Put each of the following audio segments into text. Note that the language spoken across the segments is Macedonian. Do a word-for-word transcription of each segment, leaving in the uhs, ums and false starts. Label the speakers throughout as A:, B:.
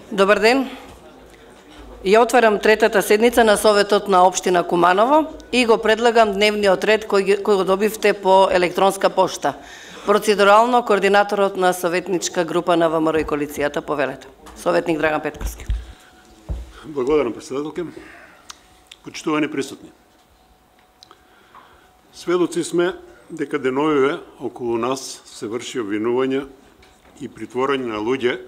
A: Добар ден. Ја отварам третата седница на Советот на општина Куманово и го предлагам дневниот ред кој, кој го добивте по електронска пошта. Процедурално координаторот на советничка група на ВМРО и коалицијата, повелете. Советник Драган Петковски.
B: Благодарам, председателке. Почитувани присутни. Сведоци сме дека деновиве околу нас се врши обвинување и притворање на луѓе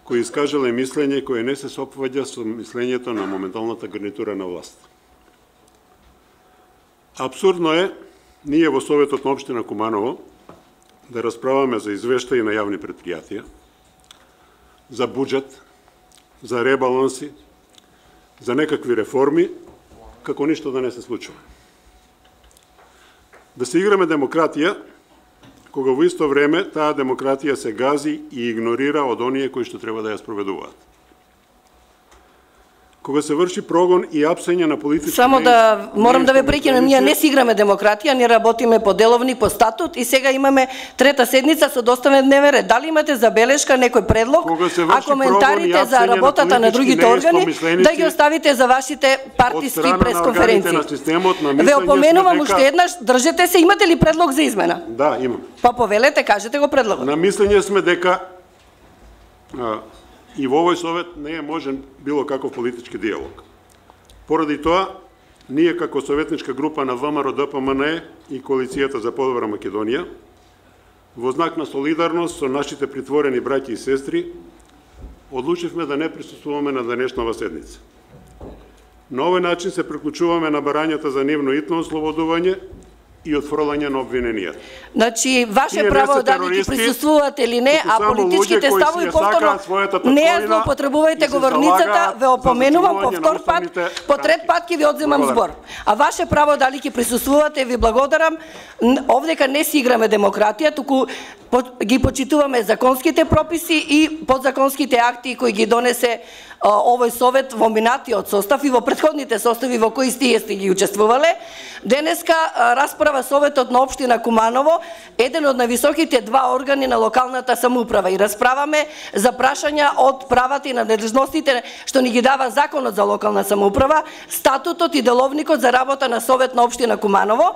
B: кои искажале мислење кое не се сопваѓа со мислењето на моменталната гарнитура на власт. Апсурдно е ние во Советот на општина Куманово да расправаме за извештаи на јавни предпријатија, за буџет, за ребаланси, за некакви реформи, како ништо да не се случува. Да се играме демократија, кога во исто време таа демократија се гази и игнорира од оние кои што треба да ја спроведуваат. Кога се врши прогон и апсење на политички...
A: Само да, морам да ве прекинам, ние не си играме демократија, ние работиме по деловни, по статут и сега имаме трета седница со доставен дневен ред. Дали имате забелешка, некој предлог, а коментарите за работата на другите органи, да ги оставите за вашите партиски пресконференции. Ве опоменувам уште еднаш, држете се, имате ли предлог за измена?
B: Да, имам.
A: Па повелете, кажете го предлогот.
B: На мислење сме дека и во овој совет не е можен било каков политички диалог. Поради тоа, ние како советничка група на ВМРО Д П М Н Е и Коалицијата за подобра Македонија, во знак на солидарност со нашите притворени браќи и сестри, одлучивме да не присуствуваме на денешнава седница. На овој начин се приклучуваме на барањата за нивно итно ослободување и отфрлање на обвиненијата.
A: Значи, ваше право дали ќе присуствувате или не, а политичките ставови повторно не ја злоупотребувајте говорницата, ве опоменувам по втор пат, по трет пат ќе ви одземам збор. А ваше право дали ќе присуствувате, ви благодарам. Овдека не си играме демократија, туку ги почитуваме законските прописи и подзаконските акти кои ги донесе овој совет во минатиот состав и во претходните состави во кои сте сте ги учествувале. Денеска расправа Советот на општина Куманово, еден од највисоките два органи на локалната самоуправа, и расправаме за прашања од правата и надлежностите што ни ги дава Законот за локална самоуправа, статутот и деловникот за работа на Совет на општина Куманово,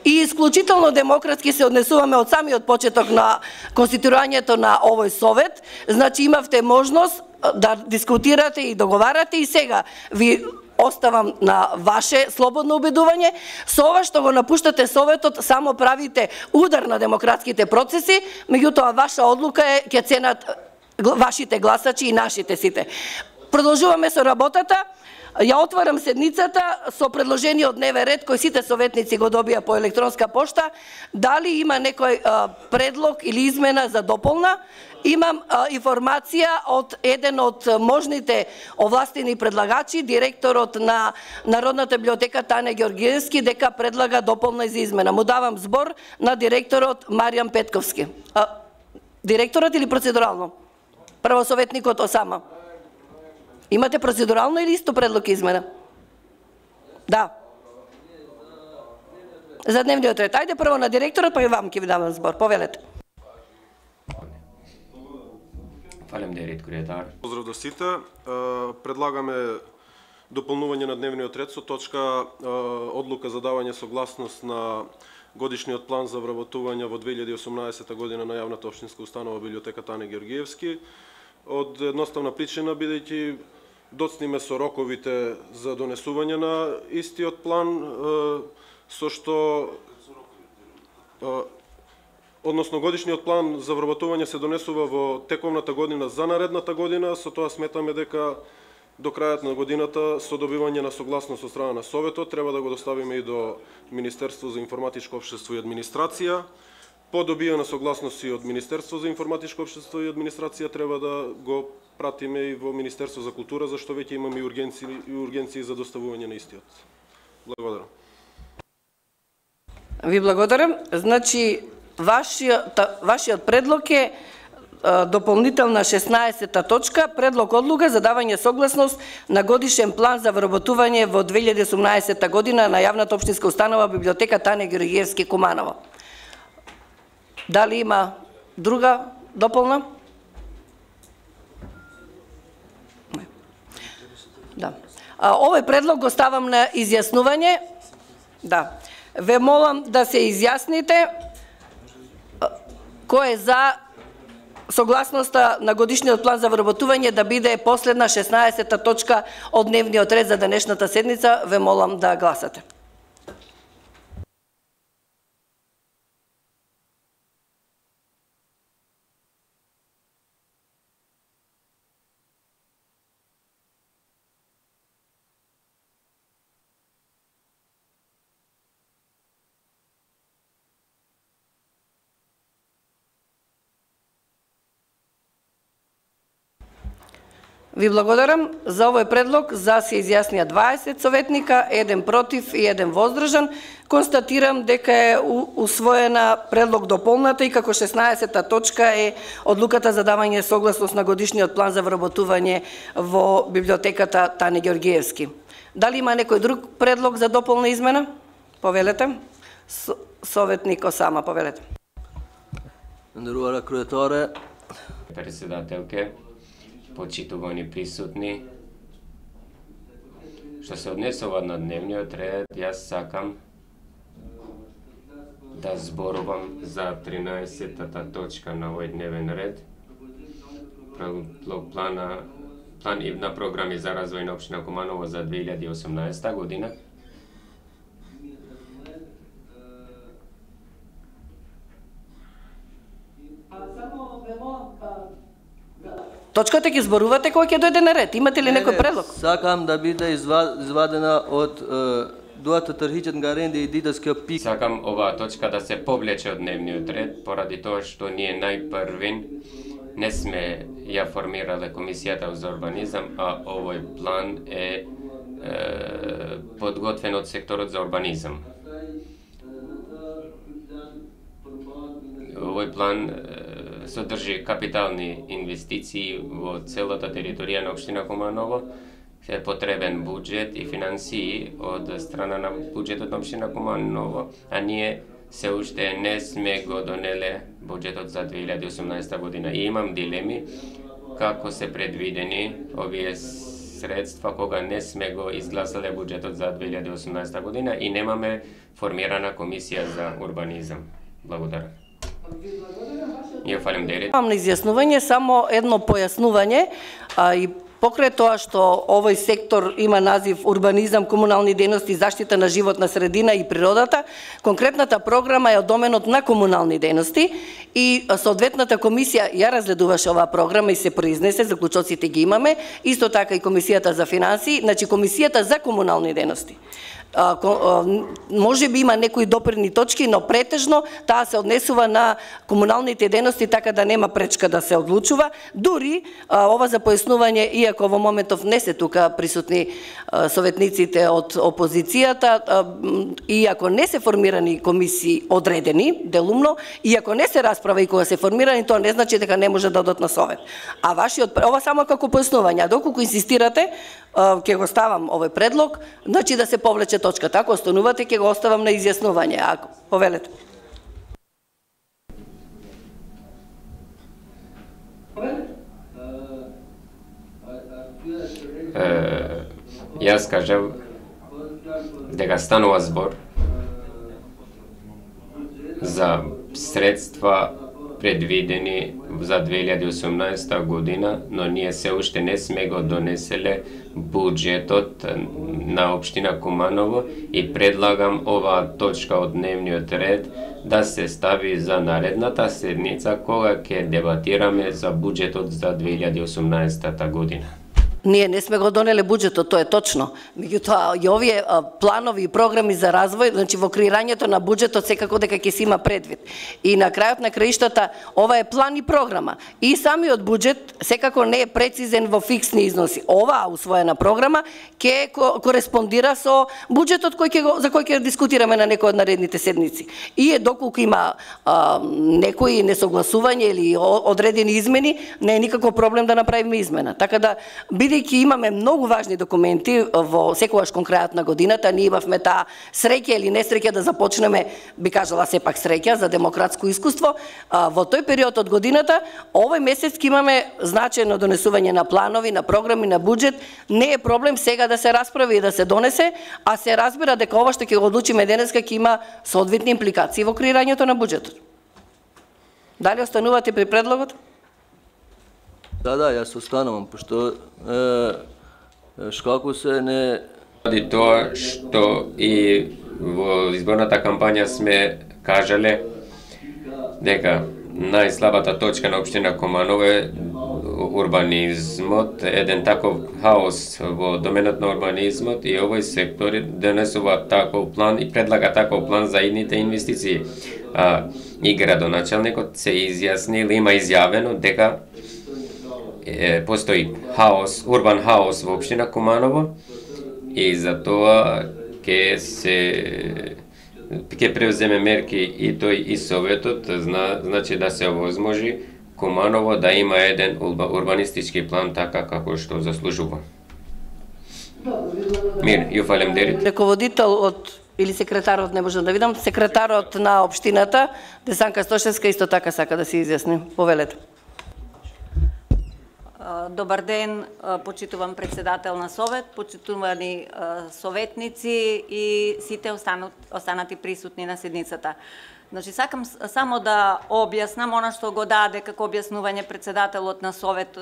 A: и исклучително демократски се однесуваме од самиот почеток на конституирањето на овој совет. Значи имавте можност да дискутирате и договарате и сега ви оставам на ваше слободно убедување. Со ова што го напуштате Советот, само правите удар на демократските процеси, меѓутоа ваша одлука е ќе ценат вашите гласачи и нашите сите. Продолжуваме со работата. Ја отварам седницата со предложениот дневен ред кој сите советници го добија по електронска пошта. Дали има некој а, предлог или измена за дополна? Имам а, информација од еден од можните овластени предлагачи, директорот на Народната библиотека Тане Георгиевски, дека предлага дополна за измена. Му давам збор на директорот Маријан Петковски. А, директорот или процедурално? Прво советникот Осама. Имате процедурално или исто предлог измена? Да. За дневниот ред. Ајде прво на директорот, па и вам ќе ви давам збор. Повелете.
C: Фалем директ координатор.
D: Поздрав до сите. Предлагаме дополнување на дневниот ред со точка одлука за давање согласност на годишниот план за вработување во две илјади и осумнаесета година на јавната општинска установа библиотека Тане Георгиевски. Од едноставна причина, бидејќи доцниме со роковите за донесување на истиот план, со што односно годишниот план за вработување се донесува во тековната година за наредната година, со тоа сметаме дека до крајот на годината со добивање на согласност од страна на Советот треба да го доставиме и до Министерство за информатичко општество и администрација. По добиена согласност и од Министерство за информатичко општество и администрација треба да го пратиме и во Министерство за култура, зашто веќе имаме и ургенции, и ургенции за доставување на истиот. Благодарам.
A: Ви благодарам. Значи, вашиот, вашиот предлог е дополнителна шеснаесета точка, предлог одлука за давање согласност на годишен план за вработување во две илјади и осумнаесета година на јавната општинска установа библиотека Тане Георгиевски Куманово. Дали има друга дополна? Овој предлог го ставам на изјаснување. Да. Ве молам да се изјасните кој е за согласноста на годишниот план за вработување да биде последна шеснаесета точка од дневниот ред за денешната седница. Ве молам да гласате. Ви благодарам за овој предлог. За се изјаснија дваесет советника, еден против и еден воздржан. Констатирам дека е усвоена предлог дополната и како шеснаесета точка е одлуката за давање согласност на годишниот план за вработување во библиотеката Тане Ѓоргиевски. Дали има некој друг предлог за дополна измена? Повелете. Советник Осама, повелете.
E: Нерувара Крујаторе.
C: Председателке, почитувани присутни, што се однесува на дневниот ред, јас сакам да зборувам за тринаесеттата точка на овој дневен ред, плана, план и на програми за развој на општина Куманово за две илјади и осумнаесета година.
A: Точката ќе зборувате кога ќе дојде на ред. Имате ли некој предлог?
E: Сакам да биде извадена од дуата трхичен гаренди и дитаскиот пик.
C: Сакам оваа точка да се повлече од дневниот ред, поради тоа што ние најпрвин не сме ја формирале комисијата за урбанизам, а овој план е, е подготвен од секторот за урбанизам. Овој план содржи капитални инвестиции во целата територија на општина Куманово, е потребен буџет и финансии од страна на буџетот на општина Куманово, а ние се уште не сме го донеле буџетот за две илјади и осумнаесета година. И имам дилеми како се предвидени овие средства кога не сме го изгласале буџетот за две илјади и осумнаесета година и немаме формирана комисија за урбанизам. Благодарам. Ја фалим дерет.
A: Имам на изјаснување само едно појаснување, а и покрај тоа што овој сектор има назив урбанизам, комунални дејности, заштита на животна средина и природата, конкретната програма е од доменот на комунални дејности и соодветната комисија ја разгледуваше оваа програма и се произнесе, заклучоците ги имаме, исто така и комисијата за финансии, значи комисијата за комунални дејности. Може би има некои допирни точки, но претежно таа се однесува на комуналните дејности, така да нема пречка да се одлучува. Дури ова за појаснување, иако во моментов не се тука присутни советниците од опозицијата, иако не се формирани комисии одредени делумно, иако не се расправа и кога се формирани, тоа не значи дека не може да одат на совет. А вашиот ова само како појаснување, а доколку инсистирате, ќе го ставам овој предлог, значи да се повлече точката. Ако останувате, ќе го оставам на изјаснување. Ако повелете.
C: Е, јас кажав дека станува збор за средства предвидени за две илјади и осумнаесета година, но ние се уште не сме го донеселе буџетот на општина Куманово и предлагам оваа точка од дневниот ред да се стави за наредната седница кога ќе дебатираме за буџетот за две илјади и осумнаесета година.
A: Ние не сме го донеле буџетот, тоа е точно. Меѓутоа, и овие планови и програми за развој, значи во креирањето на буџетот секако дека ќе се има предвид. И на крајот на краиштата, ова е план и програма. И самиот буџет секако не е прецизен во фиксни износи. Оваа усвоена програма ќе кореспондира со буџетот кој ќе го, за кој ќе дискутираме на некој од наредните седници. И е доколку има а, некои несогласување или одредени измени, не е никако проблем да направиме измена. Така да бидејќи имаме многу важни документи во секогаш кон крајот на годината, ние имавме таа среќа или несреќа да започнеме, би кажала сепак среќа за демократско искуство, во тој период од годината, овој месец ќе имаме значајно донесување на планови, на програми, на буџет. Не е проблем сега да се расправи и да се донесе, а се разбира дека ова што ќе го одлучиме денеска ќе има соодветни импликации во креирањето на буџетот. Дали останувате при предлогот?
E: Да, да, јас останувам, пошто е, шкако се не...
C: Ради тоа што и во изборната кампања сме кажале дека најслабата точка на општина Куманово е урбанизмот, еден таков хаос во доменот на урбанизмот и овој сектор донесува таков план и предлага таков план за идните инвестиции. А, и градоначалникот се изјаснил, има изјавено дека е, постои хаос, урбан хаос во општина Куманово и за тоа ќе се ќе превземе мерки и тој и Советот, зна, значи да се овозможи Куманово да има еден урбанистички план така како што заслужува. Мир, ја фалемдерит.
A: Раководител од или секретарот, не можам да видам, секретарот на општината, Десанка Стошевска, исто така сака да се изјасни. Повелете.
F: Добар ден, почитувам председател на Совет, почитувани советници и сите останати присутни на седницата. Значи, сакам само да објаснам она што го даде како објаснување председателот на Совет,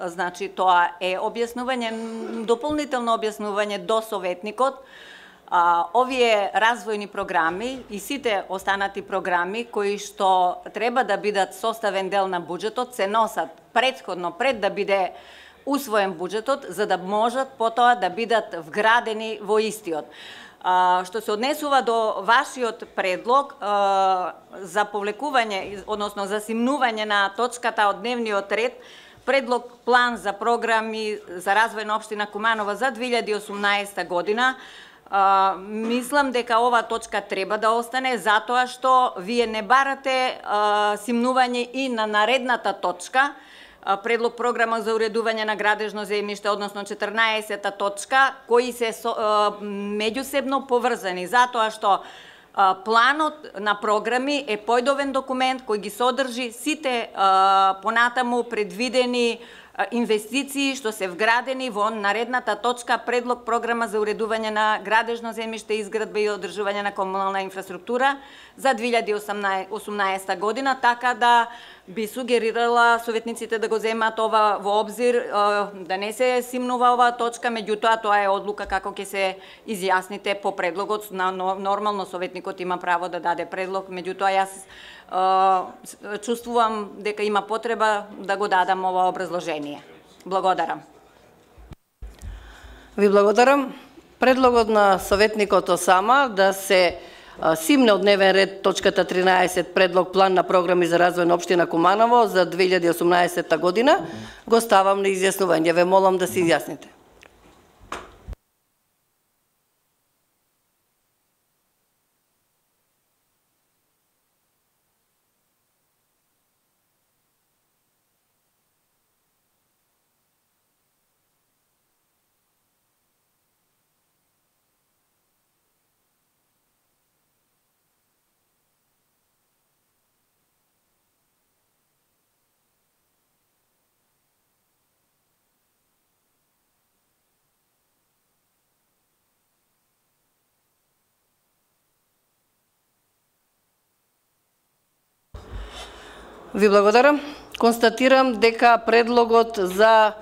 F: значи тоа е објаснување, дополнително објаснување до советникот. А, овие развојни програми и сите останати програми кои што треба да бидат составен дел на буџетот се носат претходно пред да биде усвоен буџетот за да можат потоа да бидат вградени во истиот. А, што се однесува до вашиот предлог а, за повлекување, односно за симнување на точката од дневниот ред, предлог план за програми за развој на општина Куманово за две илјади и осумнаесета година, а, мислам дека ова точка треба да остане затоа што вие не барате а, симнување и на наредната точка, предлог програма за уредување на градежно земјиште, односно четрнаесета точка, кои се со, меѓусебно поврзани, затоа што планот на програми е појдовен документ кој ги содржи сите понатаму предвидени инвестиции што се вградени во наредната точка предлог програма за уредување на градежно земјиште, изградба и одржување на комунална инфраструктура за две илјади и осумнаесета година, така да би сугерирала советниците да го земат ова во обзир, да не се симнува оваа точка, меѓутоа тоа е одлука како ќе се изјасните по предлогот. Нормално советникот има право да даде предлог, меѓутоа јас чувствувам дека има потреба да го дадам ова образложение. Благодарам.
A: Ви благодарам. Предлогот на советникот Осама да се симне од дневен ред точката тринаесет предлог план на програми за развој на општина Куманово за две илјади и осумнаесета година го ставам на изјаснување. Ве молам да се изјасните. Ви благодарам. Констатирам дека предлогот за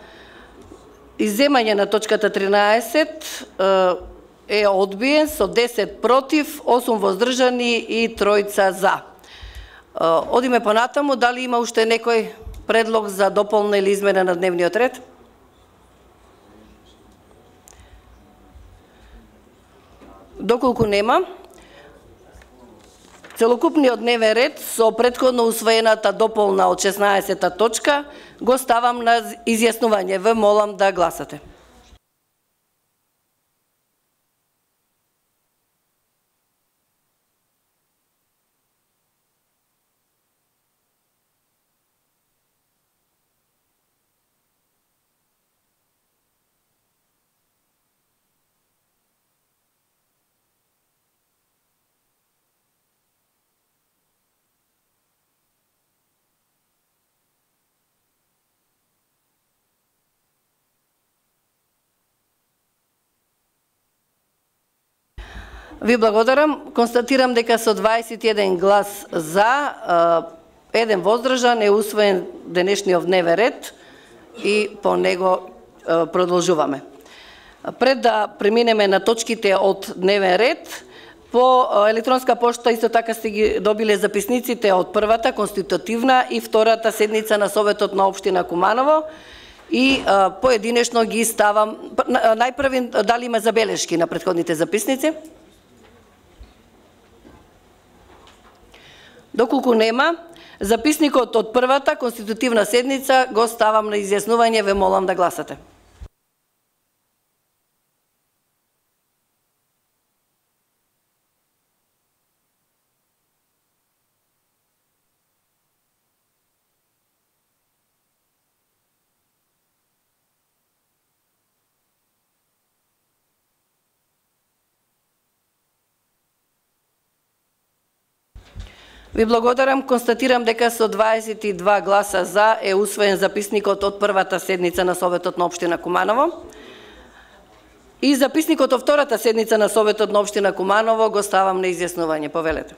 A: изземање на точката тринаесет е одбиен со десет против, осум воздржани и тројца за. Одиме понатаму, дали има уште некој предлог за дополна или измена на дневниот ред? Доколку нема, целокупниот дневен ред со претходно усвоената дополна од шеснаесета точка го ставам на изјаснување. Ве молам да гласате. Ви благодарам. Констатирам дека со дваесет и еден глас за, еден воздржан е усвоен денешниот дневен ред и по него продолжуваме. Пред да преминеме на точките од дневен ред, по електронска пошта исто така сте ги добиле записниците од првата конститутивна и втората седница на Советот на општина Куманово и а, поединечно ги ставам. Најпрви, дали има забелешки на претходните записници? Доколку нема, записникот од првата конститутивна седница го ставам на изјаснување, ве молам да гласате. Ви благодарам, констатирам дека со дваесет и два гласа за е усвоен записникот од првата седница на Советот на општина Куманово. И записникот од втората седница на Советот на општина Куманово го ставам на изјаснување. Повелете.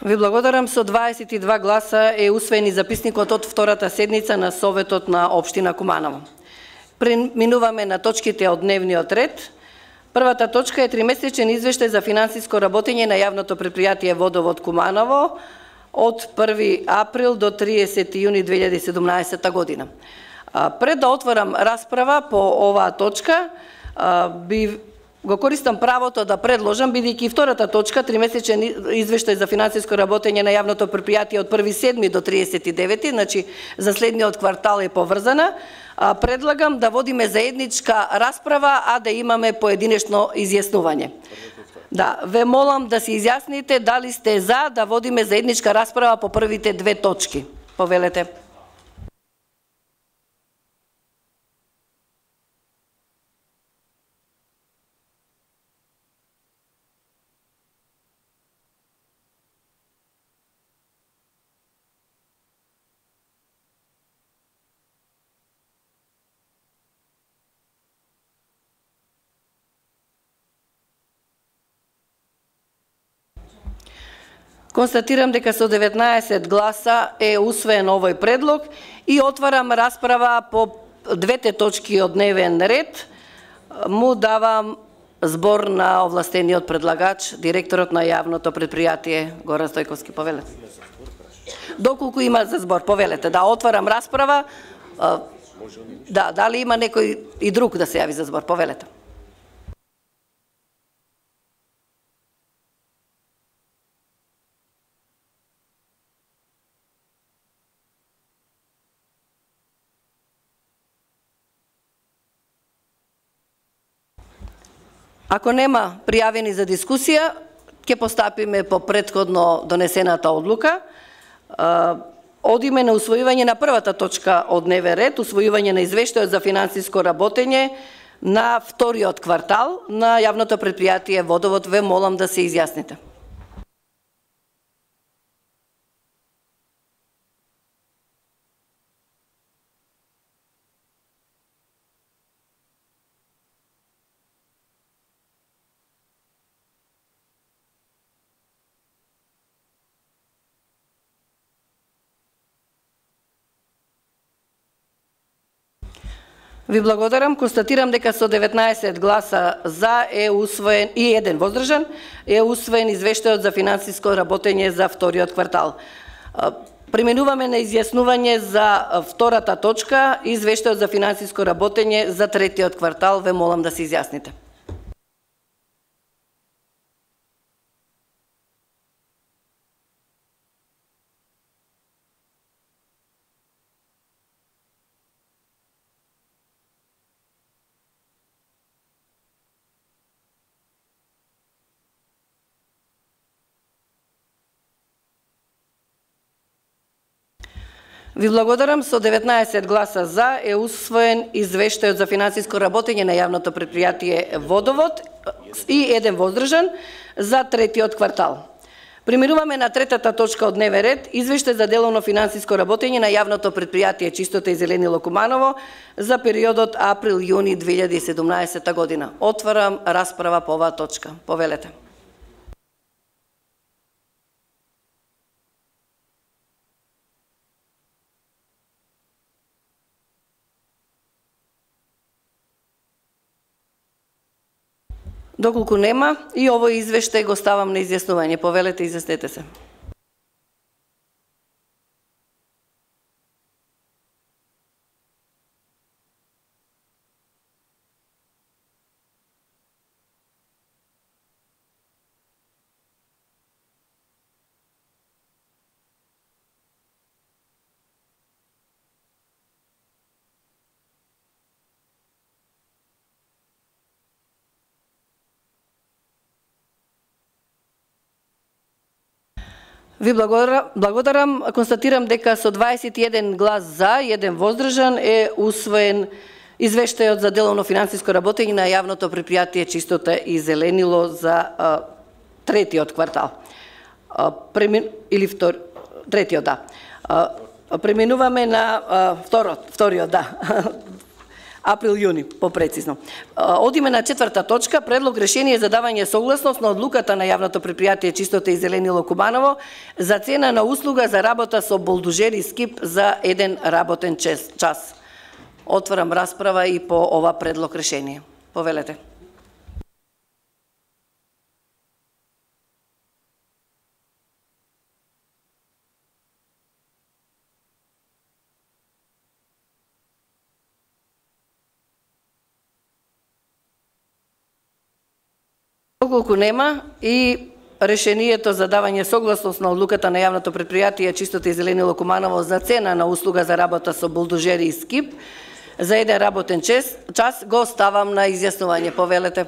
A: Ви благодарам, со дваесет и два гласа е усвоен и записникот од втората седница на Советот на општина Куманово. Преминуваме на точките од дневниот ред. Првата точка е тримесечен извештај за финансиско работење на јавното претпријатие Водовод Куманово од први април до триесети јуни две илјади и седумнаесета година. Пред да отворам расправа по оваа точка, би го користам правото да предложам, бидејќи втората точка, тримесечен извештај за финансиско работење на јавното претпријатие од први седми до триесети девети, значи за следниот квартал е поврзана, предлагам да водиме заедничка расправа, а да имаме поединечно изјаснување. Да, ве молам да се изјасните дали сте за да водиме заедничка расправа по првите две точки. Повелете. Констатирам дека со деветнаесет гласа е усвоен овој предлог и отварам расправа по двете точки од дневен ред. Му давам збор на овластениот предлагач, директорот на јавното претпријатие Горан Стојковски. Повелете. Доколку има за збор, повелете. Да, отварам расправа. Да, дали има некој и друг да се јави за збор? Повелете. Ако нема пријавени за дискусија, ќе постапиме по претходно донесената одлука. Одиме на усвојување на првата точка од дневен ред, усвојување на извештајот за финансиско работење на вториот квартал на јавното претпријатие Водовод. Ве молам да се изјасните. Ви благодарам, констатирам дека со деветнаесет гласа за е усвоен и еден воздржан е усвоен извештајот за финансиско работење за вториот квартал. Преминуваме на изјаснување за втората точка, извештајот за финансиско работење за третиот квартал. Ве молам да се изјасните. Ви благодарам. Со деветнаесет гласа за е усвоен извештајот за финансиско работење на јавното предпријатие Водовод и еден воздржан за третиот квартал. Преминуваме на третата точка од дневен ред, извештај за деловно финансиско работење на јавното предпријатие Чистота и зеленило Куманово за периодот април-јуни две илјади и седумнаесета година. Отварам расправа по оваа точка. Повелете. Доколку нема, и овој извештај го ставам на изјаснување. Повелете, изјаснете се. Ви благодарам, благодарам, констатирам дека со дваесет и еден глас за и еден воздржан е усвоен извештајот за деловно финансиско работење на јавното предпријатие Чистота и зеленило за а, третиот квартал. А, премин, или втор, третиот, да. А, преминуваме на а, второт, вториот, да. Април-јуни, попрецизно. Одиме на четврта точка, предлог решение за давање согласност на одлуката на јавното предпријатие Чистота и зеленило Куманово за цена на услуга за работа со болдужер и скип за еден работен час. Отварам расправа и по ова предлог решение. Повелете. Доколку нема, и решението за давање согласност на одлуката на јавното предпријатие Чистота и зеленило Куманово за цена на услуга за работа со болдужери и скип за еден работен час, час го ставам на изјаснување. Повелете.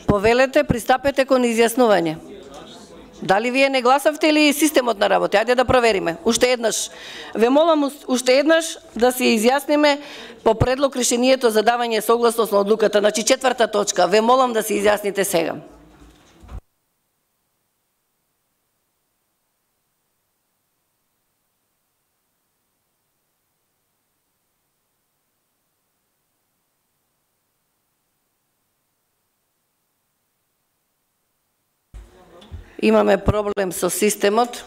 A: Повелете, пристапете кон изјаснување. Дали вие не гласавте или системот на работа? Ајде да провериме. Уште еднаш. Ве молам уште еднаш да се изјасниме по предлог решението за давање согласност на одлуката. Значи четврта точка. Ве молам да се изјасните сега. Имаме проблем со системот.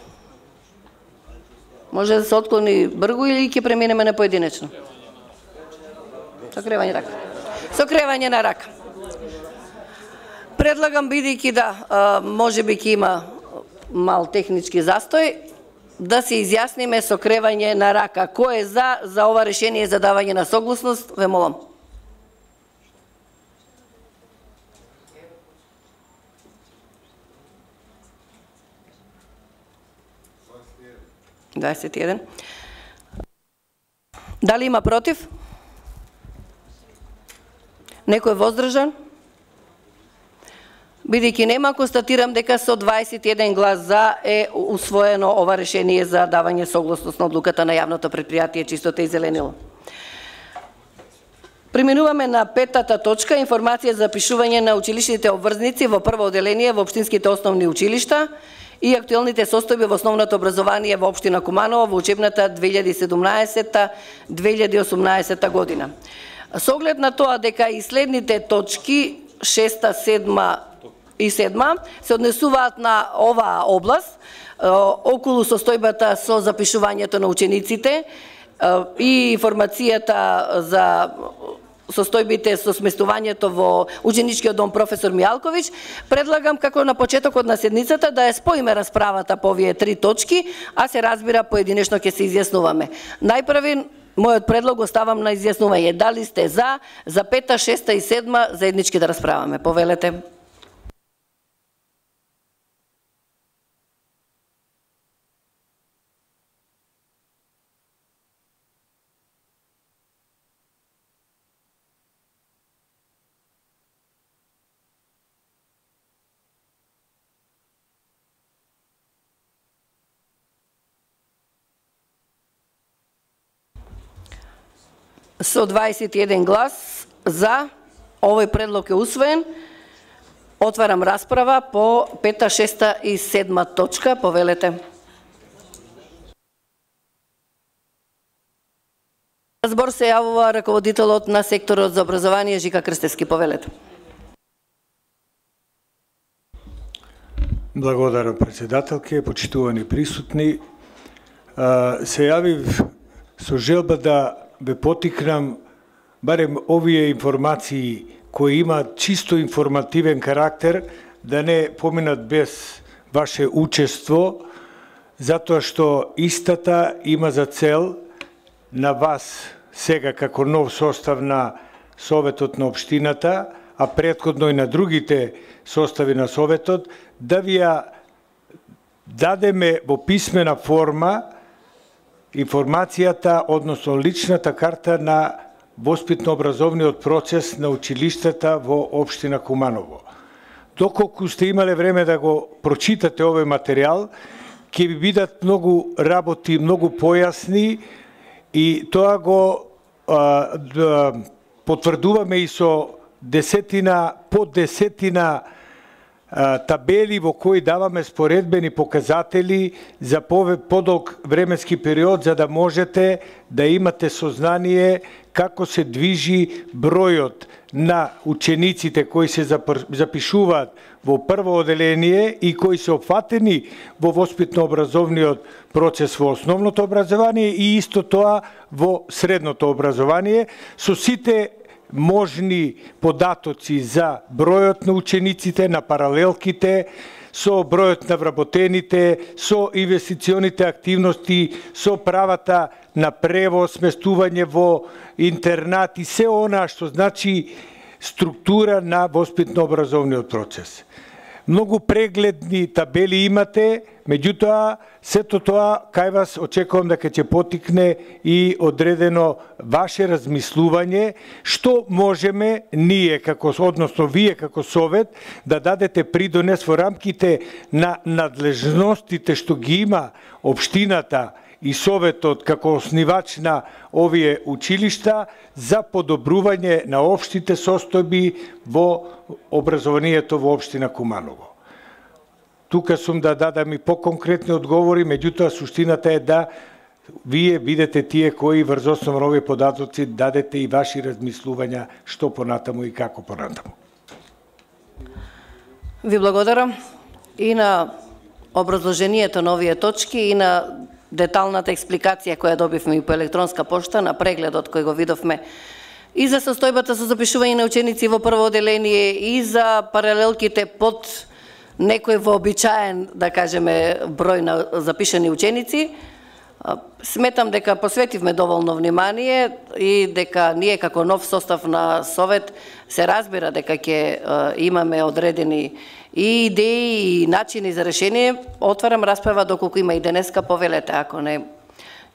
A: Може да се отклони бргу или ќе преминеме на поединечно? Сокревање рака. Сокревање на рака. Предлагам, бидејќи да, може би ќе има мал технички застој, да се изјасниме сокревање на рака. Кој е за, за ова решение за давање на согласност? Ве молам. дваесет и еден. Дали има против? Некој воздржан? Бидејќи нема, констатирам дека со дваесет и еден глас за е усвоено ова решение за давање согласност на одлуката на јавното предпријатие Чистота и зеленило. Преминуваме на петата точка, информација за запишување на училишните обврзници во прво оделение во општинските основни училишта и актуелните состојби во основното образование во општина Куманово во учебната две илјади и седумнаесета - две илјади и осумнаесета година. Со оглед на тоа дека и следните точки шеста, седма и седма се однесуваат на оваа област, околу состојбата со запишувањето на учениците и информацијата за состојбите со сместувањето во ученичкиот дом професор Мијалковиќ, предлагам како на почетокот на седницата да ја споиме расправата по овие три точки, а се разбира поединечно ќе се изјаснуваме. Најпрви мојот предлог оставам на изјаснување. Дали сте за, за пета, шеста и седма заеднички да расправаме? Повелете. Со дваесет и еден глас за, овој предлог е усвоен. Отварам расправа по пета, шеста и седма точка. Повелете. Збор се јавува раководителот на секторот за образование Жика Крстевски. Повелете.
G: Благодарам, председателке, почитувани присутни. Се јавив со желба да ве потикнам барем овие информации кои имаат чисто информативен карактер да не поминат без ваше учество, затоа што истата има за цел на вас сега како нов состав на Советот на општината, а претходно и на другите состави на Советот, да ви ја дадеме во писмена форма информацијата, односно личната карта на воспитно-образовниот процес на училиштата во општина Куманово. Доколку сте имале време да го прочитате овој материјал, ќе ви бидат многу работи, многу појасни и тоа го а, да, потврдуваме и со десетина, по десетина табели во кои даваме споредбени показатели за подолг временски период, за да можете да имате сознание како се движи бројот на учениците кои се запишуваат во прво оделение и кои се опфатени во воспитно-образовниот процес во основното образование и исто тоа во средното образование, со сите можни податоци за бројот на учениците, на паралелките, со бројот на вработените, со инвестиционите активности, со правата на превоз, сместување во интернат и се она што значи структура на воспитно-образовниот процес. Многу прегледни табели имате, меѓутоа, сето тоа кај вас очекувам дека ќе потикне и одредено ваше размислување, што можеме ние, како, односно вие како Совет, да дадете придонес во рамките на надлежностите што ги има општината и Советот како оснивач на овие училишта за подобрување на општите состојби во образованието во општина Куманово. Тука сум да дадам и по-конкретни одговори, меѓутоа суштината е да вие бидете тие кои врз основа на овие податоци дадете и ваши размислувања што понатаму и како понатаму.
A: Ви благодарам и на образложението на овие точки и на деталната експликација која добивме и по електронска пошта на прегледот кој го видовме и за состојбата со запишување на ученици во прво оделение и за паралелките под некој вообичаен, да кажеме, број на запишани ученици. Сметам дека посветивме доволно внимание и дека ние како нов состав на Совет се разбира дека ќе имаме одредени и идеи и начини за решение. Отварам расправа доколку има и денеска, повелете, ако не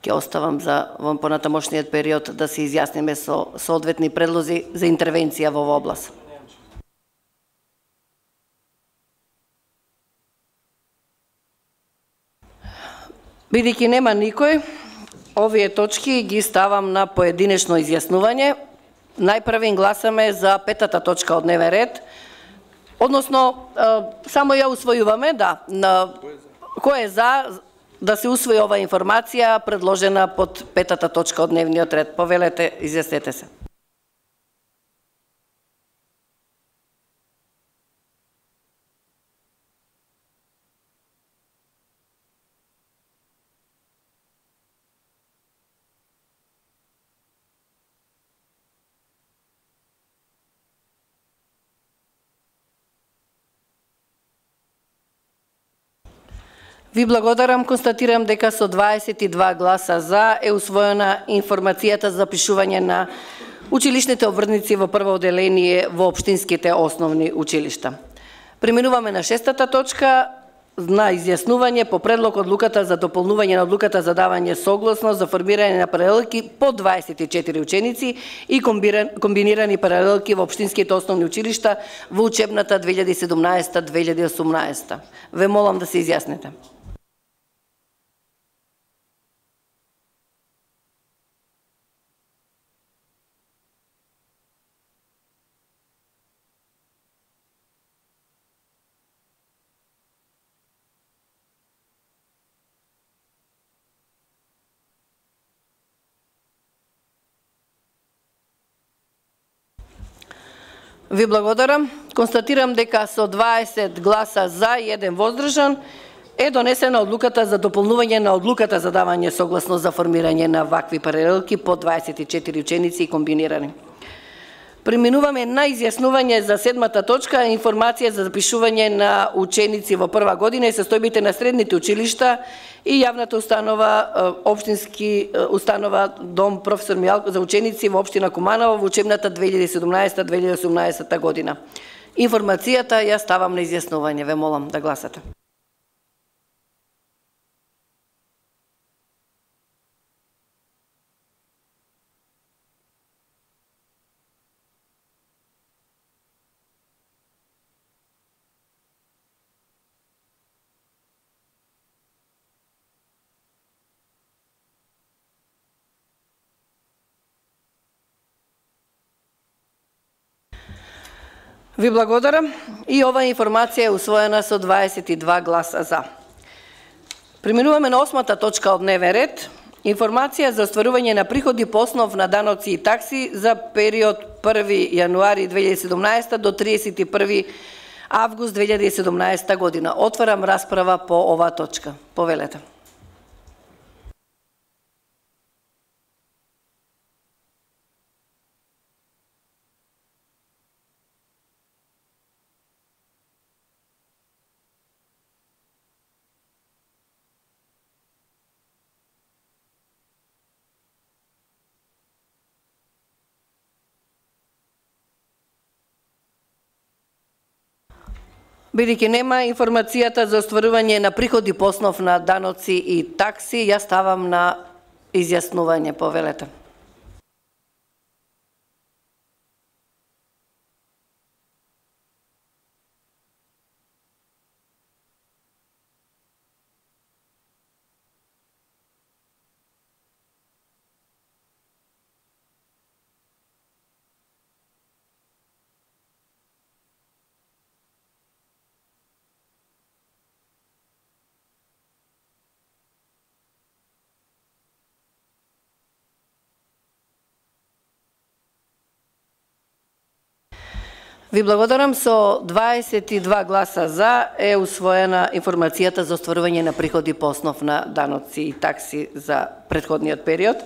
A: ќе оставам за во понатамошниот период да се изјасниме со соодветни предлози за интервенција во оваа област. Бидејќи нема никој, овие точки ги ставам на поединечно изјаснување. Најпрви гласаме за петата точка од дневен ред, односно само ја усвојуваме, да, на кој е за да се усвои оваа информација предложена под петата точка од дневниот ред. Повелете, изјаснете се. Ви благодарам, констатирам дека со дваесет и два гласа за е усвоена информацијата за запишување на училишните обврдници во прво оделение во општинските основни училишта. Преминуваме на шестата точка на изјаснување по предлог одлуката за дополнување на одлуката за давање согласност за формирање на паралелки по дваесет и четири ученици и комбинирани паралелки во општинските основни училишта во учебната две илјади и седумнаесета две илјади и осумнаесета. Ве молам да се изјасните. Ви благодарам. Констатирам дека со дваесет гласа за и еден воздржан е донесена одлуката за дополнување на одлуката за давање согласност за формирање на вакви паралелки по дваесет и четири ученици и комбинирани. Преминуваме на изјаснување за седмата точка, информација за запишување на ученици во прва година и состојбите на средните училишта и јавната установа, општински установа Дом професор Мијалков за ученици во општина Куманово во учебната две илјади и седумнаесета две илјади и осумнаесета година. Информацијата ја ставам на изјаснување. Ве молам да гласате. Ви благодарам и оваа информација е усвоена со дваесет и два гласа за. Преминуваме на осмата точка од дневен ред. Информација за остварување на приходи по основ на даноци и такси за период први јануари две илјади и седумнаесета до триесет и први август две илјади и седумнаесета година. Отварам расправа по оваа точка. Повелете. Бидејќи нема информацијата за остварување на приходи по основ на даноци и такси, ја ставам на изјаснување. Повелете. Ви благодарам, со дваесет и два гласа за е усвоена информацијата за остварување на приходи по основ на даноци и такси за претходниот период.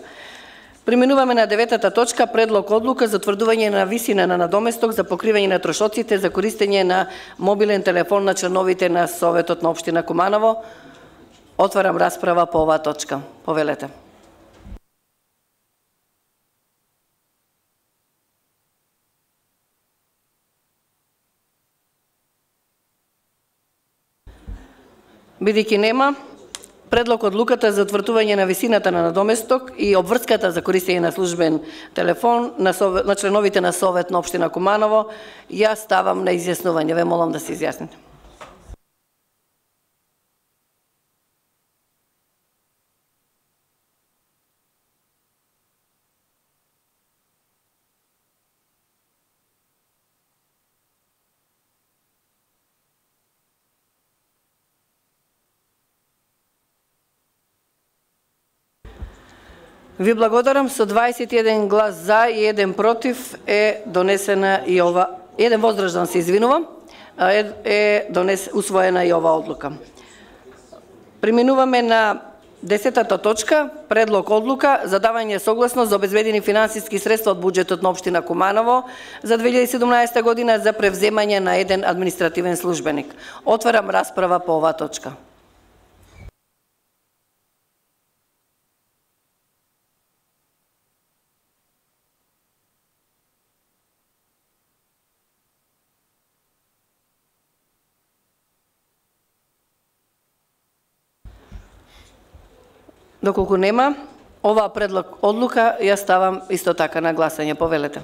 A: Преминуваме на деветата точка, предлог одлука за утврдување на висина на надоместок за покривање на трошоците за користење на мобилен телефон на членовите на Советот на општина Куманово. Отварам расправа по оваа точка. Повелете. Бидејќи нема, предлог одлуката за утврдување на висината на надоместок и обврската за користење на службен телефон на, совет, на членовите на Совет на општина Куманово, ја ставам на изјаснување. Ве молам да се изјасните. Ви благодарам, со дваесет и еден глас за и еден против е донесена и ова, еден воздржан се извинувам, е, е донес, усвоена и ова одлука. Преминуваме на десетата точка, предлог одлука за давање согласност за обезбедени финансиски средства од буџетот на општина Куманово за две илјади и седумнаесета година за превземање на еден административен службеник. Отварам расправа по оваа точка. Доколку нема, оваа предлог одлука ја ставам исто така на гласање. Повелете.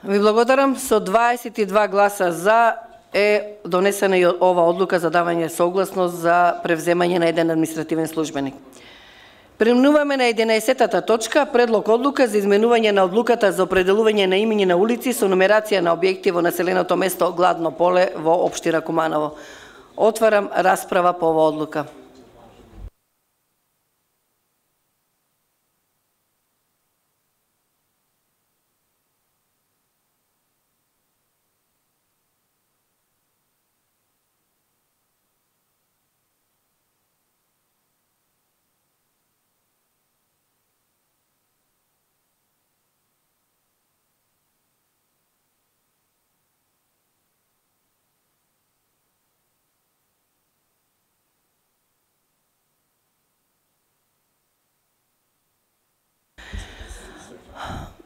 A: Ви благодарам. Со дваесет и два гласа за е донесена и ова одлука за давање согласност за превземање на еден административен службеник. Преминуваме на единаесеттата точка, предлог одлука за изменување на одлуката за определување на имиња на улици со нумерација на објекти во населеното место Гладно поле во општина Куманово. Отварам расправа по оваа одлука.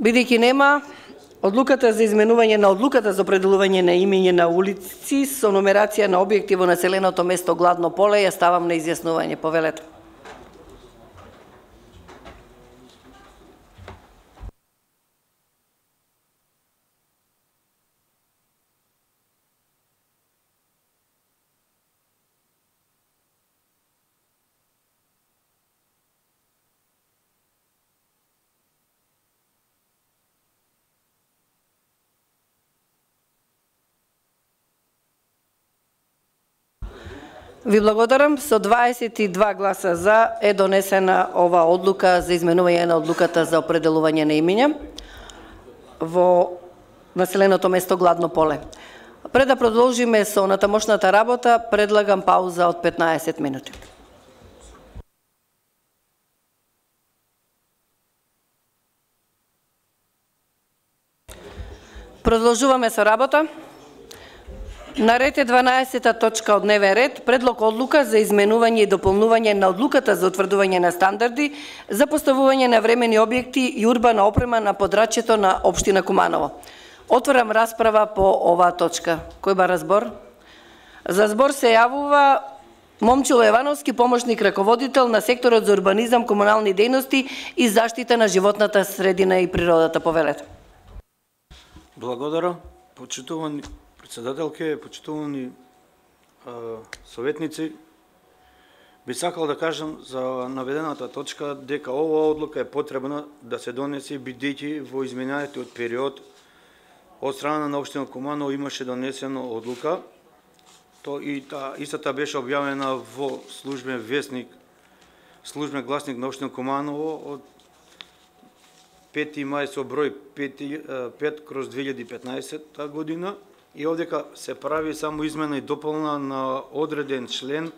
A: Бидејќи нема, одлуката за изменување на одлуката за определување на имиња на улици со нумерација на објекти во населеното место Гладно поле ја ставам на изјаснување. Повелете. Ви благодарам. Со дваесет и два гласа за е донесена ова одлука за изменување на одлуката за определување на имиња во населеното место Гладно поле. Пред да продолжиме со натамошната работа, предлагам пауза од петнаесет минути. Продолжуваме со работа. На ред е дванаесета точка од дневен ред, предлог одлука за изменување и дополнување на одлуката за утврдување на стандарди за поставување на времени објекти и урбана опрема на подрачјето на општина Куманово. Отворам расправа по оваа точка. Кој бара збор? За збор се јавува Момчило Јовановски, помошник раководител на секторот за урбанизам, комунални дејности и заштита на животната средина и природата. Повелете.
H: Благодарам. Почитувани председателке, почитувани советници, би сакал да кажам за наведената точка дека оваа одлука е потребна да се донесе бидејќи во изминатиот период од страна на општина Куманово имаше донесено одлука. То и та истата беше објавена во службен весник, службен гласник на општина Куманово од пети мај со број пет кроз две илјади и петнаесетта година. И овдека се прави само измена и дополна на одреден член,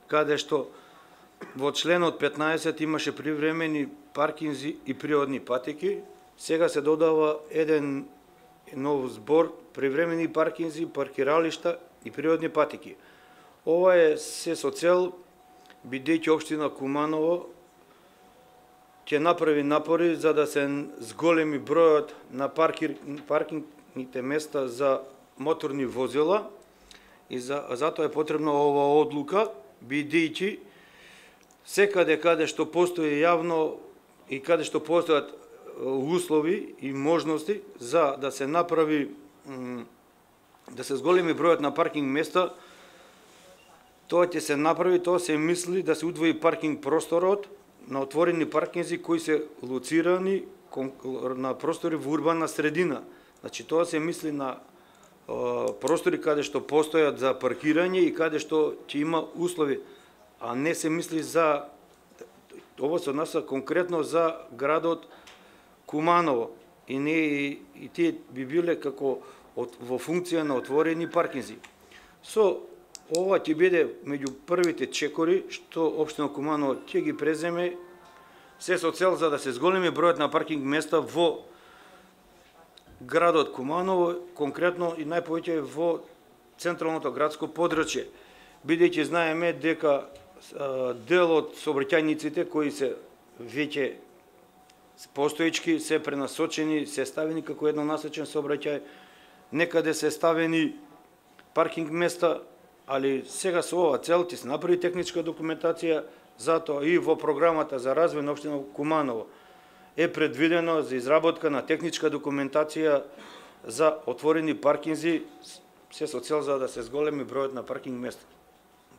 H: каде што во членот петнаесет имаше привремени паркинзи и природни патеки. Сега се додава еден нов збор, привремени паркинзи, паркиралишта и природни патеки. Ова е се со цел, бидејќи општина Куманово ќе направи напори за да се зголеми бројот на паркир, паркингните места за моторни возила и за, затоа е потребна оваа одлука, бидејќи секаде каде што постои јавно и каде што постојат услови и можности за да се направи, да се зголеми бројот на паркинг места, тоа ќе се направи, тоа се мисли да се удвои паркинг просторот на отворени паркинзи кои се лоцирани на простори во урбана средина. Значи тоа се мисли на простори каде што постојат за паркирање и каде што ќе има услови, а не се мисли за, ова се однася конкретно за градот Куманово и не и, и тие би биле како од, во функција на отворени паркинзи. Со ова ќе биде меѓу првите чекори што општина Куманово ќе ги преземе, се со цел за да се зголеми бројот на паркинг места во градот Куманово, конкретно и најповеќе во централното градско подрачје, бидејќи знаеме дека дел од сообраќајниците кои се веќе постоечки се пренасочени, се ставени како еднонасочен сообраќај, некаде се ставени паркинг места, али сега со ова цел ќе се направи техничка документација, затоа и во програмата за развој на општина Куманово е предвидено за изработка на техничка документација за отворени паркинзи, се со цел за да се зголеми бројот на паркинг места.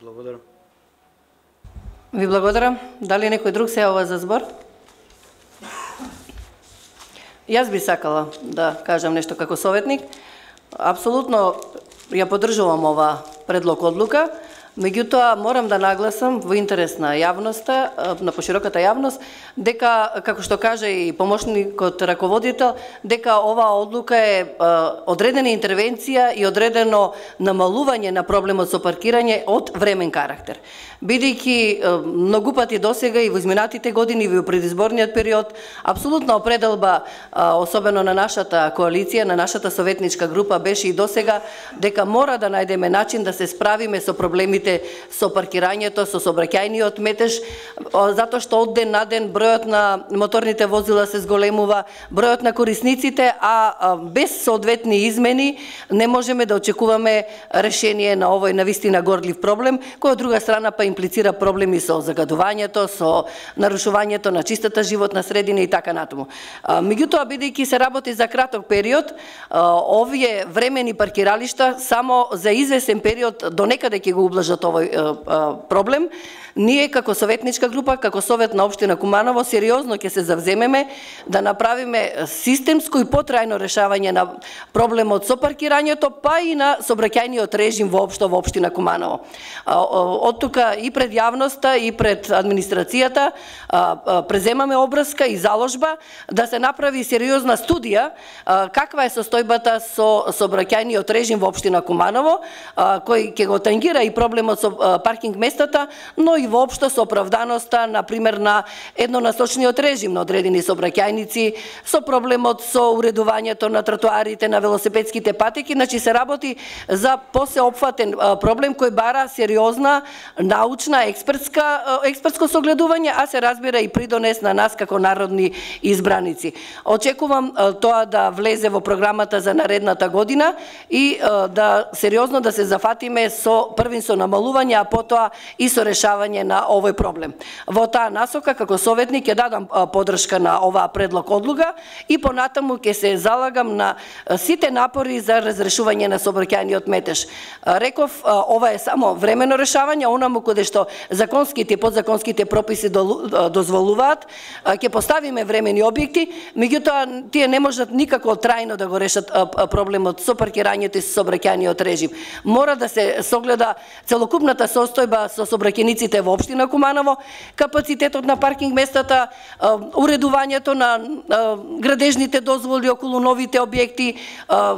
H: Благодарам.
A: Ви благодарам. Дали некој друг се јавува за збор? Јас би сакала да кажам нешто како советник. Апсолутно ја поддржувам ова предлог одлука, меѓутоа морам да нагласам во интерес на јавноста, на пошироката јавност, дека, како што кажа и помошникот раководител, дека оваа одлука е одредена интервенција и одредено намалување на проблемот со паркирање од времен карактер. Бидејќи многу пати досега и во изминатите години и во предизборниот период, апсолутна определба, особено на нашата коалиција, на нашата советничка група, беше и досега дека мора да најдеме начин да се справиме со проблемите со паркирањето, со сообраќајниот метеж, затоа што од ден на ден бројот на моторните возила се зголемува, бројот на корисниците, а без соодветни измени не можеме да очекуваме решение на овој навистина горлив проблем, кој од друга страна па имплицира проблеми со загадувањето, со нарушувањето на чистата животна средина и така натаму. Меѓутоа, бидејќи се работи за краток период, овие времени паркиралишта само за извесен период до некаде ќе го ублажат овој проблем. Ние како советничка група, како Совет на општина Куманово, сериозно ќе се завземеме да направиме системско и потрајно решавање на проблемот со паркирањето, па и на сообраќајниот режим воопшто во општина Куманово. Од тука и пред јавноста и пред администрацијата преземаме обврска и заложба да се направи сериозна студија каква е состојбата со сообраќајниот режим во општина Куманово, кој ќе го тангира и проблемот со паркинг местата, но и воопшто со оправданоста, например, на еднонасочниот режим на одредени сообраќајници, со проблемот со уредувањето на тротоарите, на велосипедските патеки, значи се работи за посеопфатен проблем кој бара сериозна научна, експертска, експертско согледување, а се разбира и придонес на нас како народни избраници. Очекувам тоа да влезе во програмата за наредната година и да сериозно да се зафатиме со првин со намалување, а потоа и со решавање на овој проблем. Во таа насока, како советник, ќе дадам поддршка на оваа предлог одлука и понатаму ќе се залагам на сите напори за разрешување на сообраќајниот метеж. Реков, ова е само времено решавање, онаму каде што законските и подзаконските прописи дозволуваат, ќе поставиме времени објекти, меѓутоа тие не можат никако трајно да го решат проблемот со паркирањето и со сообраќајниот режим. Мора да се согледа целокупната состојба со сообраќајниците во општина Куманово, капацитетот на паркинг местата, уредувањето на градежните дозволи околу новите објекти,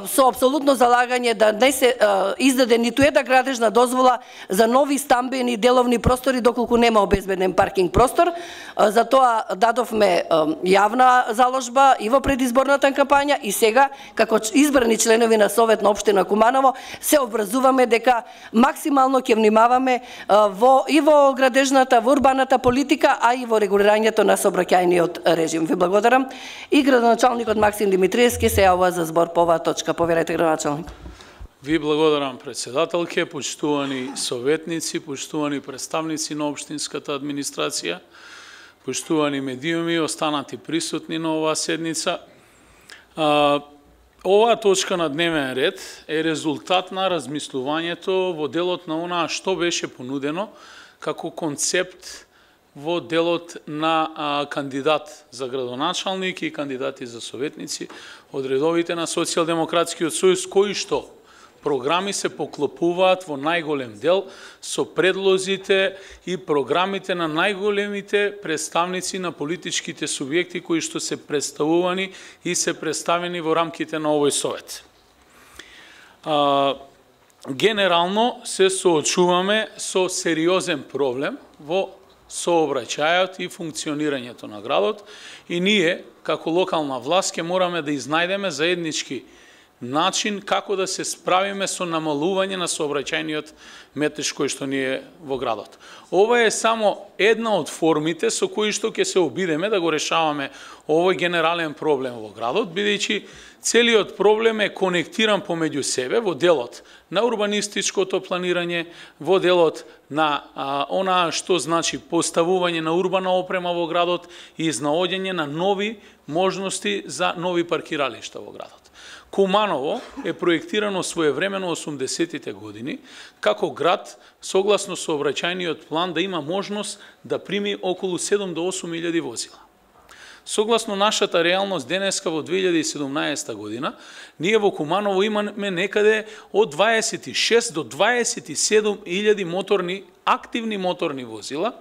A: со апсолутно залагање да не се издаде ниту една градежна дозвола за нови стамбени деловни простори доколку нема обезбеден паркинг простор. За тоа дадовме јавна заложба и во предизборната кампања и сега како избрани членови на Совет на општина Куманово се обврзуваме дека максимално ќе внимаваме во и во градежната, во урбаната политика, а и во регулирањето на сообраќајниот режим. Ви благодарам. И градоначалникот Максим Димитриевски се јавува за збор по оваа точка. Поверете, градоначалник.
I: Ви благодарам, председателке, почитувани советници, почитувани представници на општинската администрација, почитувани медиуми, останати присутни на оваа седница. Оваа точка на дневен ред е резултат на размислувањето во делот на онаа што беше понудено како концепт во делот на а, кандидат за градоначалник и кандидати за советници од редовите на Социјалдемократскиот сојуз, кои што програми се поклопуваат во најголем дел со предлозите и програмите на најголемите представници на политичките субјекти кои што се представувани и се представени во рамките на овој совет. А, генерално се соочуваме со сериозен проблем во сообраќајот и функционирањето на градот и ние, како локална власт, ќе мораме да изнајдеме заеднички начин како да се справиме со намалување на сообраќајниот метеж кој што ни е во градот. Ова е само една од формите со кои што ќе се обидеме да го решаваме овој генерален проблем во градот, бидејќи целиот проблем е конектиран помеѓу себе во делот на урбанистичкото планирање, во делот на а, она што значи поставување на урбана опрема во градот и изнаоѓање на нови можности за нови паркиралишта во градот. Куманово е проектирано своевремено осумдесетите години како град согласно сообраќајниот план да има можност да прими околу седум до осум илјади возила. Согласно нашата реалност денеска во две илјади и седумнаесета година, ние во Куманово имаме некаде од дваесет и шест до дваесет и седум илјади моторни, активни моторни возила,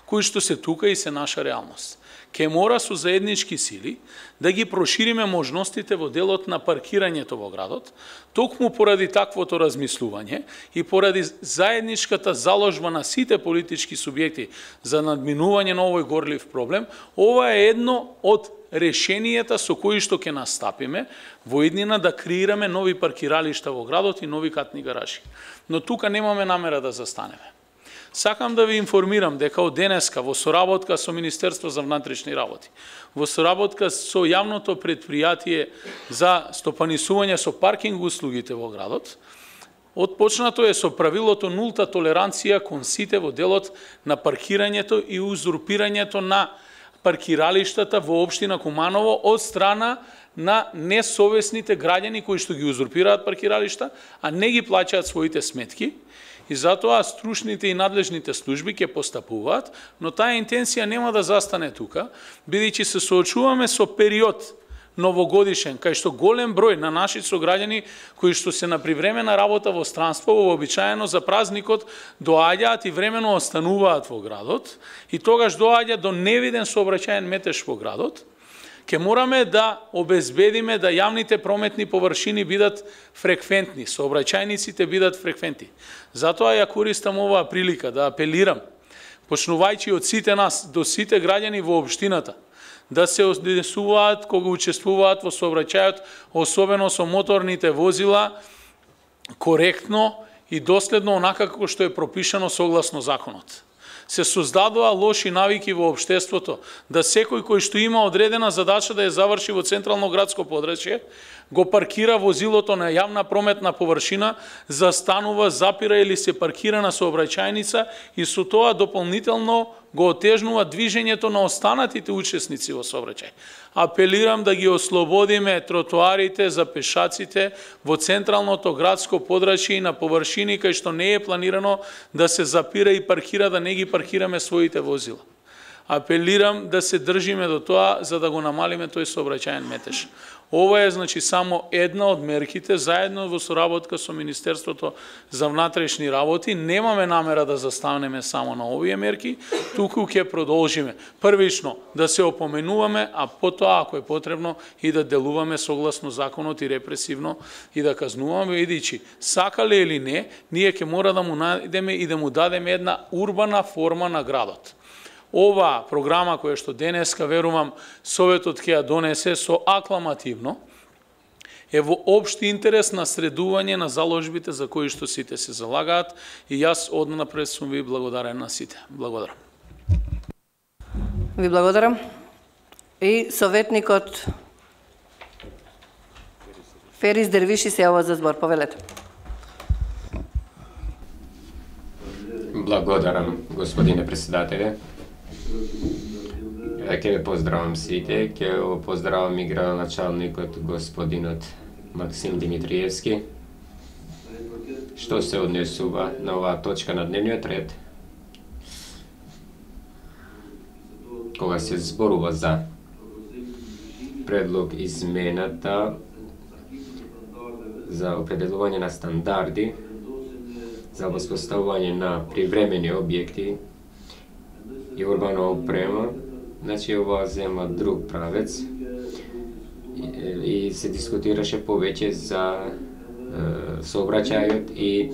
I: кои што се тука и се наша реалност. Ке мора со заеднички сили да ги прошириме можностите во делот на паркирањето во градот, токму поради таквото размислување и поради заедничката заложба на сите политички субјекти за надминување на овој горлив проблем, ова е едно од решенијата со кои што ќе настапиме во иднина да креираме нови паркиралишта во градот и нови катни гаражи. Но тука немаме намера да застанеме. Сакам да ви информирам дека од денеска во соработка со Министерство за внатрешни работи, во соработка со јавното предпријатие за стопанисување со паркинг услугите во градот, отпочнато е со правилото нулта толеранција кон сите во делот на паркирањето и узурпирањето на паркиралиштата во општина Куманово од страна на несовесните граѓани кои што ги узурпираат паркиралишта, а не ги плаќаат своите сметки. И затоа стручните и надлежните служби ќе постапуваат, но таа интенција нема да застане тука, бидејќи се соочуваме со период новогодишен, кај што голем број на наши сограѓани кои што се на привремена работа во странство, вообичаено за празникот доаѓаат и времено остануваат во градот, и тогаш доаѓа до невиден сообраќаен метеж во градот, ке мораме да обезбедиме да јавните прометни површини бидат фреквентни, сообраќајниците бидат фреквентни. Затоа ја користам оваа прилика да апелирам, почнувајќи од сите нас до сите граѓани во општината, да се однесуваат кога учествуваат во сообраќајот, особено со моторните возила, коректно и доследно онака како што е пропишано согласно законот. Се создадоа лоши навики во општеството, да секој кој што има одредена задача да ја заврши во централно градско подрачје, го паркира возилото на јавна прометна површина, застанува, запира или се паркира на сообраќајница и со тоа дополнително го отежнува движењето на останатите учесници во сообраќај. Апелирам да ги ослободиме тротоарите за пешаците во централното градско подрачје и на површини кај што не е планирано да се запира и паркира, да не ги паркираме своите возила. Апелирам да се држиме до тоа за да го намалиме тој сообраќаен метеж. Ова е значи само една од мерките, заедно во соработка со Министерството за внатрешни работи. Немаме намера да застанеме само на овие мерки, туку ќе продолжиме. Првично да се опоменуваме, а потоа ако е потребно и да делуваме согласно законот и репресивно и да казнуваме, бидејќи сакале или не, ние ќе мора да му најдеме и да му дадеме една урбана форма на градот. Ова програма која што денеска, верувам, Советот ќе ја донесе со акламативно, е во општи интерес на средување на заложбите за кои што сите се залагаат, и јас однапред сум ви благодарен на сите. Благодарам.
A: Ви благодарам. И советникот Ферис Дервиши се јава за збор. Повелете.
C: Благодарам, господине председателе. Ќе ве поздравам сите, ќе го поздравам и градоначалникот господинот Максим Димитриевски. Што се однесува на оваа точка на дневниот ред, кога се зборува за предлог измената за определување на стандарди за воспоставување на привремени објекти и урбана опрема, значи ова зема друг правец и, и се дискутираше повеќе за е, сообраќајот и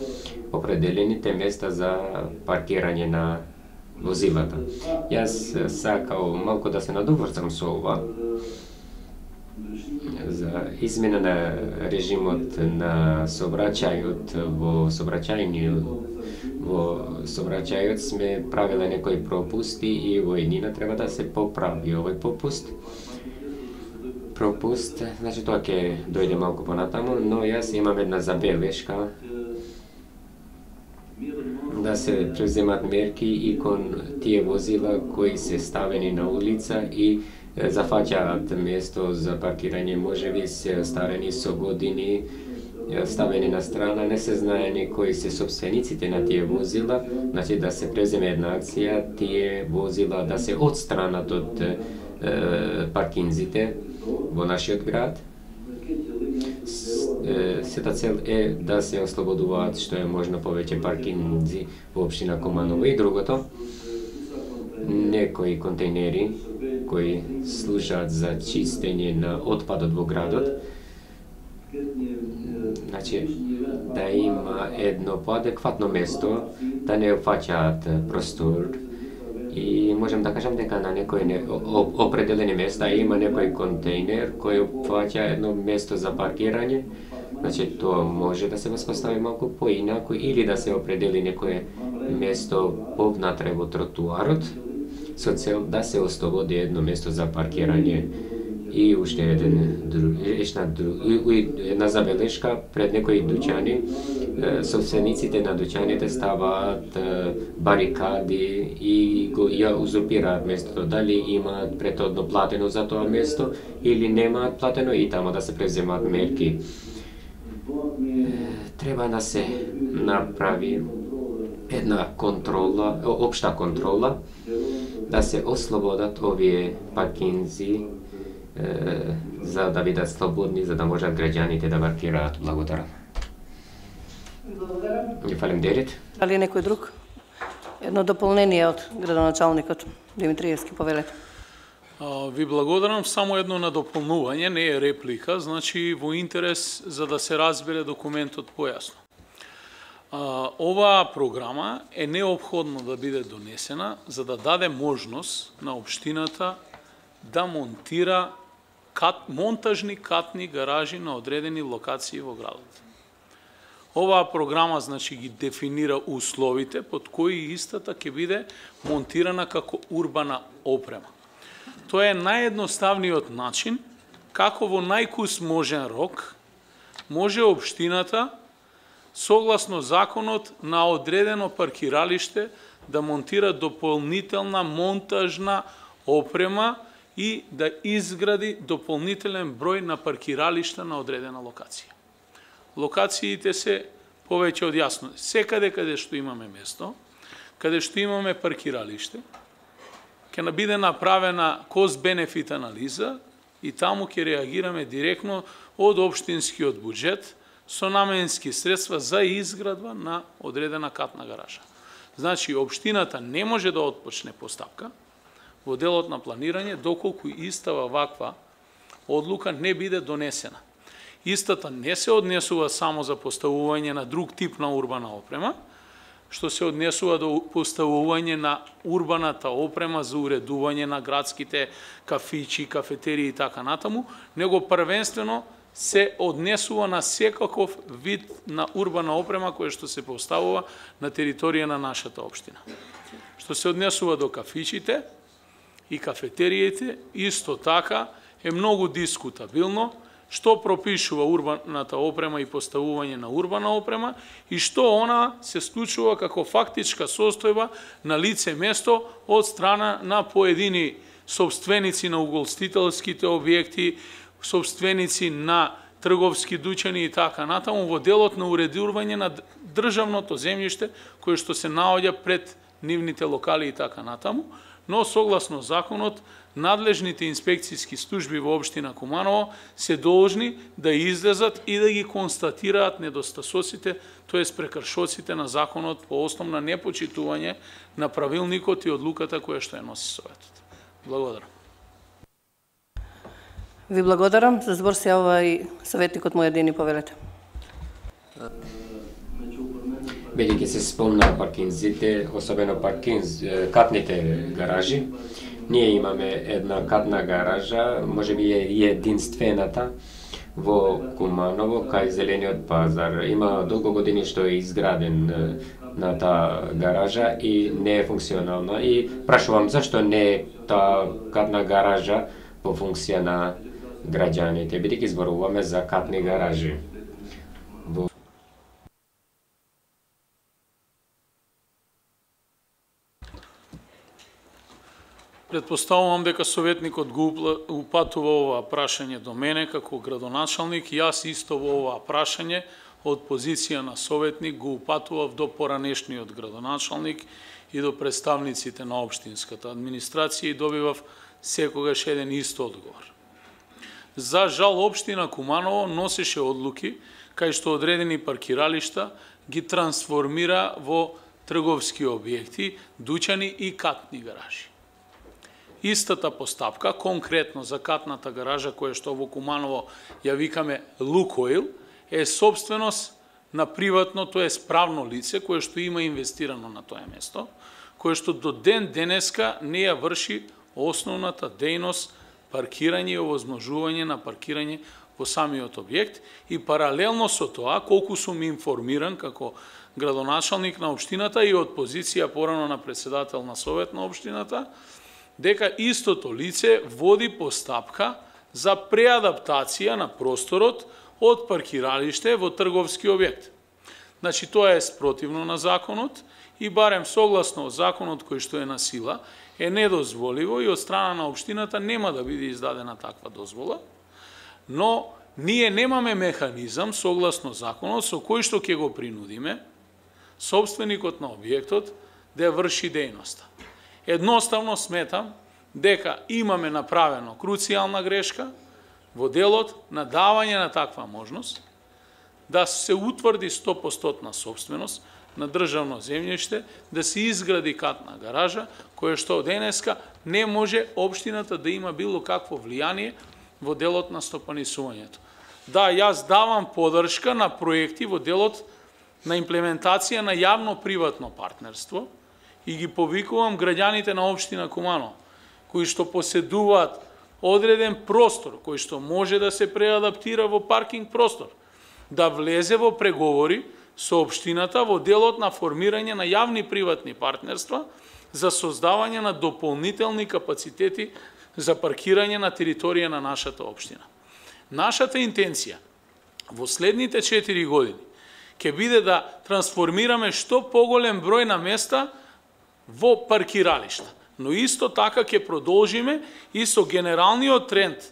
C: определените места за паркирање на возилата. Јас сакал малку да се надоврзам со ова за измена на режимот на сообраќајот во сообраќајниот во сообраќајот сме правиле некои пропусти и во еднина треба да се поправи овој пропуст. Пропуст, значи тоа ќе дојде малку понатаму, но јас имам една забелешка да се преземат мерки и кон тие возила кои се ставени на улица и зафаќаат место за паркирање, можеби се старени со години, ставени на страна, не се знаени кои се собствениците на тие возила, значи да се преземе една акција, тие возила да се отстранат од е, паркинзите во нашиот град. Сета цел е да се ослободуваат што е можно повеќе паркинзи во општина Куманово. И другото, некои контейнери кои служат за чистење на отпадот во градот, значи да има едно поадекватно место, да не опфаќаат простор. И можем да кажам дека на некои не, определени места има некој контейнер кој опфаќа едно место за паркирање. Значи тоа може да се воспостави малку поинаку или да се определи некое место повнатре во тротуарот со цел да се ослободи едно место за паркирање. И уште еден една, една забелешка пред некои дуќани, собствениците на дуќаните ставаат барикади и го ја узурпираат местото. Дали имаат претhodно платено за тоа место или немаат платено и тамо да се преземат мерки. Треба да се направи една контрола, општа контрола, да се ослободат овие паркинзи за да бидат слободни, за да можат граѓаните да паркираат. Благодарам. Ни фалим Дерит.
A: Дали некој друг? Едно дополнение од градоначалникот Димитриевски, повелете.
I: Ви благодарам, само едно надополнување, не е реплика, значи во интерес за да се разбере документот појасно. Оваа програма е неопходно да биде донесена за да даде можност на општината да монтира кат, монтажни катни гаражи на одредени локации во градот. Оваа програма значи ги дефинира условите под кои истата ќе биде монтирана како урбана опрема. Тоа е наједноставниот начин како во најкус можен рок може општината согласно законот на одредено паркиралиште да монтира дополнителна монтажна опрема и да изгради дополнителен број на паркиралишта на одредена локација. Локациите се повеќе од јасно. Секаде каде што имаме место, каде што имаме паркиралиште, ќе биде направена кост-бенефит анализа и таму ќе реагираме директно од општинскиот буџет со наменски средства за изградба на одредена катна гаража. Значи, општината не може да отпочне постапка во делот на планирање доколку истава ваква одлука не биде донесена. Истата не се однесува само за поставување на друг тип на урбана опрема, што се однесува до поставување на урбаната опрема за уредување на градските кафичи, кафетерии и така натаму, него првенствено се однесува на секаков вид на урбана опрема која што се поставува на територија на нашата општина. Што се однесува до кафичите и кафетериите, исто така е многу дискутабилно што пропишува урбаната опрема и поставување на урбана опрема и што она се случува како фактичка состојба на лице место од страна на поедини собственици на угостителските објекти, собственици на трговски дуќани и така натаму во делот на уредување на државното земјиште кое што се наоѓа пред нивните локали и така натаму, но согласно законот надлежните инспекцијски служби во општина Куманово се должни да излезат и да ги констатираат недостасоците, тоест прекршоците на законот по основ на непочитување на правилникот и одлуката која што ја носи Советот. Благодарам.
A: Ви благодарам. За збор се јавува и советникот Муједини, повелете.
C: Бидејќи се спомна паркинзите, особено паркинз, катните гаражи. Ние имаме една катна гаража, можеби е единствената во Куманово, кај Зелениот пазар. Има долго години што е изграден на таа гаража и не е функционална. И прашувам зашто не е таа катна гаража во функција на граѓаните, бидејќи зборуваме за катни гаражи.
I: Предпоставувам дека советникот го упатува ова прашање до мене како градоначалник. Јас исто во ова прашање од позиција на советник го упатував до поранешниот градоначалник и до представниците на општинската администрација и добивав секогаш еден ист одговор. За жал, општина Куманово носеше одлуки кај што одредени паркиралишта ги трансформира во трговски објекти, дуќани и катни гаражи. Истата постапка, конкретно за катната гаража, која што во Куманово ја викаме Лукоил, е собственост на приватно, тоа е правно лице, кое што има инвестирано на тоа место, кое што до ден денеска не ја врши основната дејност паркирање и овозможување на паркирање во самиот објект и паралелно со тоа, колку сум информиран како градоначалник на општината и од позиција порано на председател на совет на општината, дека истото лице води постапка за преадаптација на просторот од паркиралиште во трговски објект. Значи, тоа е спротивно на законот и барем согласно законот кој што е на сила, е недозволиво и од страна на општината нема да биде издадена таква дозвола, но ние немаме механизам согласно законот со кој што ќе го принудиме собственикот на објектот да ја врши дејноста. Едноставно сметам дека имаме направено круцијална грешка во делот на давање на таква можност да се утврди сто проценти собственост на државно земјиште, да се изгради катна гаража, која што денеска не може општината да има било какво влијание во делот на стопанисувањето. Да, јас давам подршка на проекти во делот на имплементација на јавно-приватно партнерство, и ги повикувам граѓаните на општина Куманово, кои што поседуваат одреден простор, кој што може да се преадаптира во паркинг простор, да влезе во преговори со општината во делот на формирање на јавни приватни партнерства за создавање на дополнителни капацитети за паркирање на територија на нашата општина. Нашата интенција во следните четири години ќе биде да трансформираме што поголем број на места во паркиралишта. Но исто така ќе продолжиме и со генералниот тренд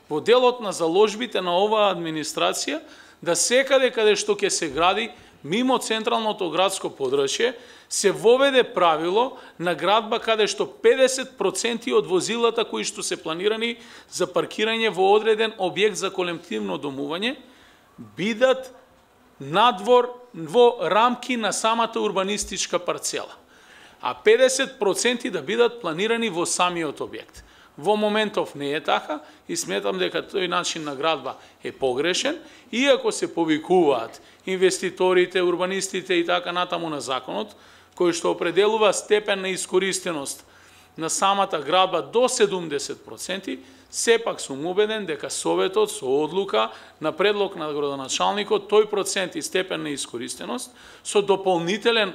I: во делот на заложбите на оваа администрација да секаде каде што ќе се гради мимо централното градско подрачје се воведе правило на градба каде што педесет проценти од возилата кои што се планирани за паркирање во одреден објект за колективно домување бидат надвор во рамки на самата урбанистичка парцела, а педесет проценти да бидат планирани во самиот објект. Во моментов не е така и сметам дека тој начин на градба е погрешен, иако се повикуваат инвеститорите, урбанистите и така натаму на законот, кој што определува степен на искористеност на самата градба до седумдесет проценти, сепак сум убеден дека Советот со одлука на предлог на градоначалникот тој процент и степен на искористеност со дополнителен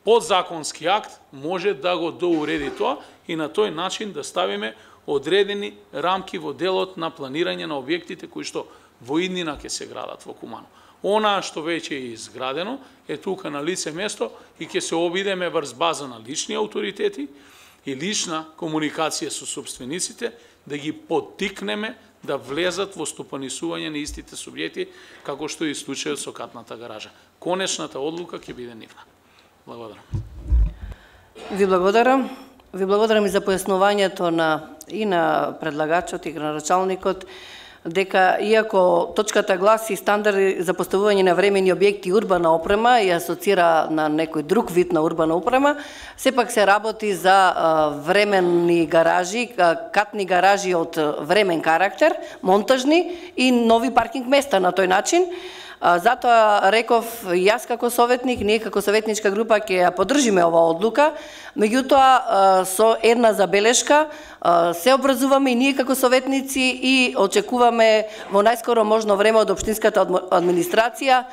I: подзаконски акт може да го доуреди тоа и на тој начин да ставиме одредени рамки во делот на планирање на објектите кои што во иднина ќе се градат во Куманово. Она што веќе е изградено е тука на лице место и ќе се обидеме врз база на лични авторитети и лична комуникација со собствениците да ги поттикнеме да влезат во стопанисување на истите субјекти, како што е и случајот со катната гаража. Конечната одлука ќе биде нивна. Благодарам.
A: Ви благодарам. Ви благодарам и за појаснувањето на и на предлагачот и градоначалникот дека иако точката гласи стандарди за поставување на времени објекти и урбана опрема и асоцира на некој друг вид на урбана опрема, сепак се работи за временни гаражи, катни гаражи од времен карактер, монтажни и нови паркинг места на тој начин. Затоа реков јас како советник, ние како советничка група ќе ја поддржиме оваа одлука, меѓутоа со една забелешка, се образуваме и ние како советници и очекуваме во најскоро можно време од општинската администрација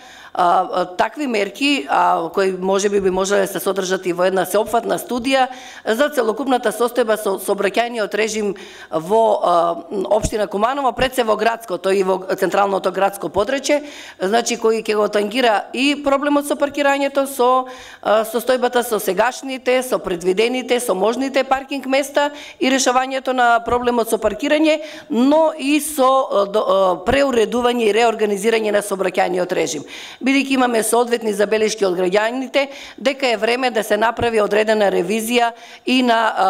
A: такви мерки, а, кои можеби би можеле да се содржат и во една сеопфатна студија за целокупната состојба со сообраќајниот режим во а, општина Куманово, пред се во градското и во централното градско подречје, значи кој ќе го тангира и проблемот со паркирањето, со а, состојбата со сегашните, со предвидените, со можните паркинг места и решавањето на проблемот со паркирање, но и со а, до, а, преуредување и реорганизирање на сообраќајниот режим. Бидејќи имаме соодветни забелешки од граѓаните дека е време да се направи одредена ревизија и на а,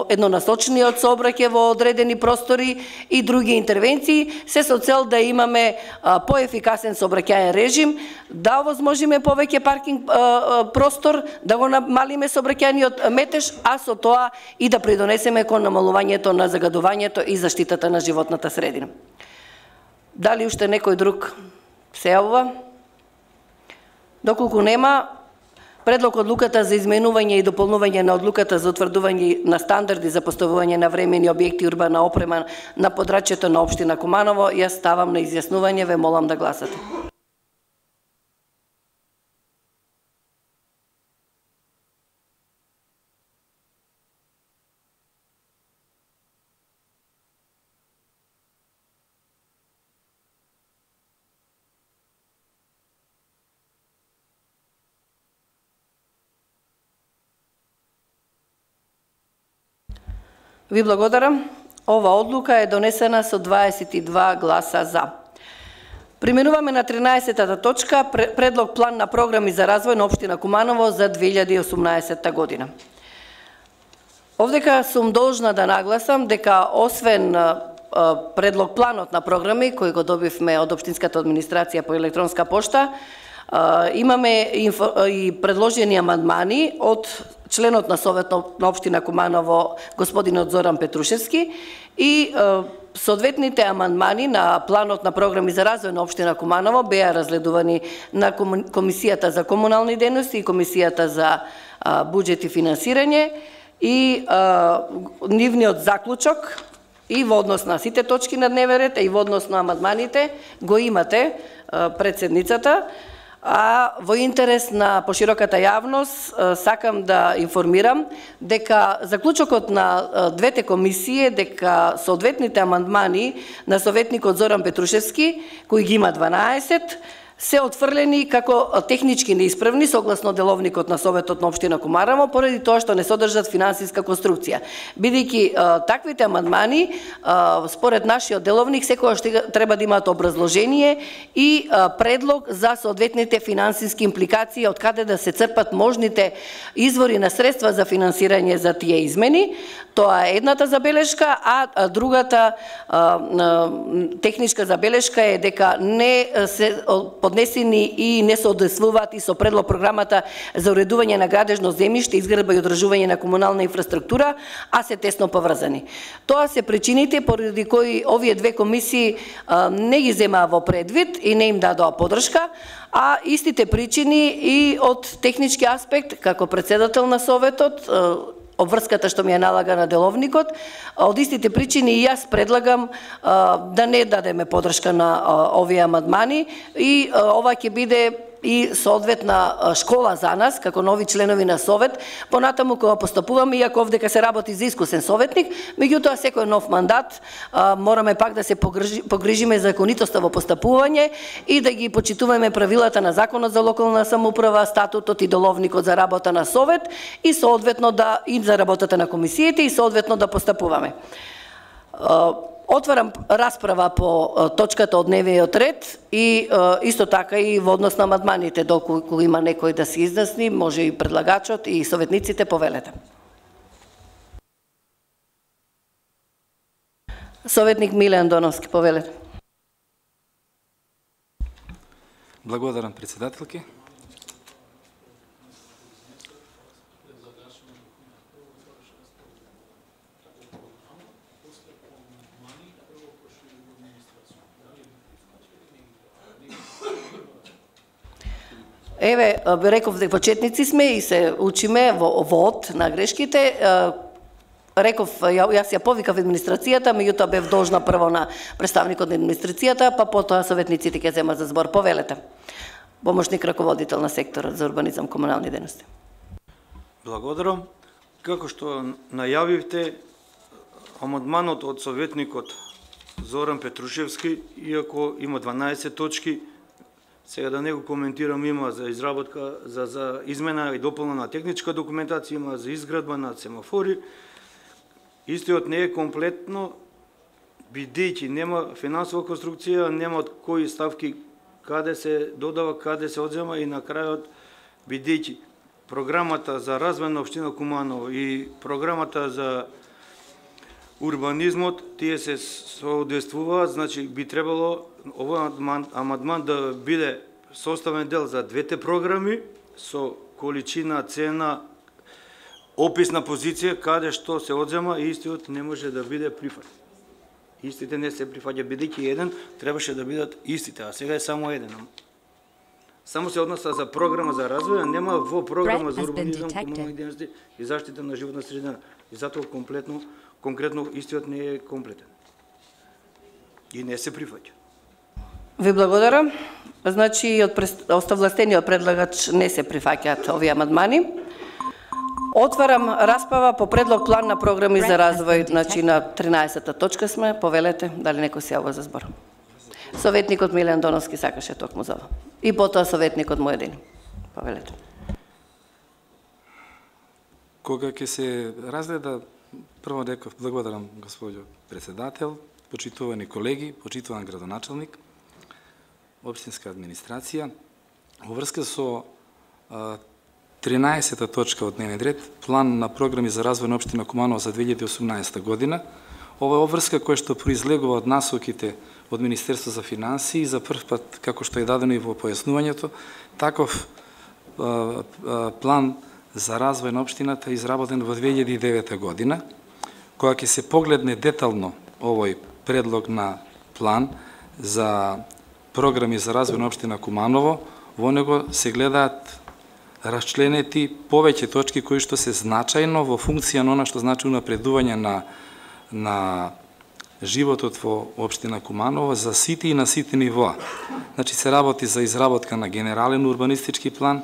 A: еднонасочниот сообраќај во одредени простори и други интервенции, се со цел да имаме а, поефикасен сообраќајен режим, да овозможиме повеќе паркинг а, а, простор, да го намалиме сообраќајниот метеж, а со тоа и да придонесеме кон намалувањето на загадувањето и заштитата на животната средина. Дали уште некој друг се јавува? Доколку нема, предлог одлуката за изменување и дополнување на одлуката за утврдување на стандарди за поставување на времени објекти и урбана опрема на подрачјето на општина Куманово, јас ставам на изјаснување, ве молам да гласате. Ви благодарам. Ова одлука е донесена со дваесет и два гласа за. Преминуваме на тринаесеттата точка, предлог план на програми за развој на општина Куманово за две илјади и осумнаесетта година. Овдека сум должна да нагласам дека освен предлог планот на програми кој го добивме од општинската администрација по електронска пошта, имаме и предложени амандмани од членот на Совет на општина Куманово господинот Зоран Петрушевски и соодветните амандмани на планот на програми за развој на општина Куманово беа разгледувани на Комисијата за комунални дејности и Комисијата за буџет и финансирање и нивниот заклучок и во однос на сите точки на дневен ред и во однос на амандманите го имате пред седницата. А во интерес на пошироката јавност сакам да информирам дека заклучокот на двете комисии дека соодветните амандмани на советникот Зоран Петрушевски, кои ги има дванаесет, се отфрлени како технички неисправни согласно деловникот на Советот на општина Куманово, поради тоа што не содржат финансиска конструкција. Бидејќи таквите амандмани, според нашиот деловник, секогаш треба да имаат образложение и предлог за соодветните финансиски импликации, од каде да се црпат можните извори на средства за финансирање за тие измени. Тоа е едната забелешка, а другата техничка забелешка е дека не се поднесени и не се одесвуваат и со предлог програмата за уредување на градежно земјиште, изградба и одржување на комунална инфраструктура, а се тесно поврзани. Тоа се причините поради кои овие две комисии а, не ги земаа во предвид и не им дадоа поддршка, а истите причини и од технички аспект, како председател на Советот, обврската што ми е налага на деловникот, од истите причини и јас предлагам а, да не дадеме поддршка на а, овие амандмани и а, ова ќе биде и соодветна школа за нас, како нови членови на Совет, понатаму кога постапуваме, иако овдека се работи за искусен советник, меѓутоа секој нов мандат а, мораме пак да се погрижи, погрижиме за законитоста во постапување и да ги почитуваме правилата на Законот за локална самоуправа, статутот и деловникот за работа на Совет и соодветно да и за работата на комисиите и соодветно да постапуваме. А, Отварам расправа по точката од дневниот ред и исто така и во однос на амандманите, доколку има некој да се изнесни, може и предлагачот и советниците, повелете. Советник Милен Доновски, повелете.
J: Благодарам, председателки.
A: еве, реков дека почетници сме и се учиме во вод на грешките. Реков, јас ја повикав администрацијата, меѓутоа бев должна прво на представникот на администрацијата, па потоа советниците ќе земат за збор. Повелете. Помошник раководител на секторот за урбанизам, комунални дејности.
H: Благодарам. Како што најавивте, амандманот од советникот Зоран Петрушевски, иако има дванаесет точки, сега да не го коментирам, има за изработка, за, за измена и дополна на техничка документација, има за изградба на семафори. Истиот не е комплетно, бидејќи нема финансова конструкција, нема од кои ставки каде се додава, каде се одзема и на крајот, бидејќи програмата за развој на општина Куманово и програмата за урбанизмот, тие се соодействуваат, значи би требало овој амандман да биде составен дел за двете програми со количина, цена, описна позиција каде што се одзема и истиот не може да биде прифатен. Истите не се прифаќа, бидејќи еден требаше да бидат истите, а сега е само еден. Само се односа за програма за развој, а нема во програма за урбанизам, комунални дејности и заштита на животна средина. И затоа комплетно, конкретно истиот не е комплетен. И не се прифаќа.
A: Ви благодарам. Значи, од оставластениот предлагач не се прифаќаат овие амандмани. Отварам расправа по предлог план на програми за развој, значи на тринаесета точка сме. Повелете, дали некој се јавува за збор? Советникот Милен Доновски сакаше токму за ова. И потоа советникот Моједин. Повелете.
J: Кога ќе се разгледа, прво реков, благодарам господјо председател, почитувани колеги, почитуван градоначалник, општинска администрација, во врска со а, тринаесета точка од дневен ред, план на програми за развој на општина Куманово за две илјади и осумнаесета година. Ова е обврска која што произлегува од насоките од Министерство за финансии, за прв пат, како што е дадено и во појаснувањето, таков а, а, план за развој на општината изработен во две илјади и девета година, кога ќе се погледне детално овој предлог на план за програми за развој на општина Куманово, во него се гледаат расчленети повеќе точки кои што се значајно во функција на она што значи унапредување на на животот во општина Куманово за сите и на сите нивоа. Значи се работи за изработка на генерален урбанистички план,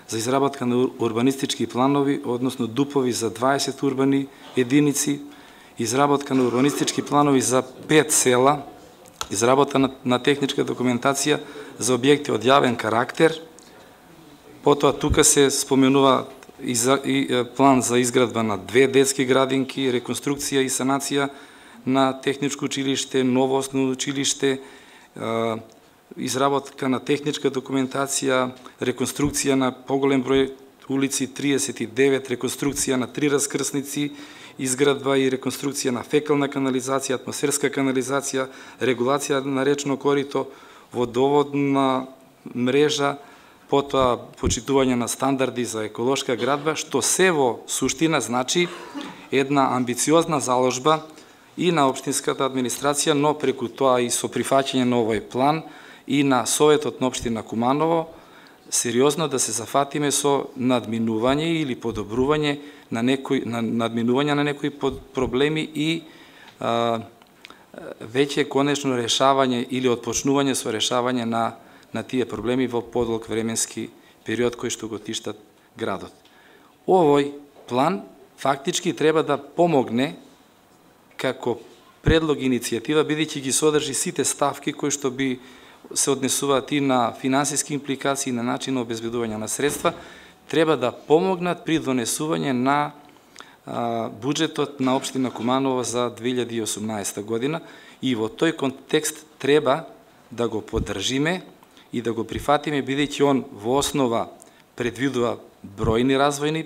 J: за изработка на урбанистички планови, односно дупови за дваесет урбани единици, изработка на урбанистички планови за пет села, изработка на, на техничка документација за објекти од јавен карактер. Потоа тука се споменува и, за, и план за изградба на две детски градинки, реконструкција и санација на техничко училиште, ново основно училиште, изработка на техничка документација, реконструкција на поголем број улици, триесет и девет, реконструкција на три раскрсници, изградба и реконструкција на фекална канализација, атмосферска канализација, регулација на речно корито, водоводна мрежа, потоа почитување на стандарди за еколошка градба, што се во суштина значи една амбициозна заложба и на општинската администрација, но преку тоа и со прифаќање на овој план и на Советот на општина Куманово, сериозно да се зафатиме со надминување или подобрување на некои на надминување на некои проблеми и а, веќе конечно решавање или отпочнување со решавање на на тие проблеми во подолг временски период кој што го тиштат градот. Овој план фактички треба да помогне како предлог иницијатива, бидејќи ги содржи сите ставки кои што би се однесуваат и на финансиски импликации, на начин на обезбедување на средства, треба да помогнат при донесување на а, буџетот на општина Куманово за две илјади и осумнаесета година и во тој контекст треба да го поддржиме и да го прифатиме, бидејќи он во основа предвидува бројни развојни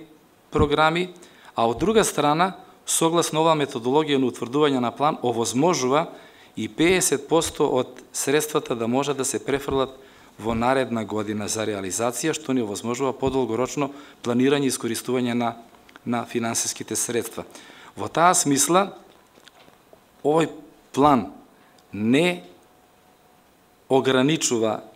J: програми, а од друга страна, согласно оваа методологија на утврдување на план, овозможува и педесет проценти од средствата да може да се префрлат во наредна година за реализација, што ни овозможува подолгорочно планирање и искористување на, на финансиските средства. Во таа смисла, овој план не ограничува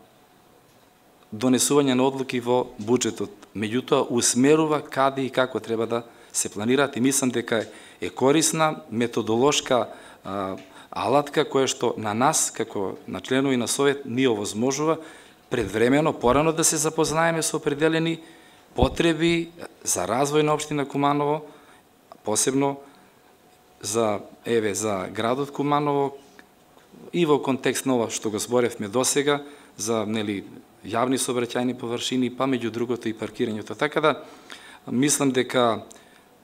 J: донесување на одлуки во буџетот. Меѓутоа, усмерува каде и како треба да се планираат и мислам дека е корисна методолошка а, алатка која што на нас, како на членови на Совет, ни овозможува предвремено, порано да се запознаеме со определени потреби за развој на општина Куманово, посебно за, еве, за градот Куманово и во контекст на ова што го зборевме досега, за нели јавни сообраќајни површини, па меѓу другото и паркирањето. Така да, мислам дека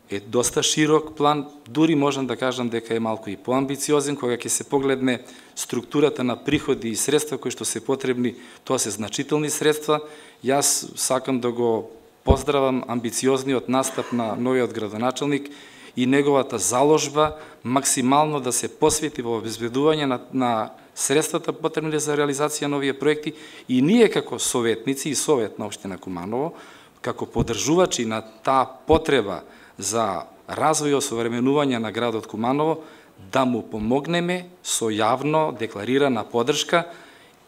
J: е доста широк план, дури можам да кажам дека е малку и поамбициозен, кога ќе се погледне структурата на приходи и средства кои што се потребни, тоа се значителни средства. Јас сакам да го поздравам амбициозниот настап на новиот градоначалник и неговата заложба максимално да се посвети во обезбедување на, на средствата потребни за реализација на овие проекти и ние како советници и Совет на општина Куманово, како поддржувачи на таа потреба за развој и осовременување на градот Куманово, да му помогнеме со јавно декларирана поддршка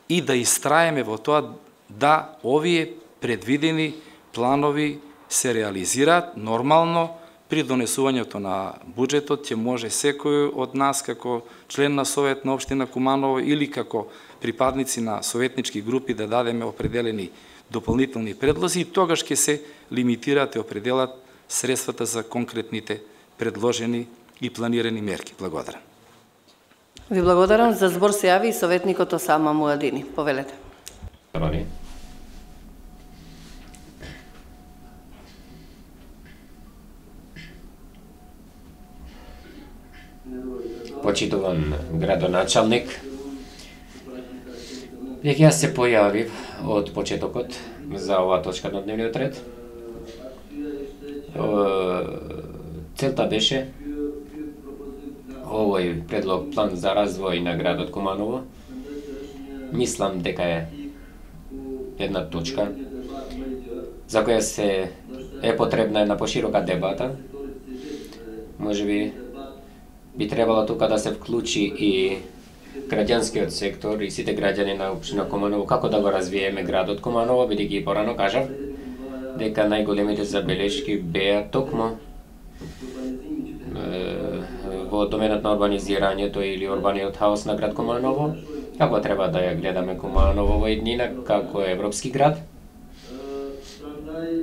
J: и да истраеме во тоа да овие предвидени планови се реализираат нормално. При донесувањето на буџетот ќе може секој од нас како член на Совет на општина Куманово или како припадници на советнички групи да дадеме определени дополнителни предлози и тогаш ќе се лимитираат и определат средствата за конкретните предложени и планирани мерки. Благодарам.
A: Ви благодарам. За збор се јави и советникот Осама Муадини. Повелете.
C: Почитуван градоначалник, веќе јас се појавив од почетокот за оваа точка на дневниот ред. Целта беше овој предлог план за развој на градот Куманово. Мислам дека е една точка за која се е потребна една поширока дебата. Можеби би требало тука да се вклучи и граѓанскиот сектор и сите граѓани на општина Куманово, како да го развиеме градот Куманово, бидејќи и порано кажав дека најголемите забелешки беа токму во доменот на урбанизирањето или урбаниот хаос на град Куманово, како треба да ја гледаме Куманово во еднина како европски град.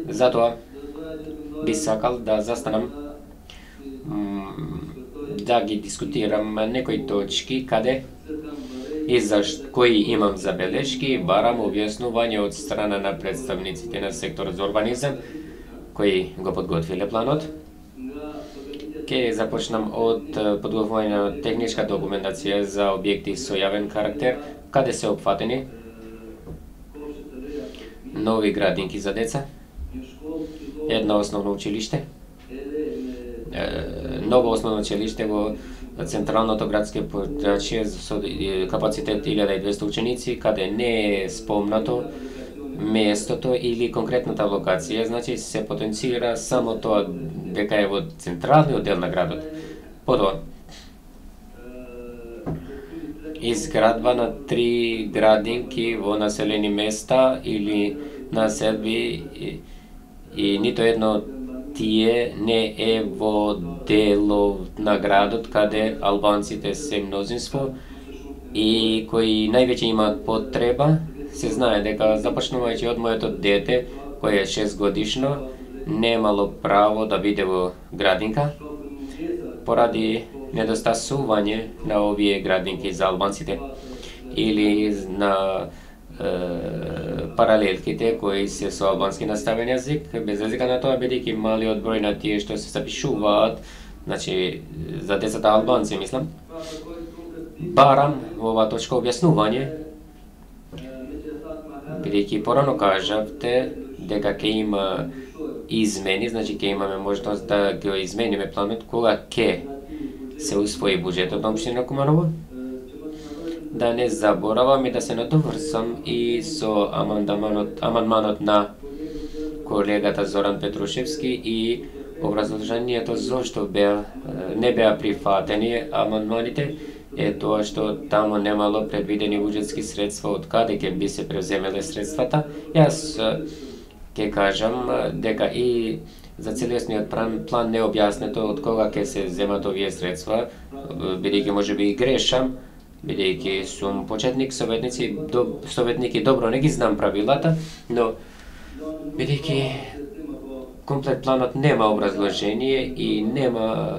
C: Затоа би сакал да застанам да ги дискутирам некои точки каде и за кои имам забелешки и барам објаснување од страна на представниците на секторот за урбанизам кои го подготвиле планот. Ке започнам од подготвување на техничка документација за објекти со јавен карактер, каде се опфатени нови градинки за деца, едно основно училиште, ново основно училиште во централното градско подрачје со капацитет илјада и двесте ученици, каде не е спомнато местото или конкретната локација, значи се потенцира само тоа дека е во централниот дел на градот. Потоа, изградба на три градинки во населени места или населби и, и нито едно тие не е во делот на градот каде албанците се мнозинство и кои највеќе имаат потреба. Се знае дека започнувајќи од моето дете, кој е шест годишно, немало право да биде во градинка поради недостасување на овие градинки за албанците или на е, паралелките кои се со албански наставен јазик, без разлика на тоа бидејќи малиот број на тие што се запишуваат, значи за децата албанци мислам, барам во оваа точка објаснување, бидејќи порано кажавте дека ќе има измени, значи ќе имаме можност да го измениме планот кога ќе се усвои буџетот на општина Куманово. Да не заборавам и да се надоврзам и со амандманот, амандманот на колегата Зоран Петрушевски и образложението зошто беа, не беа прифатени амандманите. е тоа што таму немало предвидени буџетски средства од каде ќе би се превземеле средствата. Јас ќе кажам дека и за целесниот план, план не објаснето од кога ќе се земат овие средства, бидејќи можеби и грешам, бидејќи сум почетник советници, до, советник и добро не ги знам правилата, но бидејќи комплет планот нема образложение и нема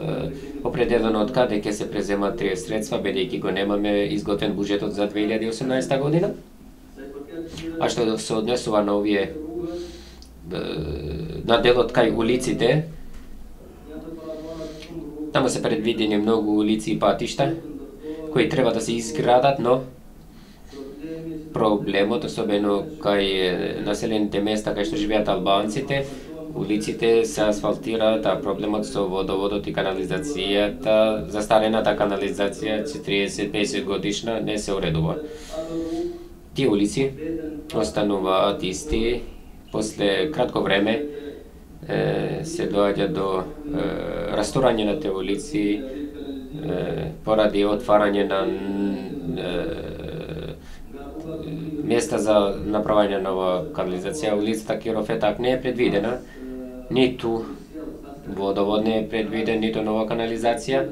C: определено од каде ќе се преземат тие средства, бидејќи го немаме изготвен буџетот за две илјади и осумнаесета година. А што се однесува на овие на делот кај улиците, таму се предвидени многу улици и патишта кои треба да се изградат, но проблемот, особено кај населените места кај што живеат албанците, улиците се асфалтираат, а проблемот со водоводот и канализацијата, застарената канализација четириесет песет годишна не се уредува. Тие улици остануваат исти, после кратко време е, се доаѓа до е, расторање на тие улици е, поради отварање на е, места за направање нова канализација. Улицата Киров Етак не е предвидена, ниту водовод не е предвиден, ниту нова канализација,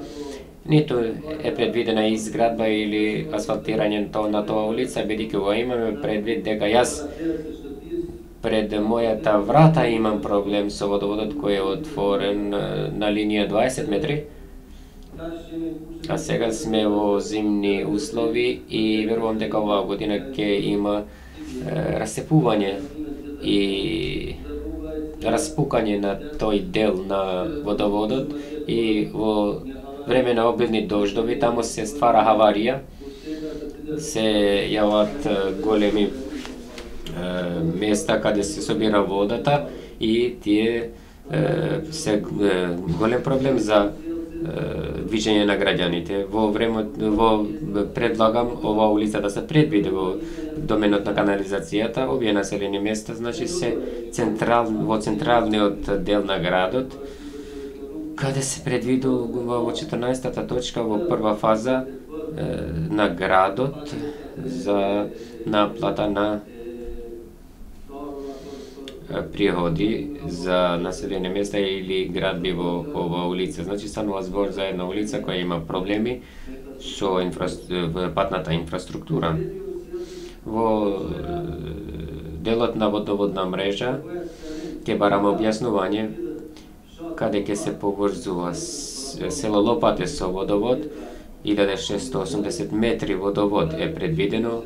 C: ниту е предвидена изградба или асфалтирање на тоа улица, бидејќи го имаме предвид дека јас пред мојата врата имам проблем со водоводот кој е отворен на линија дваесет метри. А сега сме во зимни услови и верувам дека оваа година ќе има е, расцепување и распукање на тој дел на водоводот и во време на обилни дождови таму се ствара аварија, се јават големи места каде се собира водата и тие е, се е, голем проблем за е, движење на граѓаните. Во време во предлагам ова улица да се предвиди во доменот на канализацијата, овие населени места, значи се централ во централниот дел на градот, каде се предвидува во четрнаесетата точка во прва фаза е, на градот за наплата на приходи за населени места или градби во оваа улица. Значи станува збор за една улица која има проблеми со инфра... патната инфраструктура. Во делот на водоводна мрежа ќе бараме објаснување каде ќе се поврзува село Лопате со водовод, илјада шестстотини и осумдесет метри водовод е предвидено,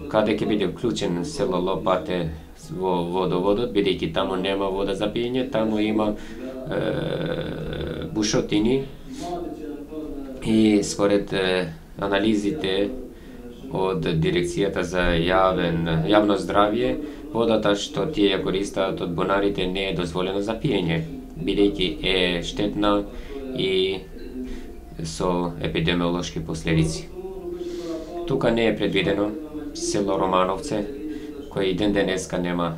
C: каде ќе биде вклучен село Лопате во водоводот, бидејќи таму нема вода за пиење, таму има е, бушотини и според е, анализите од дирекцијата за јавен јавно здравје, водата што тие ја користат од бунарите не е дозволена за пиење, бидејќи е штетна и со епидемиолошки последици. Тука не е предвидено село Романовце, кој и ден денеска нема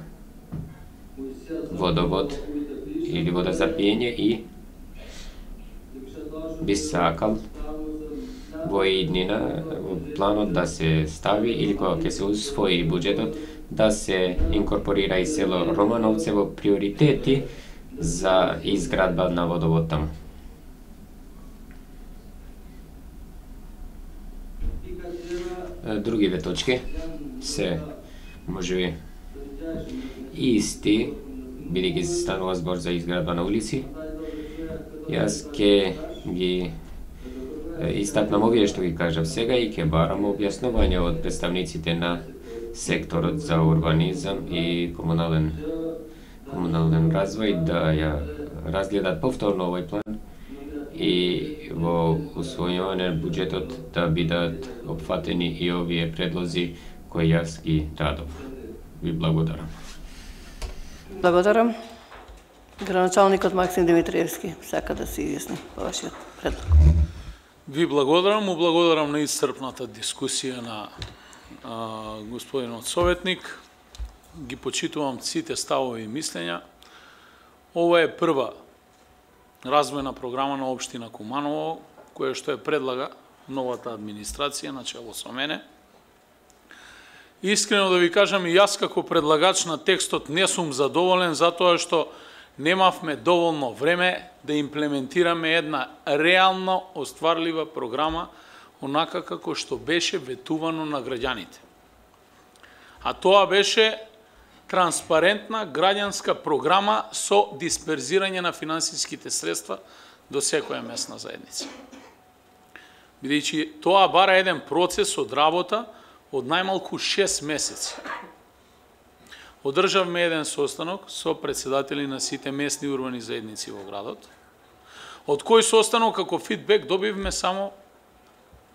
C: водовод или вода за пиење и би сакал во иднина планот да се стави или кога ќе се усвои буџетот да се инкорпорира и село Романовце во приоритети за изградба на водовод таму. Другиве точки се можеби исти, бидејќи се станува збор за изградба на улици. Јас ќе ги истакнам овие што ги кажав сега и ќе барам објаснување од представниците на секторот за урбанизам и комунален комунален развој да ја разгледат повторно овој план и во усвојување на буџетот да бидат опфатени и овие предлози кои јас ги дадов. Ви благодарам.
A: Благодарам. Граначалникот Максим Димитриевски сака да се изјасни по вашиот предлог.
I: Ви благодарам, му благодарам на исцрпната дискусија на а, господинот советник. Ги почитувам сите ставови и мислења. Ова е прва развојна програма на општина Куманово, која што ја предлага новата администрација начело со мене. Искрено да ви кажам, и јас како предлагач на текстот не сум задоволен затоа што немавме доволно време да имплементираме една реално остварлива програма онака како што беше ветувано на граѓаните. А тоа беше транспарентна граѓанска програма со дисперзирање на финансиските средства до секоја местна заедница. Бидејќи тоа бара еден процес од работа од најмалку шест месеци. Одржавме еден состанок со председатели на сите местни урбани заедници во градот, од кој состанок како фидбек добивме само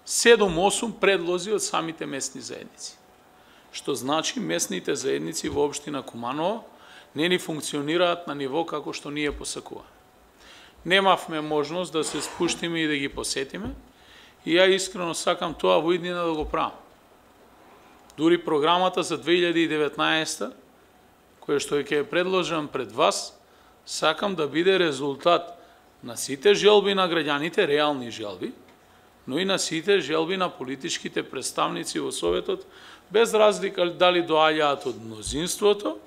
I: седум-осум предлози од самите местни заедници. Што значи местните заедници во општина Куманово не ни функционираат на ниво како што ние посакуваме. Немавме можност да се спуштиме и да ги посетиме, и ја искрено сакам тоа во иднина да го правам. Дури програмата за две илјади и деветнаесета, која што ќе предложам пред вас, сакам да биде резултат на сите желби на граѓаните, реални желби, но и на сите желби на политичките представници во Советот, без разлика дали доаѓаат од мнозинството,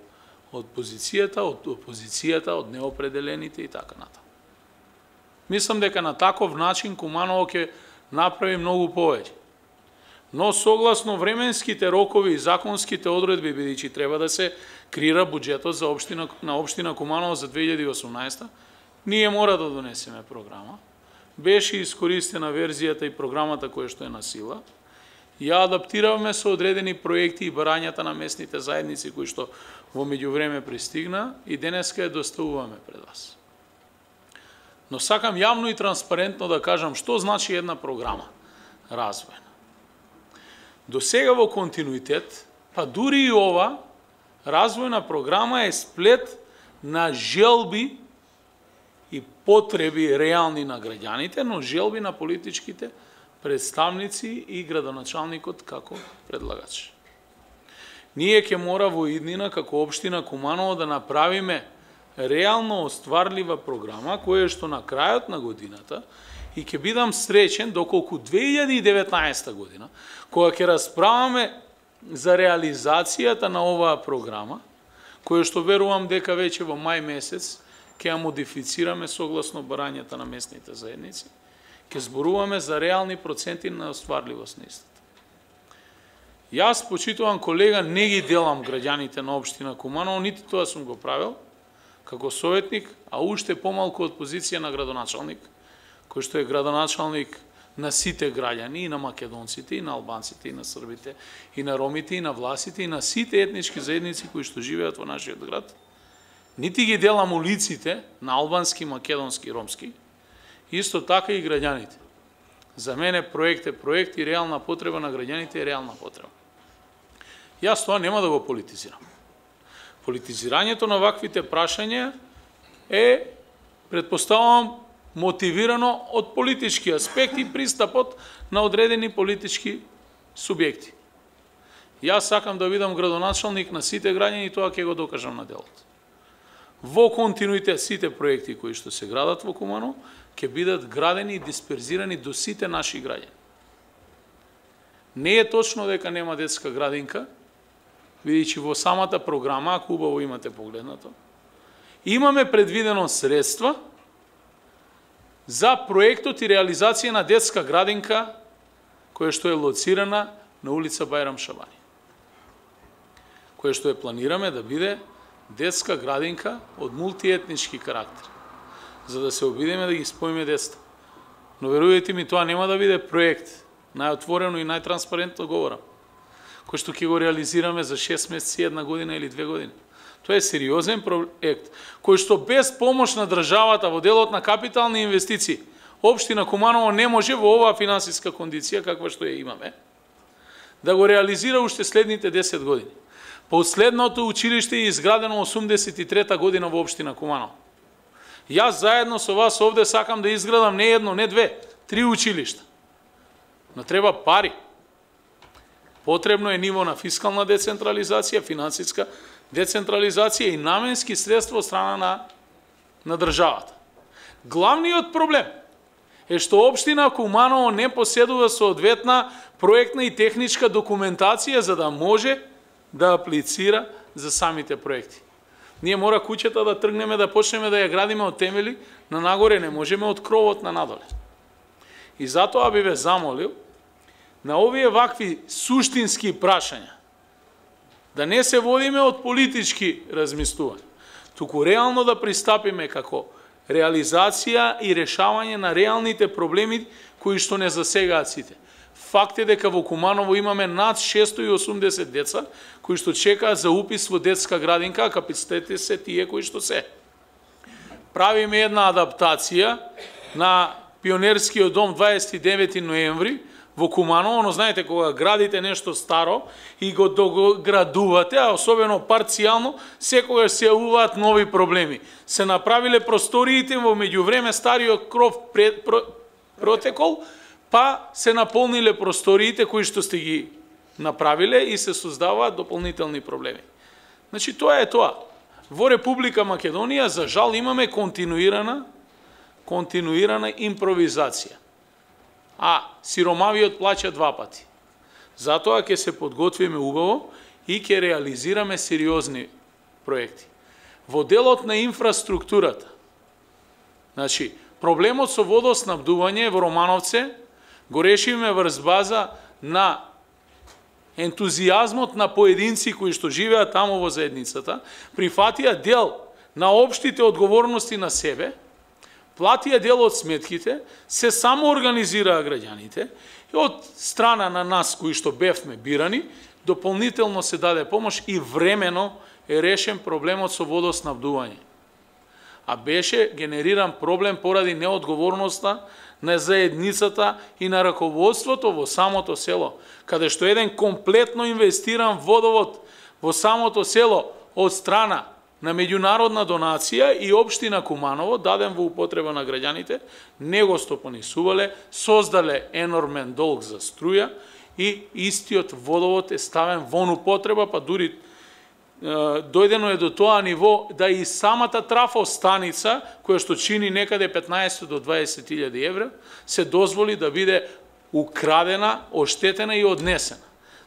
I: од позицијата, од опозицијата, од неопределените и така натаму. Мислам дека на таков начин Куманово ќе направи многу повеќе. Но согласно временските рокови и законските одредби, бидејќи треба да се креира буџетот за општина на општина Куманово за две илјади и осумнаесета, ние мора да донесеме програма. Беше искористена верзијата и програмата која што е на сила. Ја адаптиравме со одредени проекти и барањата на местните заедници кои што во меѓувреме пристигна и денеска ја доставуваме пред вас. Но сакам јавно и транспарентно да кажам што значи една програма развојна. До сега во континуитет, па дури и ова, развојна програма е сплет на желби и потреби реални на граѓаните, но желби на политичките представници и градоначалникот како предлагач. Ние ќе мора во иднина како општина Куманово да направиме реално остварлива програма која што на крајот на годината, и ќе бидам среќен доколку две илјади и деветнаесета година, кога ќе расправаме за реализацијата на оваа програма, која што верувам дека веќе во мај месец ќе ја модифицираме согласно барањата на местните заедници, ќе зборуваме за реални проценти на остварливост на истата. Јас, почитуван колега, не ги делам граѓаните на општина Куманово, нити тоа сум го правил како советник, а уште помалку од позиција на градоначалник, кој што е градоначалник на сите граѓани, и на македонците, и на албанците, и на србите, и на ромите, и на власите, и на сите етнички заедници кои што живеат во нашиот град. Нити ги делам улиците на албански, македонски, ромски, исто така и граѓаните. За мене проект е проект и реална потреба на граѓаните е реална потреба. Јас тоа нема да го политизирам. Политизирањето на ваквите прашања е, предпоставувам, мотивирано од политички аспект и пристапот на одредени политички субјекти. Јас сакам да бидам градоначалник на сите граѓани и тоа ќе го докажам на делот. Во континуитет сите проекти кои што се градат во Куманово ќе бидат градени и дисперзирани до сите наши граѓани. Не е точно дека нема детска градинка, бидејќи во самата програма, ако убаво имате погледнато, имаме предвидено средства за проектот и реализација на детска градинка која што е лоцирана на улица Бајрам Шабани. Која што е планираме да биде детска градинка од мултиетнички карактер, за да се обидеме да ги споиме децата. Но верувајте ми, тоа нема да биде проект, најотворено и најтранспарентно говорам, кој што ќе го реализираме за шест месеци, една година или две години. Тоа е сериозен проект, кој што без помош на државата во делот на капитални инвестиции, општина Куманово не може во оваа финансиска кондиција, каква што ја имаме, да го реализира уште следните десет години. Последното училиште е изградено осумдесет и трета година во општина Куманово. Јас заедно со вас овде сакам да изградам не едно, не две, три училишта. Но треба пари. Потребно е ниво на фискална децентрализација, финансиска децентрализација и наменски средства од страна на, на државата. Главниот проблем е што општина Куманово не поседува соодветна проектна и техничка документација за да може да аплицира за самите проекти. Ние мора куќата да тргнеме да почнеме да ја градиме од темели на нагоре, не можеме од кровот на надоле. И затоа би ве замолил на овие вакви суштински прашања да не се водиме од политички размислувања, туку реално да пристапиме како реализација и решавање на реалните проблеми кои што не засегаат сите. Факт е дека во Куманово имаме над шесто и осумдесет деца кои што чекаат за упис во детска градинка, а капацитетите се тие кои што се. Правиме една адаптација на Пионерскиот дом дваесет и девети ноември во Куманово, но знаете кога градите нешто старо и го доградувате, а особено парцијално, секогаш се јавуваат нови проблеми. Се направиле просториите во меѓувреме стариот кров пред, про, протекол, па се наполниле просториите кои што сте ги направиле и се создаваат дополнителни проблеми. Значи тоа е тоа. Во Република Македонија за жал имаме континуирана континуирана импровизација. А сиромавиот плаќа два пати. Затоа ќе се подготвиме убаво и ќе реализираме сериозни проекти. Во делот на инфраструктурата, значи, проблемот со водоснабдување во Романовце го решиме врз база на ентузијазмот на поединци кои што живеат таму во заедницата, прифатија дел на општите одговорности на себе, платија дел од сметките, се само организираа граѓаните и од страна на нас кои што бевме бирани, дополнително се даде помош и времено е решен проблемот со водоснабдување. А беше генериран проблем поради неодговорноста на заедницата и на раководството во самото село, каде што еден комплетно инвестиран водовод во самото село од страна на меѓународна донација и општина Куманово, даден во употреба на граѓаните, не го стопанисувале, создале енормен долг за струја и истиот водовод е ставен во употреба, па дури е, дојдено е до тоа ниво да и самата трафостаница, која што чини некаде петнаесет до дваесет илјади евра, се дозволи да биде украдена, оштетена и однесена.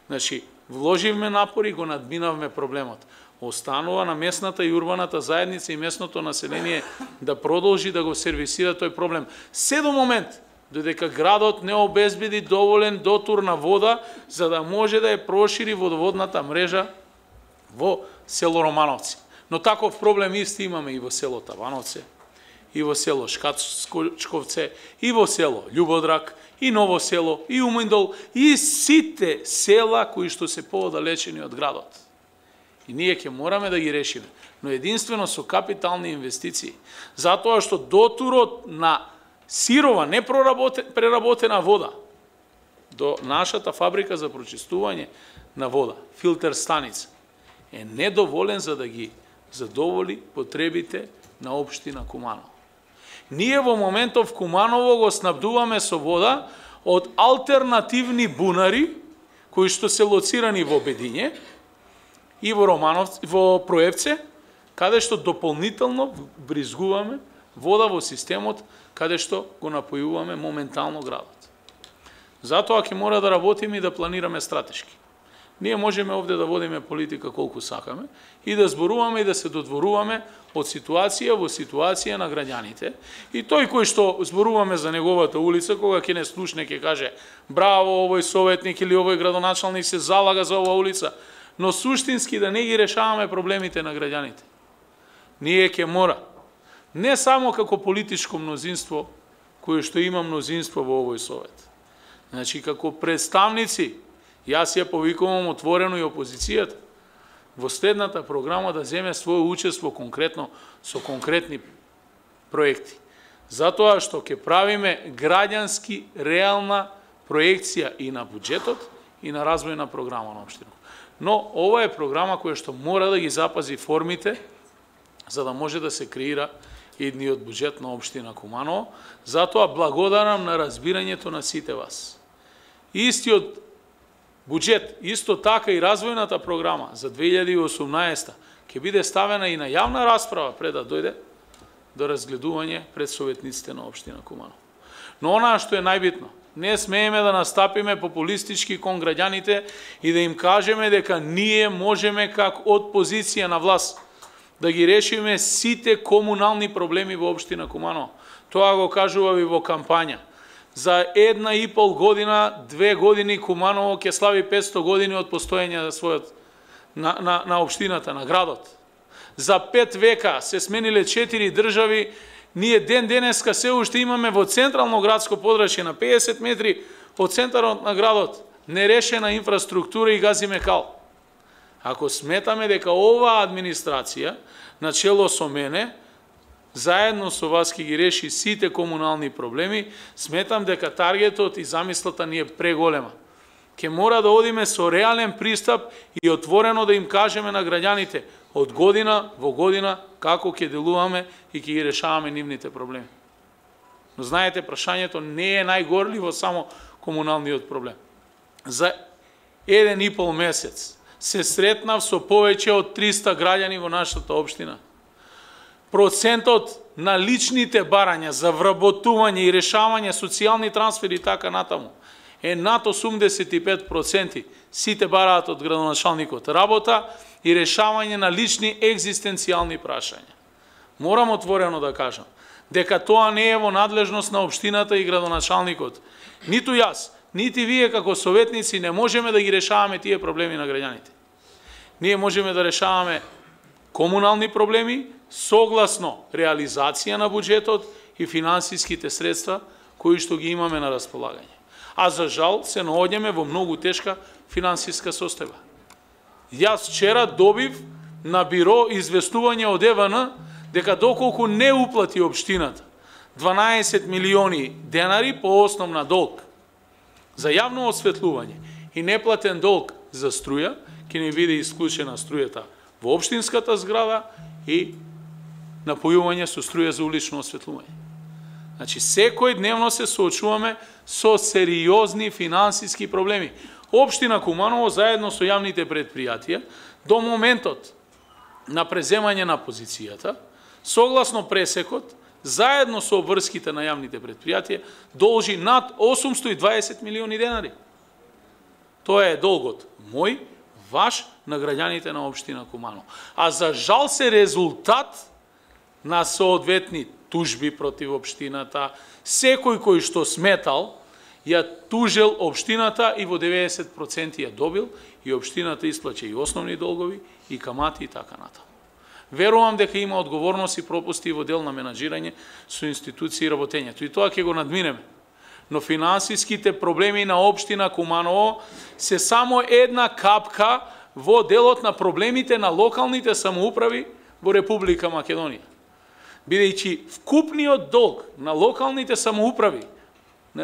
I: Значи, вложивме напори и го надминавме проблемот. Останува на местната и урбаната заедница и местното население да продолжи да го сервисира тој проблем. Се до момент, додека градот не обезбеди доволен дотур на вода, за да може да ја прошири водоводната мрежа во село Романовци. Но таков проблем исти имаме и во село Тавановце, и во село Шкачковце, и во село Љубодрак, и Ново село, и Уминдол, и сите села кои што се поодалечени од градот. И ние ќе мораме да ги решиме, но единствено со капитални инвестиции. Затоа што дотурот на сирова, непреработена вода до нашата фабрика за прочистување на вода, филтер станица, е недоволен за да ги задоволи потребите на општина Куманово. Ние во моментов Куманово го снабдуваме со вода од алтернативни бунари, кои што се лоцирани во Бедиње, и во Романовци, во Проевце, каде што дополнително бризгуваме вода во системот, каде што го напојуваме моментално градот. Затоа ќе мора да работиме и да планираме стратешки. Ние можеме овде да водиме политика колку сакаме и да зборуваме и да се додворуваме од ситуација во ситуација на граѓаните. И тој кој што зборуваме за неговата улица, кога ќе не слушне, ќе каже браво, овој советник или овој градоначалник се залага за оваа улица, но суштински да не ги решаваме проблемите на граѓаните. Ние ќе мора, не само како политичко мнозинство, кое што има мнозинство во овој совет, значи како представници, јас ја повикувам отворено и опозицијата, во следната програма да земе своје учество конкретно со конкретни проекти. Затоа што ќе правиме граѓански реална проекција и на буџетот и на развојна програма на општината. Но ова е програма која што мора да ги запази формите за да може да се креира идниот буџет на општина Куманово. Затоа благодарам на разбирањето на сите вас. Истиот буџет, исто така и развојната програма за две илјади и осумнаесета ќе биде ставена и на јавна расправа пред да дојде до разгледување пред советниците на општина Куманово. Но онаа што е најбитно, не смееме да настапиме популистички кон граѓаните и да им кажеме дека ние можеме как од позиција на власт да ги решиме сите комунални проблеми во општина Куманово. Тоа го кажува и во кампања. За една и пол година, две години Куманово ќе слави петсто години од постоење за својот на, на, на општината, на градот. За пет века се смениле четири држави, ние ден денеска се уште имаме во централно градско подрачје на педесет метри од центарот на градот нерешена инфраструктура и газиме кал. Ако сметаме дека оваа администрација, начело со мене, заедно со вас ќе ги реши сите комунални проблеми, сметам дека таргетот и замислата ни е преголема. Ке мора да одиме со реален пристап и отворено да им кажеме на граѓаните од година во година како ќе делуваме и ќе ги решаваме нивните проблеми. Но знаете, прашањето не е најгорливо само комуналниот проблем. За еден и пол месец се сретнав со повеќе од триста граѓани во нашата општина. Процентот на личните барања за вработување и решавање социјални трансфери и така натаму е над осумдесет и пет проценти. Сите бараат од градоначалникот работа и решавање на лични екзистенцијални прашања. Морам отворено да кажам дека тоа не е во надлежност на општината и градоначалникот. Ниту јас, нити вие како советници не можеме да ги решаваме тие проблеми на граѓаните. Ние можеме да решаваме комунални проблеми согласно реализација на буџетот и финансиските средства кои што ги имаме на располагање. А за жал се наоѓаме во многу тешка финансиска состојба. Јас вчера добив на биро известување од Е В Н дека доколку не уплати општината дванаесет милиони денари по основна долг за јавно осветлување и неплатен долг за струја, ќе не биде исклучена струјата во општинската зграда и напојување со струја за улично осветлување. Значи, секој дневно се соочуваме со сериозни финансиски проблеми. Општина Куманово заедно со јавните предпријатија до моментот на преземање на позицијата, согласно пресекот, заедно со обврските на јавните предпријатија, должи над осумсто и дваесет милиони денари. Тоа е долгот мој, ваш, на граѓаните на општина Куманово. А за жал се резултат на соодветни тужби против општината, секој кој што сметал, ја тужел општината и во деветдесет проценти ја добил и општината исплаќа и основни долгови, и камати и така натаму. Верувам дека има одговорност и пропусти во дел на менаџирање со институции и работењето. И тоа ќе го надминеме. Но финансиските проблеми на општина Куманово се само една капка во делот на проблемите на локалните самоуправи во Република Македонија. Бидејќи вкупниот долг на локалните самоуправи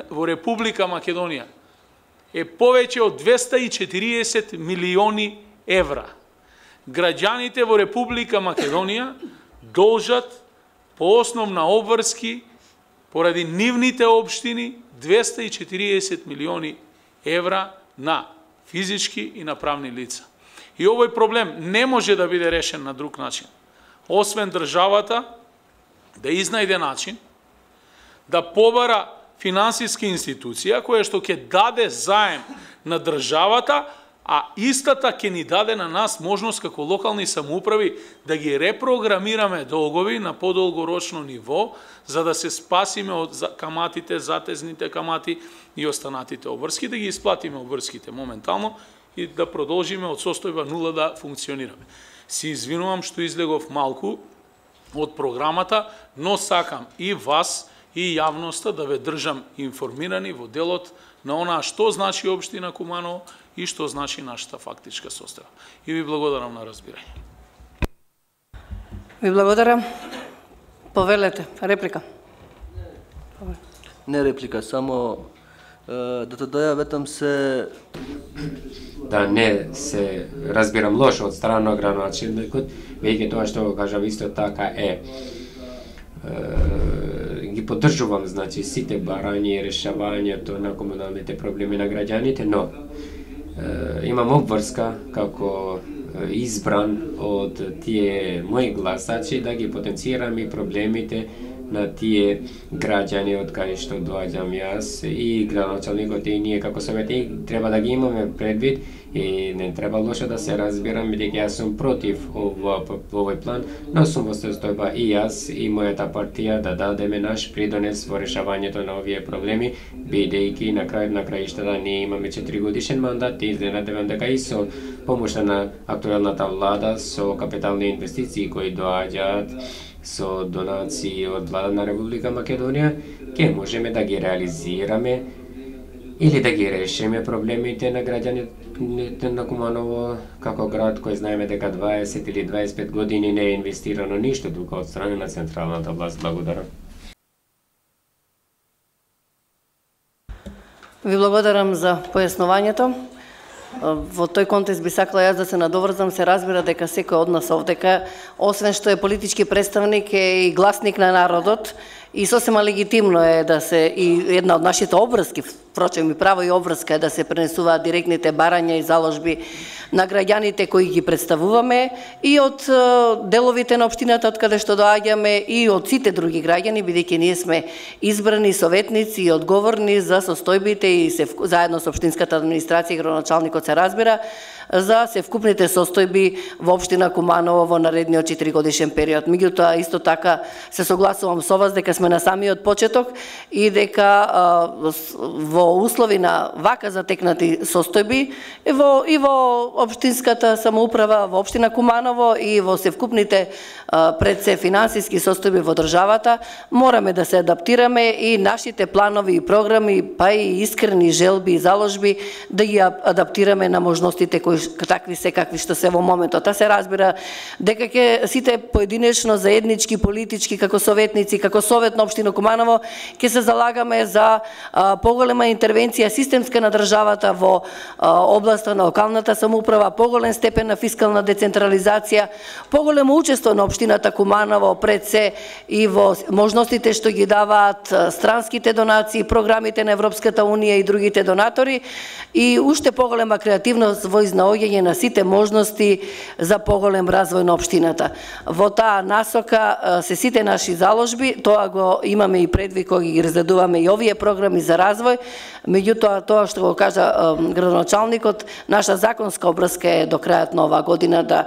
I: во Република Македонија е повеќе од двеста и четириесет милиони евра. Граѓаните во Република Македонија должат по основ на обврски поради нивните општини двеста и четириесет милиони евра на физички и на правни лица. И овој проблем не може да биде решен на друг начин, освен државата да изнајде начин да побара финансиска институција која што ќе даде заем на државата, а истата ќе ни даде на нас можност како локални самоуправи да ги репрограмираме долгови на подолгорочно ниво, за да се спасиме од каматите, затезните камати и останатите обврски, да ги исплатиме обврските моментално и да продолжиме од состојба нула да функционираме. Се извинувам што излегов малку од програмата, но сакам и вас и јавноста да ве држам информирани во делот на онаа што значи општина Куманово и што значи нашата фактичка состојба. И ви благодарам на разбирање.
A: Ви благодарам. Повелете, реплика.
E: Не реплика, само да те дојаветам се...
C: Да не се разбирам лошо од страна на градоначалникот, веќе тоа што го кажав исто така е, е ги поддржувам, значи, сите барања и решавањето на комуналните проблеми на граѓаните, но е, имам обврска како избран од тие мои гласачи да ги потенцирам и проблемите на тие граѓани од кај што доаѓам јас и градоначалникот и ние како советник треба да ги имаме предвид и не треба лошо да се разбирам, бидејќи јас сум против овој план, но сум во состојба и јас и мојата партија да дадеме наш придонес во решавањето на овие проблеми, бидејќи на крај на краиштата ние имаме четири годишен мандат и изненадевам дека и со помошта на актуелната влада со капитални инвестиции кои доаѓаат со донации од влада на Република Македонија, ќе можеме да ги реализираме или да ги решиме проблемите на граѓаните на Куманово како град кој знаеме дека дваесет или дваесет и пет години не е инвестирано ништо тука од страна на централната власт. Благодарам.
A: Ви благодарам за појаснувањето. Во тој контекст би сакала јас да се надоврзам, се разбира дека секој од нас овдека, освен што е политички представник, е и гласник на народот и сосема легитимно е да се и една од нашите обврски, впрочем и право и обврска е да се пренесуваат директните барања и заложби на граѓаните кои ги представуваме и од деловите на општината од каде што доаѓаме и од сите други граѓани, бидејќи ние сме избрани советници и одговорни за состојбите и се заедно со општинската администрација и градоначалникот се разбира за севкупните состојби во општина Куманово во наредниот четиригодишен период. Меѓутоа исто така се согласувам со вас дека сме на самиот почеток и дека а, во услови на вака затекнати состојби и во и во општинската самоуправа во општина Куманово и во севкупните а, пред се финансиски состојби во државата мораме да се адаптираме и нашите планови и програми па и искрени желби и заложби да ги адаптираме на можностите кои такви се какви што се во моментот. Та се разбира дека ќе сите поединечно заеднички политички како советници, како совет на општина Куманово ќе се залагаме за а, поголема интервенција системска на државата во а, областа на локалната самоуправа, поголем степен на фискална децентрализација, поголемо учество на општината Куманово пред се и во можностите што ги даваат странските донации, програмите на Европската унија и другите донатори и уште поголема креативност во изнаоѓање на сите можности за поголем развој на општината. Во таа насока се сите наши заложби, тоа го имаме и предвид кога ги разгледуваме и овие програми за развој, меѓутоа тоа што го кажа градоначалникот, наша законска обврска е до крајот на оваа година да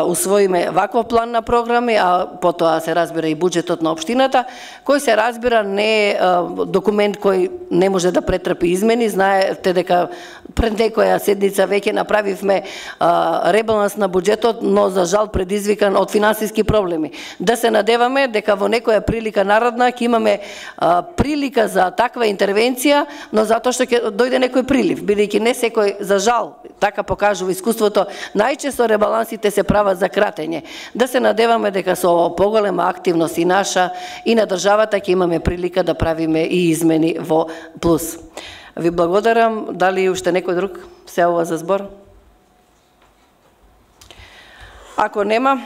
A: усвоиме ваков план на програми, а потоа се разбира и буџетот на општината, кој се разбира не е документ кој не може да претрпи измени. Знаете дека пред некоја седница веќе направивме а, ребаланс на буџетот, но за жал предизвикан од финансиски проблеми. Да се надеваме дека во некоја прилика народна ќе имаме а, прилика за таква интервенција, но затоа што ќе дојде некој прилив, бидејќи не секој, за жал, така покажува искуството, најчесто ребалансите се прават за кратење. Да се надеваме дека со поголема активност и наша и на државата ќе имаме прилика да правиме и измени во плюс. Ви благодарам. Дали уште некој друг се јавува за збор? Ако нема,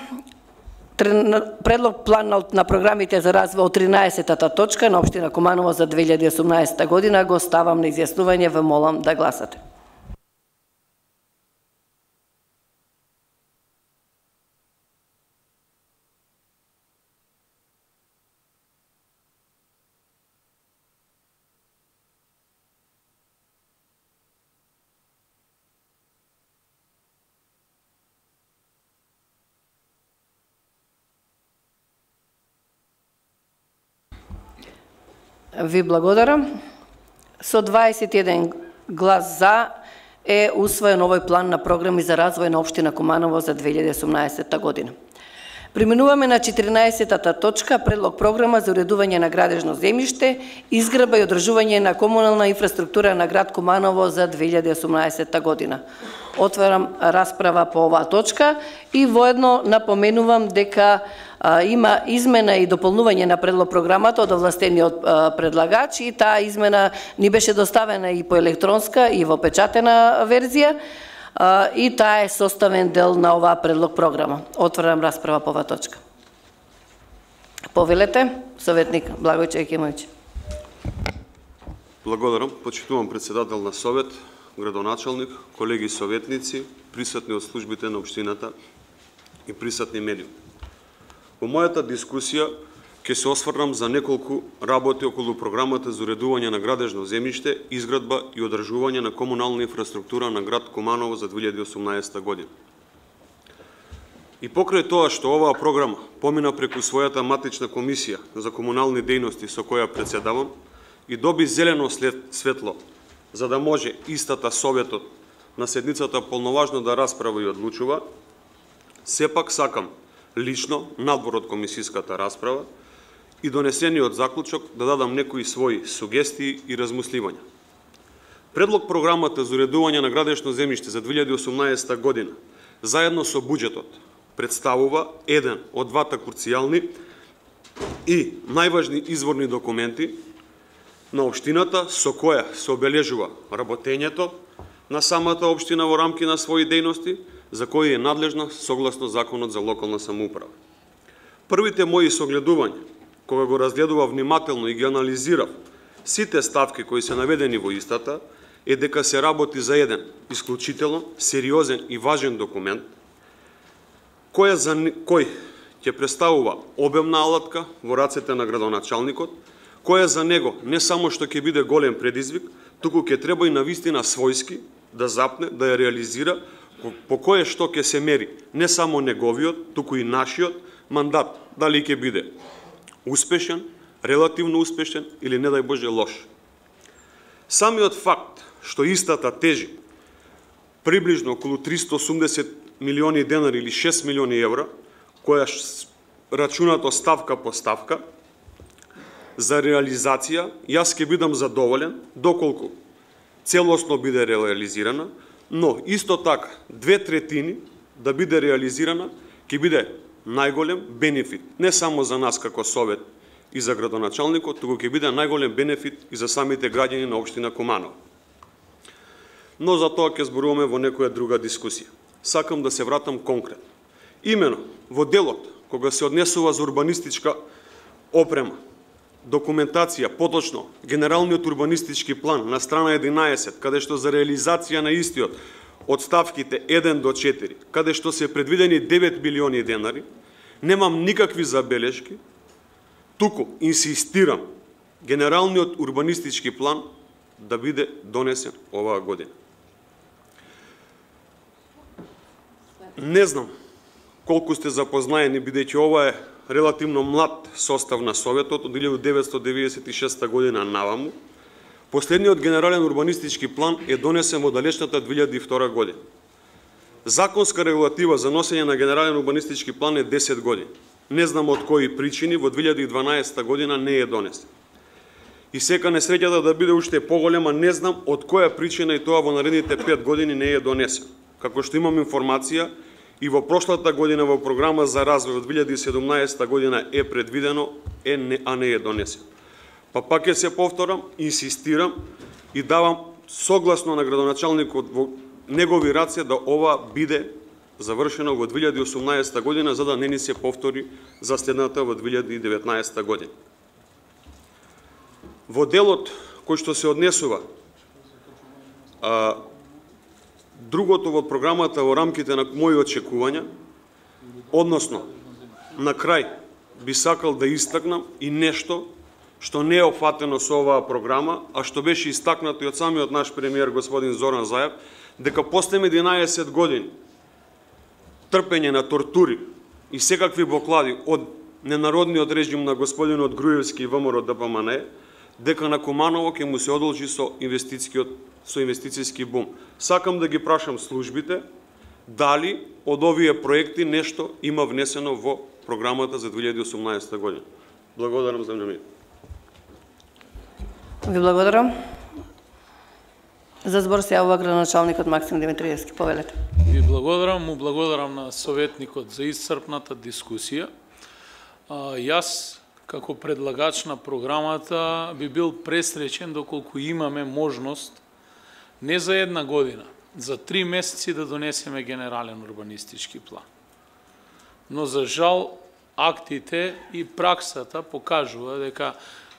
A: предлог план на програмите за развој од тринаесеттата точка на општина Куманово за две илјади и осумнаесета година го ставам на изјаснување, ве молам да гласате. Ви благодарам. Со дваесет и еден глас за е усвоен овој план на програми за развој на општина Куманово за две илјади и осумнаесета година. Преминуваме на четиринаесеттата точка, предлог програма за уредување на градежно земјиште, изградба и одржување на комунална инфраструктура на град Куманово за две илјади и осумнаесета година. Отварам расправа по оваа точка и воедно напоменувам дека а, има измена и дополнување на предлог програмата од овластениот а, предлагач и таа измена ни беше доставена и по електронска и во печатена верзија. Uh, и таа е составен дел на оваа предлог програма. Отварам расправа по оваа точка. Повелете, советник Благојче Екимовиќ.
K: Благодарам, почитувам председател на совет, градоначалник, колеги советници, присутни од службите на општината и присутни медиуми. Во мојата дискусија ќе се осврнам за неколку работи околу програмата за уредување на градежно земјиште, изградба и одржување на комунална инфраструктура на град Куманово за две илјади и осумнаесета година. И покрај тоа што оваа програма помина преку својата матична комисија за комунални дејности со која председавам и доби зелено светло за да може истата советот на седницата полноважно да расправа и одлучува, сепак сакам лично, надвор од комисиската расправа и донесениот заклучок да дадам некои своји сугестии и размисливања. Предлог програмата за уредување на градежно земјиште за две илјади и осумнаесета година, заедно со буџетот, представува еден од двата круцијални и најважни изворни документи на општината со која се обележува работењето на самата општина во рамки на своји дејности, за кои е надлежна согласно Законот за локална самоуправа. Првите мои согледувања, кога го разгледував внимателно и ги анализирав сите ставки кои се наведени во истата, е дека се работи за еден исклучително сериозен и важен документ, кој, за, кој ќе представува обемна алатка во рацете на градоначалникот, која за него не само што ќе биде голем предизвик, туку ќе треба и навистина својски да запне, да ја реализира, по кое што ќе се мери не само неговиот, туку и нашиот мандат, дали ќе биде успешен, релативно успешен или не дај Боже лош. Самиот факт што истата тежи приближно околу триста и осумдесет милиони денари или шест милиони евра, која рачунато ставка по ставка, за реализација, јас ќе бидам задоволен доколку целосно биде реализирана, но исто така две третини да биде реализирана ќе биде најголем бенефит не само за нас како совет и за градоначалникот, туку ќе биде најголем бенефит и за самите граѓани на општина Куманово. Но за тоа ќе зборуваме во некоја друга дискусија. Сакам да се вратам конкретно. Имено во делот кога се однесува за урбанистичка опрема, документација, поточно генералниот урбанистички план на страна единаесет, каде што за реализација на истиот од ставките еден до четири, каде што се предвидени девет милиони денари, немам никакви забелешки, туку инсистирам генералниот урбанистички план да биде донесен оваа година. Не знам колку сте запознаени, бидејќи ова е релативно млад состав на Советот од илјада деветстотини деведесет и шеста година наваму. Последниот генерален урбанистички план е донесен во далечната две илјади и втора година. Законска регулатива за носење на генерален урбанистички план е десет години. Не знам од кои причини во две илјади и дванаесета година не е донесен. И сека несреќата да биде уште поголема, не знам од која причина и тоа во наредните пет години не е донесен. Како што имам информација, и во прошлата година во програма за развој од две илјади и седумнаесета година е предвидено, е не, а не е донесен. Па пак ќе се повторам, инсистирам и давам согласно на градоначалникот во негови раце да ова биде завршено во две илјади и осумнаесета година, за да не ни се повтори за следната во две илјади и деветнаесета година. Во делот кој што се однесува а, другото во програмата во рамките на мои очекувања, односно, на крај би сакал да истакнам и нешто што не е опфатено со оваа програма, а што беше истакнато и од самиот наш премиер господин Зоран Заев, дека после единаесет години трпење на тортури и секакви блокади од ненародниот режим на господинот Груевски и ВМРО Д П М Н, дека на Куманово ќе му се одолжи со инвестицијскиот со инвестицијски бум. Сакам да ги прашам службите дали од овие проекти нешто има внесено во програмата за две илјади и осумнаесета година. Благодарам за вниманието.
A: Ви благодарам. За збор се јавува градоначалникот Максим Димитриевски. Повелете.
I: Ви благодарам, му благодарам на советникот за исцрпната дискусија. А, јас како предлагач на програмата би бил пресреќен доколку имаме можност не за една година, за три месеци да донесеме генерален урбанистички план. Но за жал актите и праксата покажува дека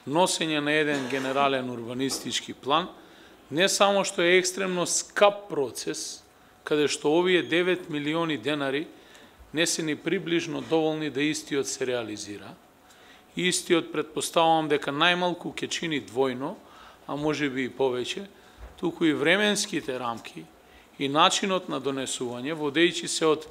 I: носење на еден генерален урбанистички план не само што е екстремно скап процес, каде што овие девет милиони денари не се ни приближно доволни да истиот се реализира, Истиот претпоставувам дека најмалку ќе чини двојно, а може би и повеќе, туку и временските рамки и начинот на донесување, водејќи се од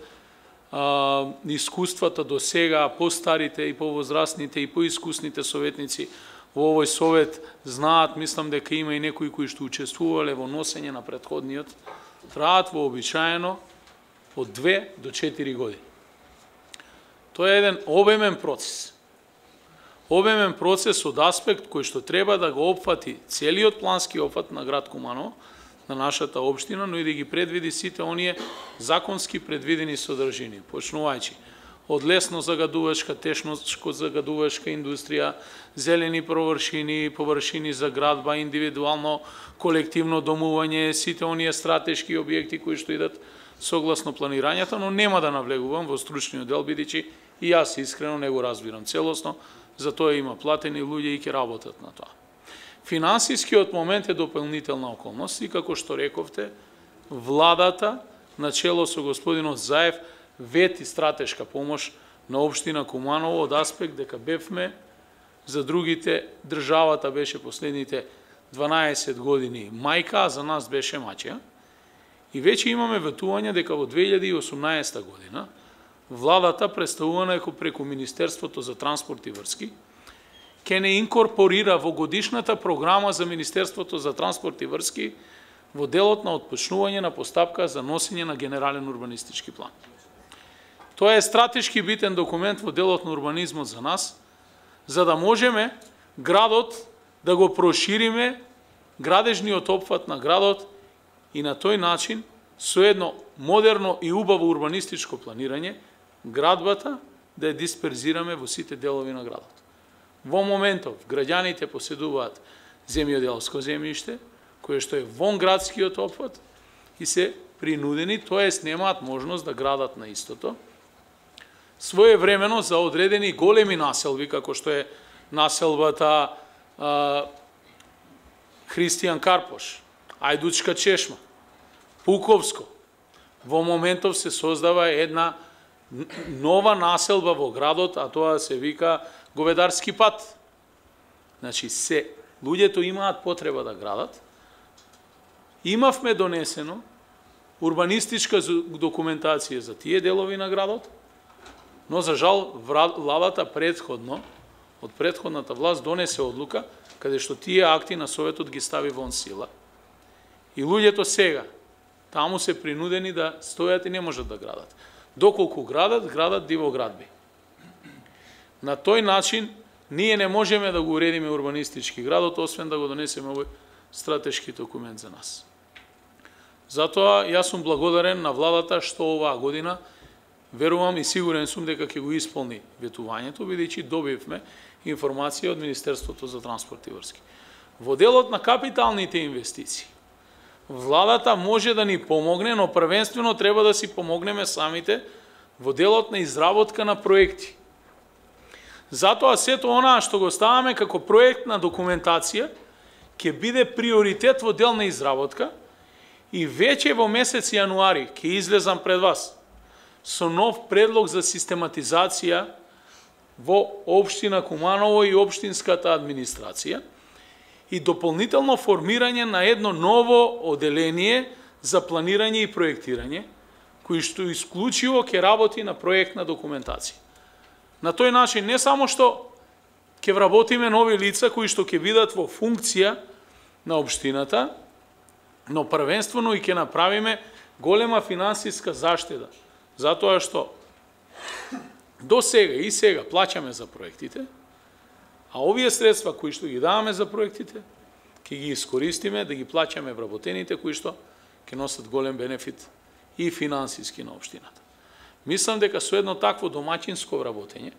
I: а, искуствата до сега, постарите и повозрастните и поискусните советници во овој совет знаат, мислам дека има и некои кои што учествувале во носење на претходниот, траат вообичаено од две до четири години. Тоа е еден обемен процес. Обемен процес од аспект кој што треба да го опфати целиот плански опфат на град Куманово, на нашата општина, но и да ги предвиди сите оние законски предвидени содржини, почнувајќи од лесно загадувачка, тешко загадувачка индустрија, зелени површини, површини за градба, индивидуално, колективно домување, сите оние стратешки објекти кои што идат согласно планирањето, но нема да навлегувам во стручниот дел, бидејќи и јас искрено не го разбирам целосно, затоа има платени луѓе и ќе работат на тоа. Финансискиот момент е дополнителна околност и како што рековте, владата на чело со господинот Заев вети стратешка помош на општина Куманово од аспект дека бевме за другите, државата беше последните дванаесет години мајка, а за нас беше маќа. И веќе имаме ветување дека во две илјади и осумнаесета година владата, представувана преку Министерството за транспорт и врски, ќе не инкорпорира во годишната програма за Министерството за транспорт и врски во делот на отпочнување на постапка за носење на генерален урбанистички план. Тоа е стратешки битен документ во делот на урбанизмот за нас, за да можеме градот да го прошириме, градежниот опфат на градот и на тој начин, со едно модерно и убаво урбанистичко планирање, градбата да ја дисперзираме во сите делови на градот. Во моментов, граѓаните поседуваат земјоделско земјиште, кое што е вон градскиот опфат и се принудени, тоест немаат можност да градат на истото, своевремено за одредени големи населби, како што е населбата а, Христијан Карпош, Ајдучка чешма, Пуковско, во моментов се создава една нова населба во градот, а тоа се вика Говедарски пат. Значи, се, луѓето имаат потреба да градат. Имавме донесено урбанистичка документација за тие делови на градот, но за жал владата предходно, од предходната власт донесе одлука, каде што тие акти на Советот ги стави вон сила. И луѓето сега, таму се принудени да стојат и не можат да градат. Доколку градат, градат дивоградби. На тој начин, ние не можеме да го уредиме урбанистички градот, освен да го донесеме овој стратешки документ за нас. Затоа, јас сум благодарен на владата што оваа година, верувам и сигурен сум дека ќе го исполни ветувањето, бидејќи добивме информација од Министерството за транспорт и врски. Во делот на капиталните инвестиции, владата може да ни помогне, но првенствено треба да си помогнеме самите во делот на изработка на проекти. Затоа сето онаа што го ставаме како проектна документација ќе биде приоритет во дел на изработка и веќе во месец јануари ќе излезам пред вас со нов предлог за систематизација во општина Куманово и општинската администрација и дополнително формирање на едно ново оделение за планирање и проектирање, кој што исклучиво ќе работи на проектна документација. На тој начин не само што ќе вработиме нови лица кои што ќе бидат во функција на општината, но првенствено и ќе направиме голема финансиска заштеда, затоа што до сега и сега плаќаме за проектите, а овие средства кои што ги даваме за проектите, ќе ги искористиме да ги плаќаме вработените кои што ќе носат голем бенефит и финансиски на општината. Мислам дека со едно такво домаќинско вработење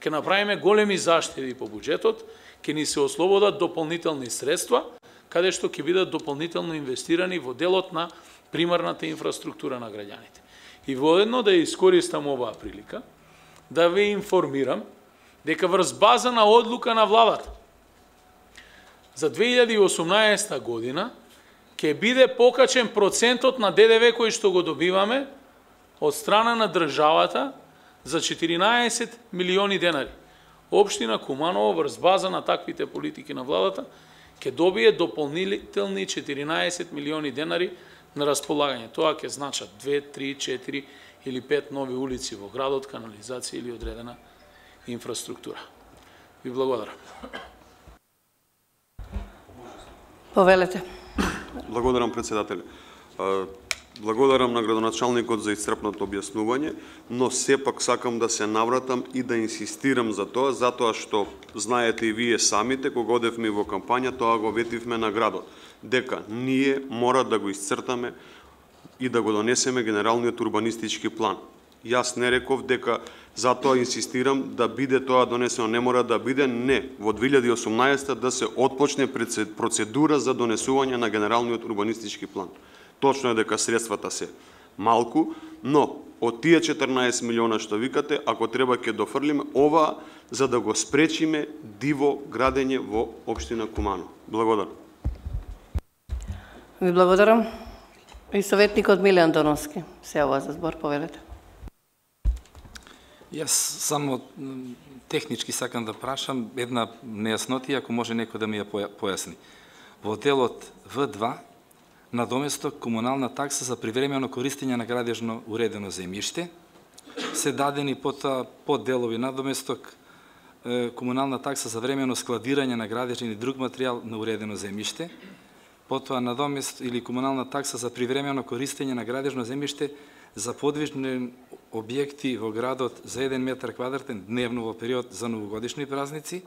I: ќе направиме големи заштеди по буџетот, ќе ни се ослободат дополнителни средства, каде што ќе бидат дополнително инвестирани во делот на примарната инфраструктура на граѓаните. И воедно да ја искористам оваа прилика, да ве информирам дека врз база на одлука на владата за две илјади и осумнаесета година ќе биде покачен процентот на Д Д В кој што го добиваме од страна на државата за четиринаесет милиони денари. Општина Куманово врз база на таквите политики на владата ќе добие дополнителни четиринаесет милиони денари на располагање. Тоа ќе значат две, три, четири или пет нови улици во градот, канализација или одредена инфраструктура. Ви благодарам.
A: Повелете.
K: Благодарам, председател. Благодарам на градоначалникот за исцрпното објаснување, но сепак сакам да се навратам и да инсистирам за тоа, затоа што знаете и вие самите, кога одевме во кампања, тоа го ветивме на градот, дека ние мора да го исцртаме и да го донесеме генералниот урбанистички план. Јас не реков дека затоа инсистирам да биде тоа донесено, не мора да биде, не, во две илјади и осумнаесета да се отпочне процедура за донесување на генералниот урбанистички план. Точно е дека средствата се малку, но од тие четрнаесет милиона што викате, ако треба ќе дофрлиме ова за да го спречиме диво градење во општина Куманово. Благодарам.
A: Ви благодарам. И советникот Милјан Доновски се јавува за збор, повелете.
J: Јас само технички сакам да прашам една нејаснотија, ако може некој да ми ја појасни. Во делот В два надоместок комунална такса за привремено користење на градежно уредено земјиште се дадени потоа подделови надоместок комунална такса за времено складирање на градежен и друг материјал на уредено земјиште, потоа надомест или комунална такса за привремено користење на градежно земјиште за подвижни објекти во градот за еден метар квадратен дневно во период за новогодишни празници,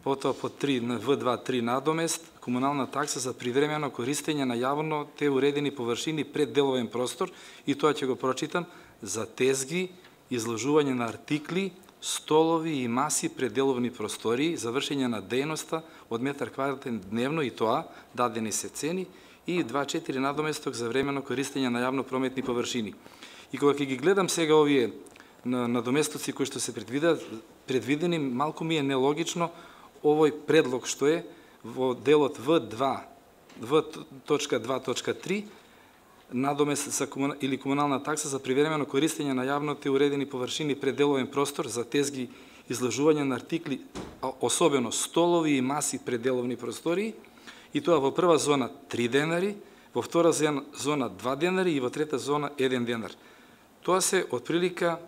J: потоа по три на В два три надомест комунална такса за привремено користење на јавно те уредени површини пред деловен простор, и тоа ќе го прочитам, за тезги, изложување на артикли, столови и маси пред деловни простории, завршење на дејноста од метар квадратен дневно, и тоа дадени се цени, и два четири надоместок за времено користење на јавно прометни површини. И кога ќе ги гледам сега овие надоместоци кои што се предвидени, малку ми е нелогично овој предлог што е во делот В два, В два точка три, надомест за комуна, или комунална такса за привремено користење на јавните уредени површини пред деловен простор за тезги, изложување на артикли, особено столови и маси пред деловни простории, и тоа во прва зона три денари, во втора зона два денари и во трета зона еден денар. Тоа се отприлика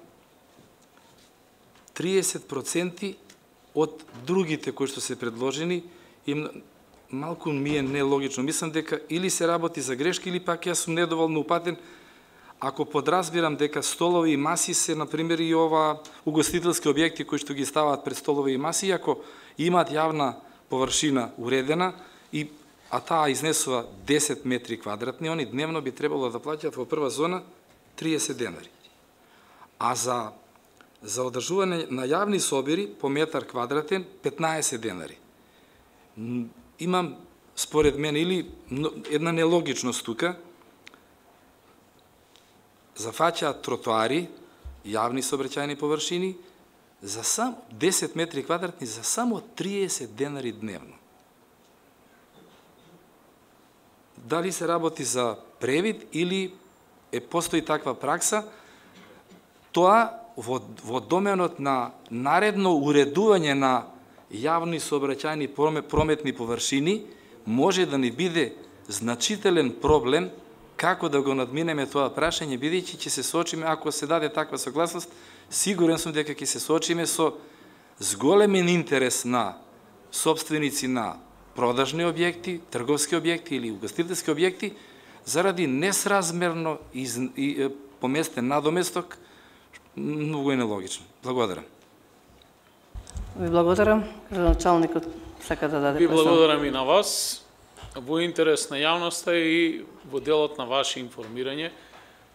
J: триесет проценти од другите кои што се предложени, и малку ми е нелогично. Мислам дека или се работи за грешка, или пак јас сум недоволно упатен, ако подразбирам дека столови и маси се, например, и ова угостителски објекти кои што ги ставаат пред столови и маси, ако имаат јавна површина уредена, и а таа изнесува десет метри квадратни, они дневно би требало да плаќаат во прва зона триесет денари. А за за одржување на јавни собери по метар квадратен петнаесет денари. Имам, според мен, или една нелогичност тука, зафаќаат тротоари, јавни сообраќајни површини, за само десет метри квадратни, за само триесет денари дневно. Дали се работи за превид или е постои таква пракса, тоа во, во доменот на наредно уредување на јавни сообраќајни прометни површини може да ни биде значителен проблем како да го надминеме тоа прашање, бидејќи ќе се соочиме, ако се даде таква согласност, сигурен сум дека ќе се соочиме со зголемен интерес на собственици на продажни објекти, трговски објекти или угостителски објекти, заради несразмерно из, и, поместен надоместок, многу е нелогично. Благодарам.
A: Ви благодарам. Градоначалникот сака да даде.
I: Ви благодарам и на вас. Во интерес на јавноста и во делот на ваше информирање,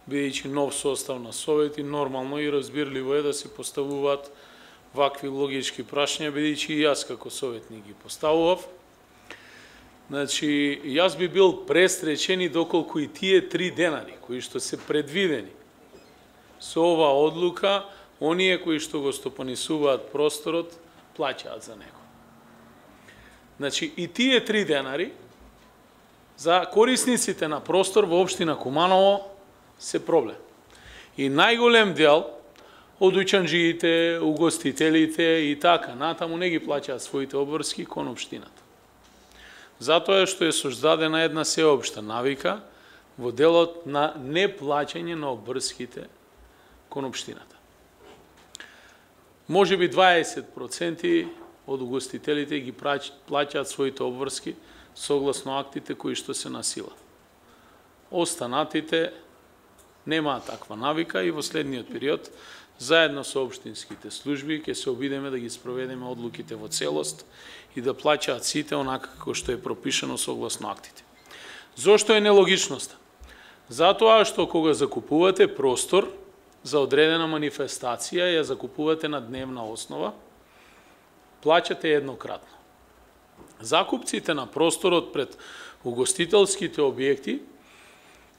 I: бидејќи нов состав на совет, и нормално и разбирливо е да се поставуваат вакви логички прашања, бидејќи и јас како советник ги поставував. Значи, јас би бил престречен и доколку и тие три денари кои што се предвидени со ова одлука, оние кои што го стопанисуваат просторот, плаќаат за него. Значи, и тие три денари за корисниците на простор во општина Куманово се проблем. И најголем дел од учанџиите, угостителите и така натаму не ги плаќаат своите обврски кон општината. Затоа што е создадена една сеопшта навика во делот на неплаќање на обврските кон општината. Може би дваесет проценти од угостителите ги плаќаат своите обврски согласно актите кои што се на сила. Останатите немаат таква навика и во следниот период, заедно со општинските служби, ќе се обидеме да ги спроведеме одлуките во целост и да плаќаат сите онака како што е пропишано согласно актите. Зошто е нелогичноста? Затоа што кога закупувате простор за одредена манифестација, ја закупувате на дневна основа, плаќате еднократно. Закупците на просторот пред угостителските објекти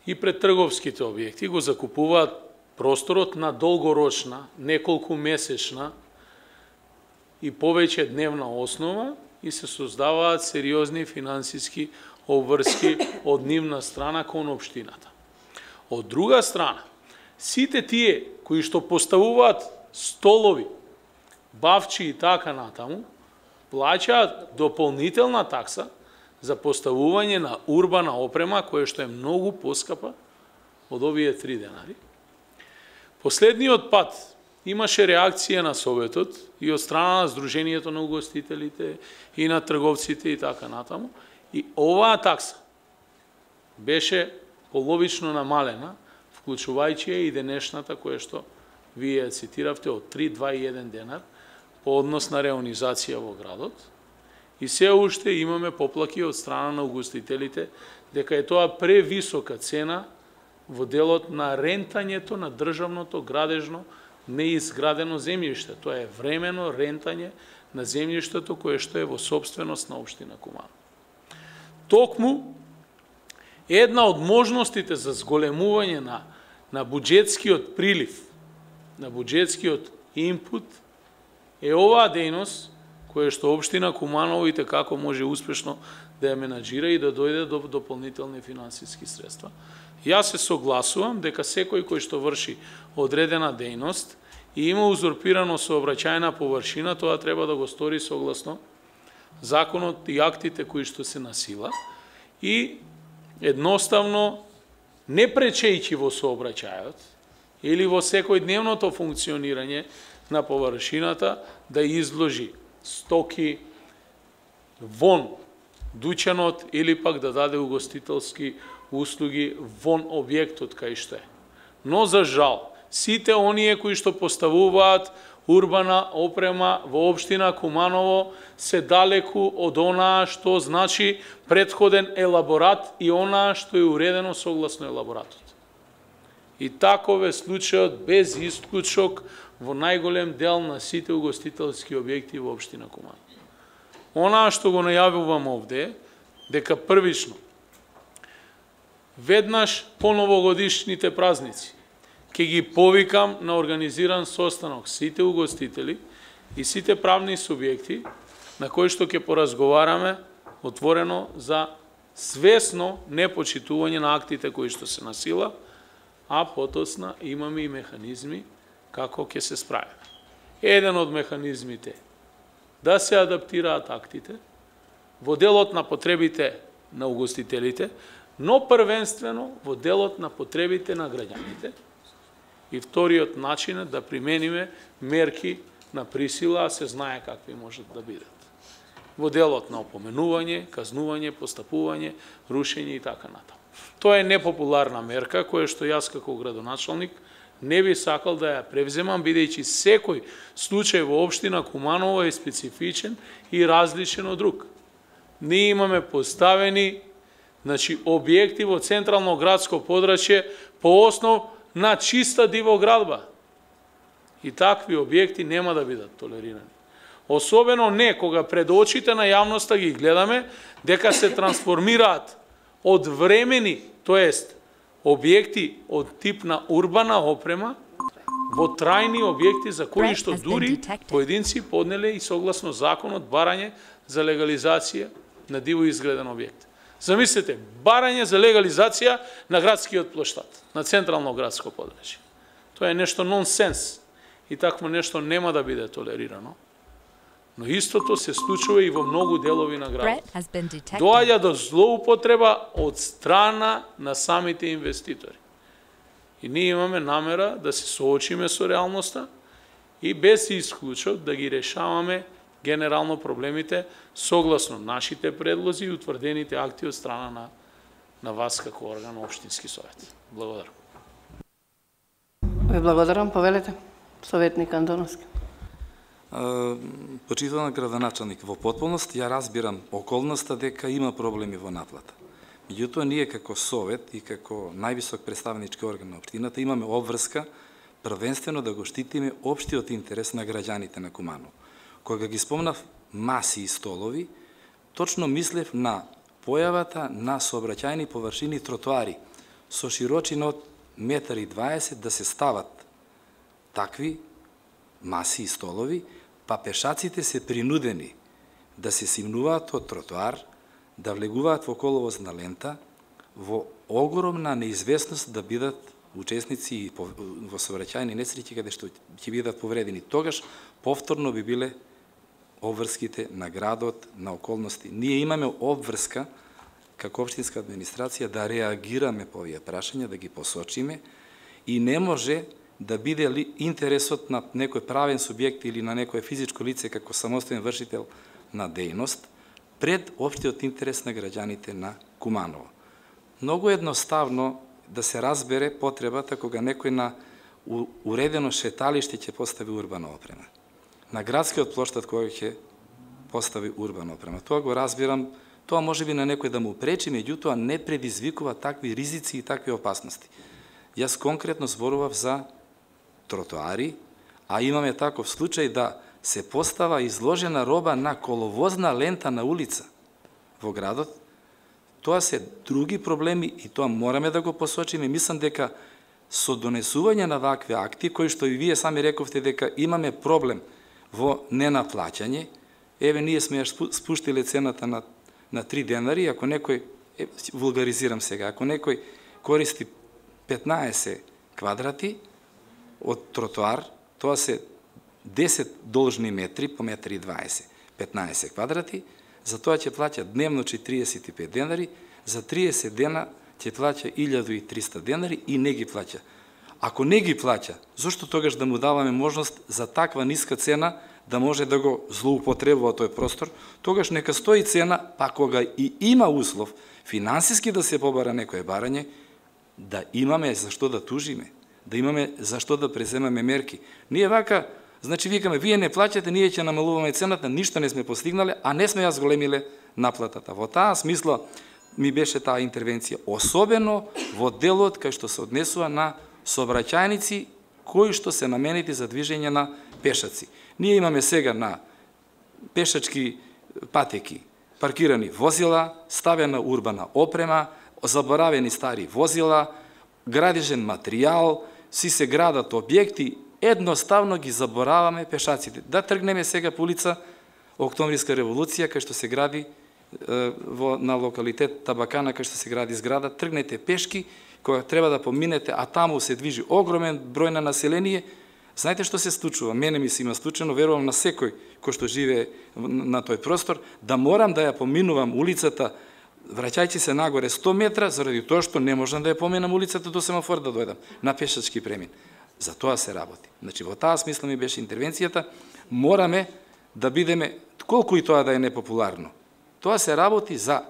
I: и пред трговските објекти го закупуваат просторот на долгорочна, неколку месечна и повеќе дневна основа и се создаваат сериозни финансиски обврски од нивна страна кон општината. Од друга страна, сите тие кои што поставуваат столови, бавчи и така натаму, плаќаат дополнителна такса за поставување на урбана опрема, која што е многу поскапа од овие три денари. Последниот пат имаше реакција на Советот и од страна на Сдруженијето на угостителите и на трговците и така натаму, и оваа такса беше половично намалена, вклучувајќи и денешната која што вие цитиравте од три, два и еден денар по однос на реонизација во градот. И се уште имаме поплаки од страна на угостителите дека е тоа превисока цена во делот на рентањето на државното градежно неизградено земјиште. Тоа е времено рентање на земјиштето кое што е во собственост на општина Куманово. Токму една од можностите за зголемување на на буџетскиот прилив, на буџетскиот инпут е оваа дејност која што општина Куманово и како може успешно да ја менаџира и да дојде до дополнителни финансиски средства. Јас се согласувам дека секој кој што врши одредена дејност и има узурпирано сообраќајна површина, тоа треба да го стори согласно законот и актите кои што се на сила и едноставно не пречејќи во сообраќајот или во секојдневното функционирање на површината да изложи стоки вон дуќанот или пак да даде угостителски услуги вон објектот кај што е. Но за жал, сите оние кои што поставуваат урбана опрема во општина Куманово се далеку од онаа што значи претходен елаборат и онаа што е уредено согласно елаборатот. И таков е случајот без исклучок во најголем дел на сите угостителски објекти во општина Куманово. Онаа што го најавувам овде, дека првично, веднаш по новогодишните празници, ќе ги повикам на организиран состанок сите угостители и сите правни субјекти на кои што ќе поразговараме отворено за свесно непочитување на актите кои што се на сила, а потосна имаме и механизми како ќе се справиме. Еден од механизмите да се адаптираат актите во делот на потребите на угостителите, но првенствено во делот на потребите на граѓаните. И вториот начин е да примениме мерки на присила, а се знае какви можат да бидат. Во делот на опоменување, казнување, постапување, рушење и така натаму. Тоа е непопуларна мерка која што јас како градоначалник не би сакал да ја превземам, бидејќи секој случај во општина Куманово е специфичен и различен од друг. Ние имаме поставени значи, објекти во централно градско подрачје по основ на чиста дивоградба. И такви објекти нема да бидат толерирани. Особено не кога пред очите на јавноста ги гледаме дека се трансформираат од времени, тоест објекти од тип на урбана опрема во трајни објекти за кои што дури поединци поднеле и согласно законот барање за легализација на диво изграден објект. Замислете, барање за легализација на градскиот плоштад, на централно градско подрачје. Тоа е нешто нонсенс. и такво нешто нема да биде толерирано. Но истото се случува и во многу делови на градот. Доаѓа до злоупотреба од страна на самите инвеститори. И ние имаме намера да се соочиме со реалноста и без исклучок да ги решаваме генерално проблемите согласно нашите предлози и утврдените акти од страна на, на вас како орган Општински совет. Благодарам.
A: Ви благодарам. Повелете, советник Андоновски.
J: Почитуван градоначалник, во потполност ја разбирам околноста дека има проблеми во наплата. Меѓутоа, ние како совет и како највисок представнички орган на општината имаме обврска првенствено да го штитиме општиот интерес на граѓаните на Куманово. Кога ги спомнав маси и столови, точно мислев на појавата на сообраќајни површини тротоари со широчина од метар и дваесет да се стават такви маси и столови, па пешаците се принудени да се симнуваат од тротоар, да влегуваат во коловозна лента, во огромна неизвестност да бидат учесници во сообраќајни несреќи каде што ќе бидат повредени. Тогаш повторно би биле обврските на градот, на околности. Ние имаме обврска како општинска администрација да реагираме по овие прашања, да ги посочиме и не може да биде ли интересот на некој правен субјект или на некој физичко лице како самостоен вршител на дејност пред општиот интерес на граѓаните на Куманово. Многу едноставно да се разбере потребата кога некој на уредено шеталиште ќе постави урбана опрема. На градскиот плоштад кога ќе постави урбана опрема. Тоа го разбирам, тоа може би на некој да му пречи, меѓутоа не предизвикува такви ризици и такви опасности. Јас конкретно зборував за тротоари, а имаме таков случај да се постава изложена роба на коловозна лента на улица во градот. Тоа се други проблеми и тоа мораме да го посочиме. Мислам дека со донесување на вакви акти, кои што и вие сами рековте дека имаме проблем во ненаплаќање, еве ние сме ја спуштиле цената на, на три денари, ако некој, е, вулгаризирам сега, ако некој користи петнаесет квадрати од тротоар, тоа се десет должни метри по метар и дваесет, петнаесет квадрати, за тоа ќе плаќа дневно четириесет и пет денари, за триесет дена ќе плаќа илјаду и триста денари и не ги плаќа. Ако не ги плаќа, зошто тогаш да му даваме можност за таква ниска цена да може да го злоупотребува тој простор, тогаш нека стои цена, па кога и има услов финансиски да се побара некое барање, да имаме зашто да тужиме, да имаме зашто да преземаме мерки. Ние вака, значи викаме, вие не плаќате, ние ќе намалуваме цената, ништо не сме постигнале, а не сме ја зголемиле наплатата. Во таа смисла ми беше таа интервенција, особено во делот кај што се однесува на сообраќајници кои што се наменети за движење на пешаци. Ние имаме сега на пешачки патеки паркирани возила, ставена урбана опрема, заборавени стари возила, градежен материјал, си се градат објекти, едноставно ги забораваме пешаците. Да тргнеме сега по улица Октомвриска револуција, кај што се гради е, во, на локалитет Табакана, кај што се гради зграда, тргнете пешки, кога треба да поминете, а таму се движи огромен број на население. Знаете што се случува? Мене ми се има случено, верувам на секој кој што живее на тој простор, да морам да ја поминувам улицата, враќајќи се нагоре сто метра, заради тоа што не можам да ја поминам улицата до семафор да дојдам на пешачки премин. За тоа се работи. Значи, во таа смисла ми беше интервенцијата, мораме да бидеме, колку и тоа да е непопуларно. Тоа се работи за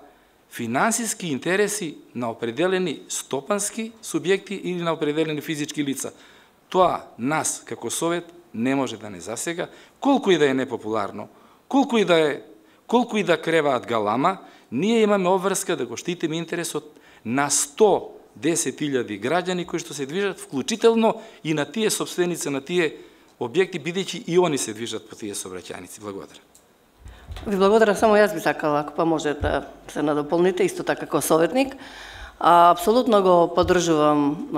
J: финансиски интереси на определени стопански субјекти или на определени физички лица. Тоа нас, како совет, не може да не засега, колку и да е непопуларно, колку и да е, колку и да креваат галама, ние имаме обврска да го штитиме интересот на сто десет илјади граѓани кои што се движат, вклучително и на тие собственици на тие објекти, бидејќи и они се движат по тие сообраќајници. Благодарам.
A: Ви благодарам, само јас би сакала, ако па може да се надополните, исто така како советник. А, апсолутно го поддржувам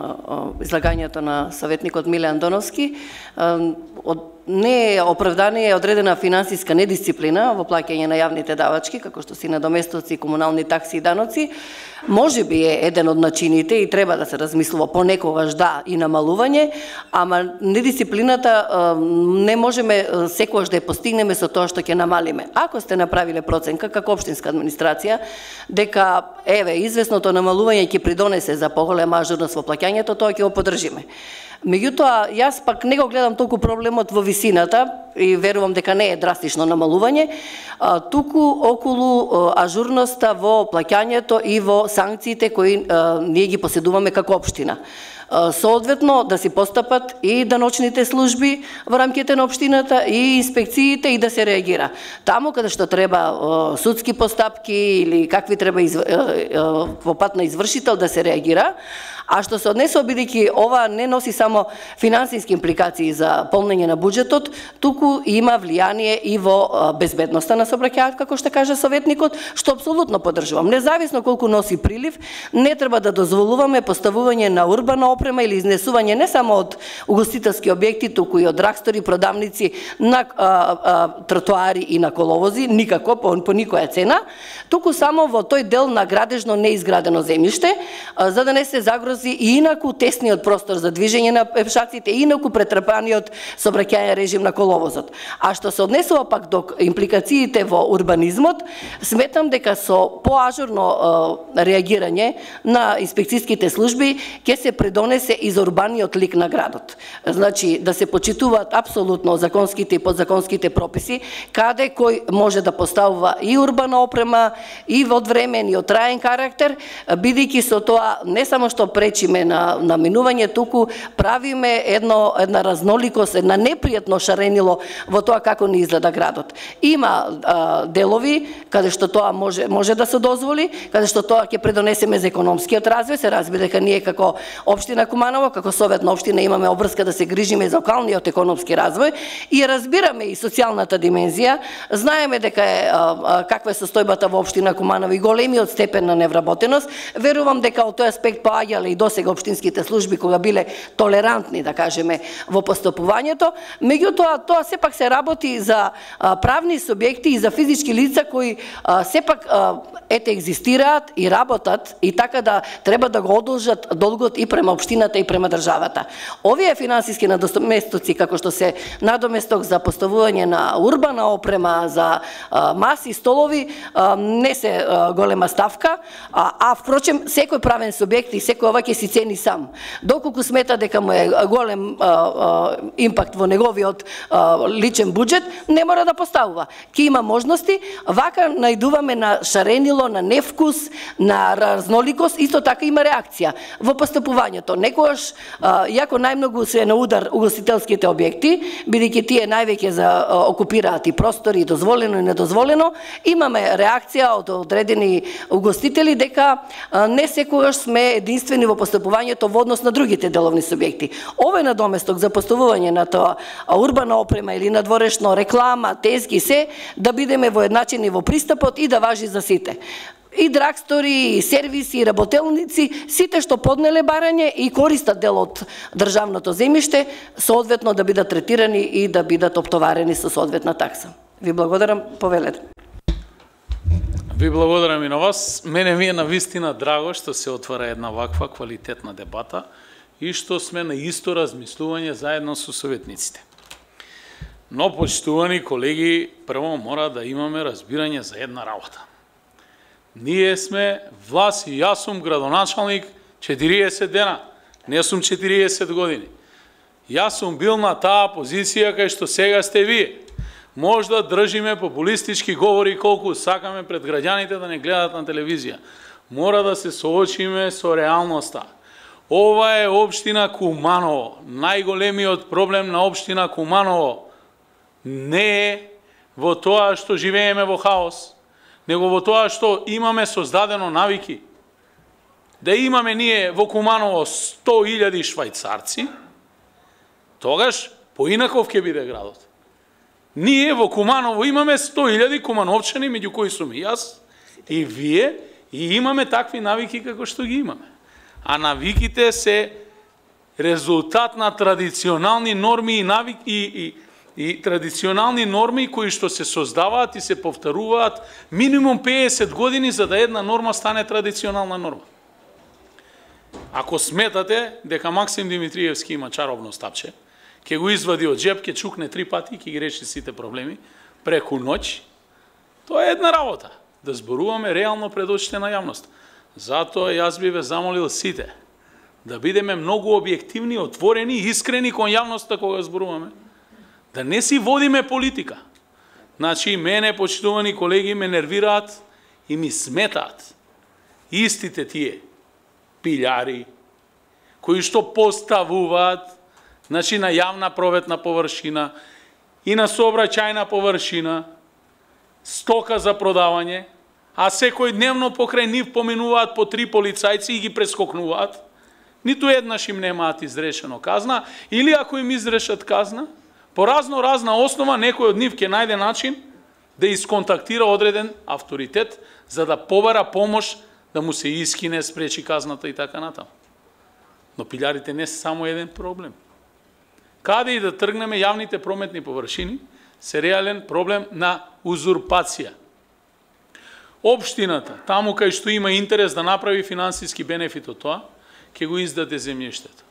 A: излагањето на советникот Миле Андоновски. А, од, не е оправдание одредена финансиска недисциплина во плаќање на јавните давачки, како што си надоместоци, комунални такси и даноци, Може би е еден од начините и треба да се размислува понекогаш да и намалување, ама недисциплината не можеме секогаш да ја постигнеме со тоа што ќе намалиме. Ако сте направиле проценка како општинска администрација дека еве извесното намалување ќе придонесе за поголема ажурност во плаќањето, тоа ќе го поддржиме. Меѓутоа, јас пак не го гледам толку проблемот во висината и верувам дека не е драстично намалување, туку околу ажурноста во плаќањето и во санкциите кои ние ги поседуваме како општина. Соодветно да си постапат и даночните служби во рамките на општината и инспекциите и да се реагира. Таму каде што треба судски постапки или какви треба во пат на извршител да се реагира. А што се однесува, бидејќи ова не носи само финансиски импликации за полнење на буџетот, туку има влијание и во безбедноста на сообраќајот, како што каже советникот, што апсолутно поддржувам. Независно колку носи прилив, не треба да дозволуваме поставување на урбана опрема или изнесување не само од угостителски објекти, туку и од драгстори, продавници на а, а, тротоари и на коловози, никако по, по никоја цена, туку само во тој дел на градежно неизградено земјиште, а, за да не се загрози и инаку тесниот простор за движење на пешаците, и инаку претрпаниот сообраќајен режим на коловозот. А што се однесува пак до импликациите во урбанизмот, сметам дека со поажурно реагирање на инспекцијските служби ќе се придонесе и за урбаниот лик на градот. Значи, да се почитуваат апсолутно законските и подзаконските прописи, каде кој може да поставува и урбана опрема, и во времен и од траен карактер, бидејќи со тоа не само што пречиме на, на минување, туку правиме едно, една разноликост, една непријатно шаренило во тоа како ни изгледа градот. Има а, делови каде што тоа може, може да се дозволи, каде што тоа ќе предонесеме за економскиот развој, се разбира дека ние како општина Куманово, како совет на општина имаме обврска да се грижиме за локалниот економски развој и разбираме и социјалната димензија, знаеме дека е а, а, каква е состојбата во општина Куманово и големиот степен на невработеност. Верувам дека од тој аспект поаѓале и досега општинските служби кога биле толерантни, да кажеме, во постапувањето, меѓутоа тоа сепак се работи за а, правни субјекти и за физички лица кои а, сепак а, ете екзистираат и работат и така да треба да го одолжат долгот и према општината и према државата. Овие финансиски надоместоци како што се надоместок за поставување на урбана опрема, за а, маси, столови, а, не се а, голема ставка, а, а впрочем секој правен субјект и секој ова ќе си цени сам. Доколку смета дека му е голем а, а, импакт во неговиот а, личен буџет, не мора да поставува. Ке има можности, вака најдуваме на шаренило, на невкус, на разноликост, исто така има реакција во постапувањето. Некогаш, а, иако најмногу се на удар угостителските објекти, бидејќи тие највеќе за а, окупираат и простори, и дозволено и недозволено, имаме реакција од одредени угостители дека а, не секогаш сме единствени во постапувањето во однос на другите деловни субјекти. Овој надоместок за поставување на тоа урбана опрема или надворешно реклама, тезги се, да бидеме воедначени во пристапот и да важи за сите. И драгстори, и сервиси, и работелници, сите што поднеле барање и користат дел од државното земјиште, соодветно да бидат третирани и да бидат оптоварени со соодветна такса. Ви благодарам, повелете.
I: Ви благодарам и на вас. Мене ми е навистина драго што се отвара една ваква квалитетна дебата и што сме на исто размислување заедно со советниците. Но, почитувани колеги, прво мора да имаме разбирање за една работа. Ние сме власт и јас сум градоначалник четириесет дена, не сум четириесет години. Јас сум бил на таа позиција кај што сега сте вие. Може да држиме популистички говори колку сакаме пред граѓаните да не гледат на телевизија. Мора да се соочиме со реалноста. Ова е општина Куманово. Најголемиот проблем на општина Куманово не е во тоа што живееме во хаос, него во тоа што имаме создадено навики. Да имаме ние во Куманово сто илјади швајцарци, тогаш поинаков ќе биде градот. Ние во Куманово имаме сто илјади кумановчани, меѓу кои сум и јас, и вие, и имаме такви навики како што ги имаме. А навиките се резултат на традиционални норми и навики и, и, и традиционални норми кои што се создаваат и се повторуваат минимум педесет години за да една норма стане традиционална норма. Ако сметате дека Максим Димитриевски има чаробно стапче, ќе го извади од джеб, ќе чукне три пати и ќе ги реши сите проблеми преку ноќ, тоа е една работа. Да зборуваме реално пред очите на јавност. Затоа јас би ве замолил сите да бидеме многу објективни, отворени и искрени кон јавноста кога зборуваме. Да не си водиме политика. Значи, мене, почитувани колеги, ме нервираат и ми сметаат истите тие пилјари, кои што поставуваат, значи, на јавна проветна површина и на сообраќајна површина, стока за продавање, а секој дневно покрај нив поминуваат по три полицајци и ги прескокнуваат, ниту еднаш им немаат изрешено казна, или ако им изрешат казна, по разно разна основа некој од нив ќе најде начин да исконтактира одреден авторитет за да побара помош да му се искине, спречи казната и така натаму. Но пилјарите не се само еден проблем. Каде и да тргнеме, јавните прометни површини се реален проблем на узурпација. Општината, таму кај што има интерес да направи финансиски бенефит од тоа, ќе го издаде земјиштето.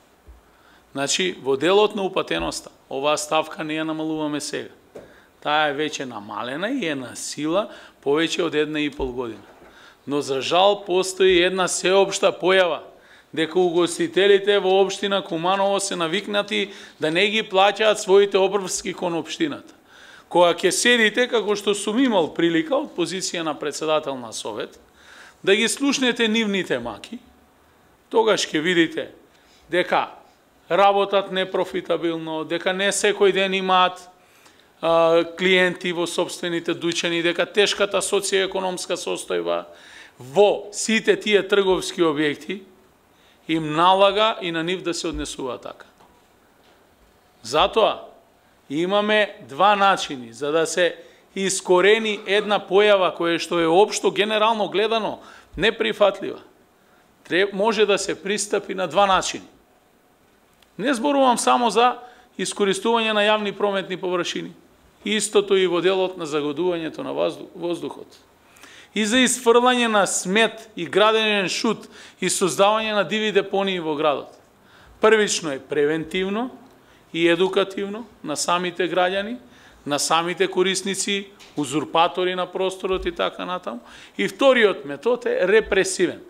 I: Значи, во делот на упатеноста, оваа ставка не ја намалуваме сега. Таа е веќе намалена и е на сила повеќе од една и пол година. Но за жал постои една сеопшта појава дека угостителите во општина Куманово се навикнати да не ги плаќаат своите обврски кон општината. Кога ќе седите, како што сум имал прилика од позиција на председател на совет, да ги слушнете нивните маки, тогаш ќе видите дека работат непрофитабилно, дека не секој ден имаат а, клиенти во собствените дуќани, дека тешката социјоекономска состојба во сите тие трговски објекти им налага и на нив да се однесува така. Затоа имаме два начини за да се искорени една појава која што е општо генерално гледано неприфатлива. Треб, може да се пристапи на два начини. Не зборувам само за искористување на јавни прометни површини. Истото и во делот на загадувањето на воздухот. И за изфрлање на смет и граденен шут и создавање на диви депонии во градот. Првично е превентивно и едукативно на самите граѓани, на самите корисници, узурпатори на просторот и така натаму. И вториот метод е репресивен.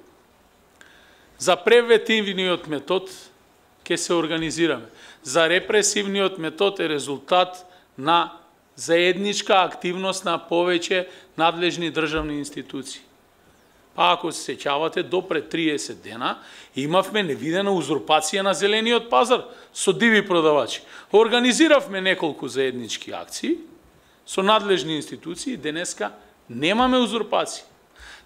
I: За превентивниот метод ќе се организираме. За репресивниот метод е резултат на заедничка активност на повеќе надлежни државни институции. Па ако се сеќавате, до пред триесет дена имавме невидена узурпација на зелениот пазар со диви продавачи. Организиравме неколку заеднички акции со надлежни институции, денеска немаме узурпација.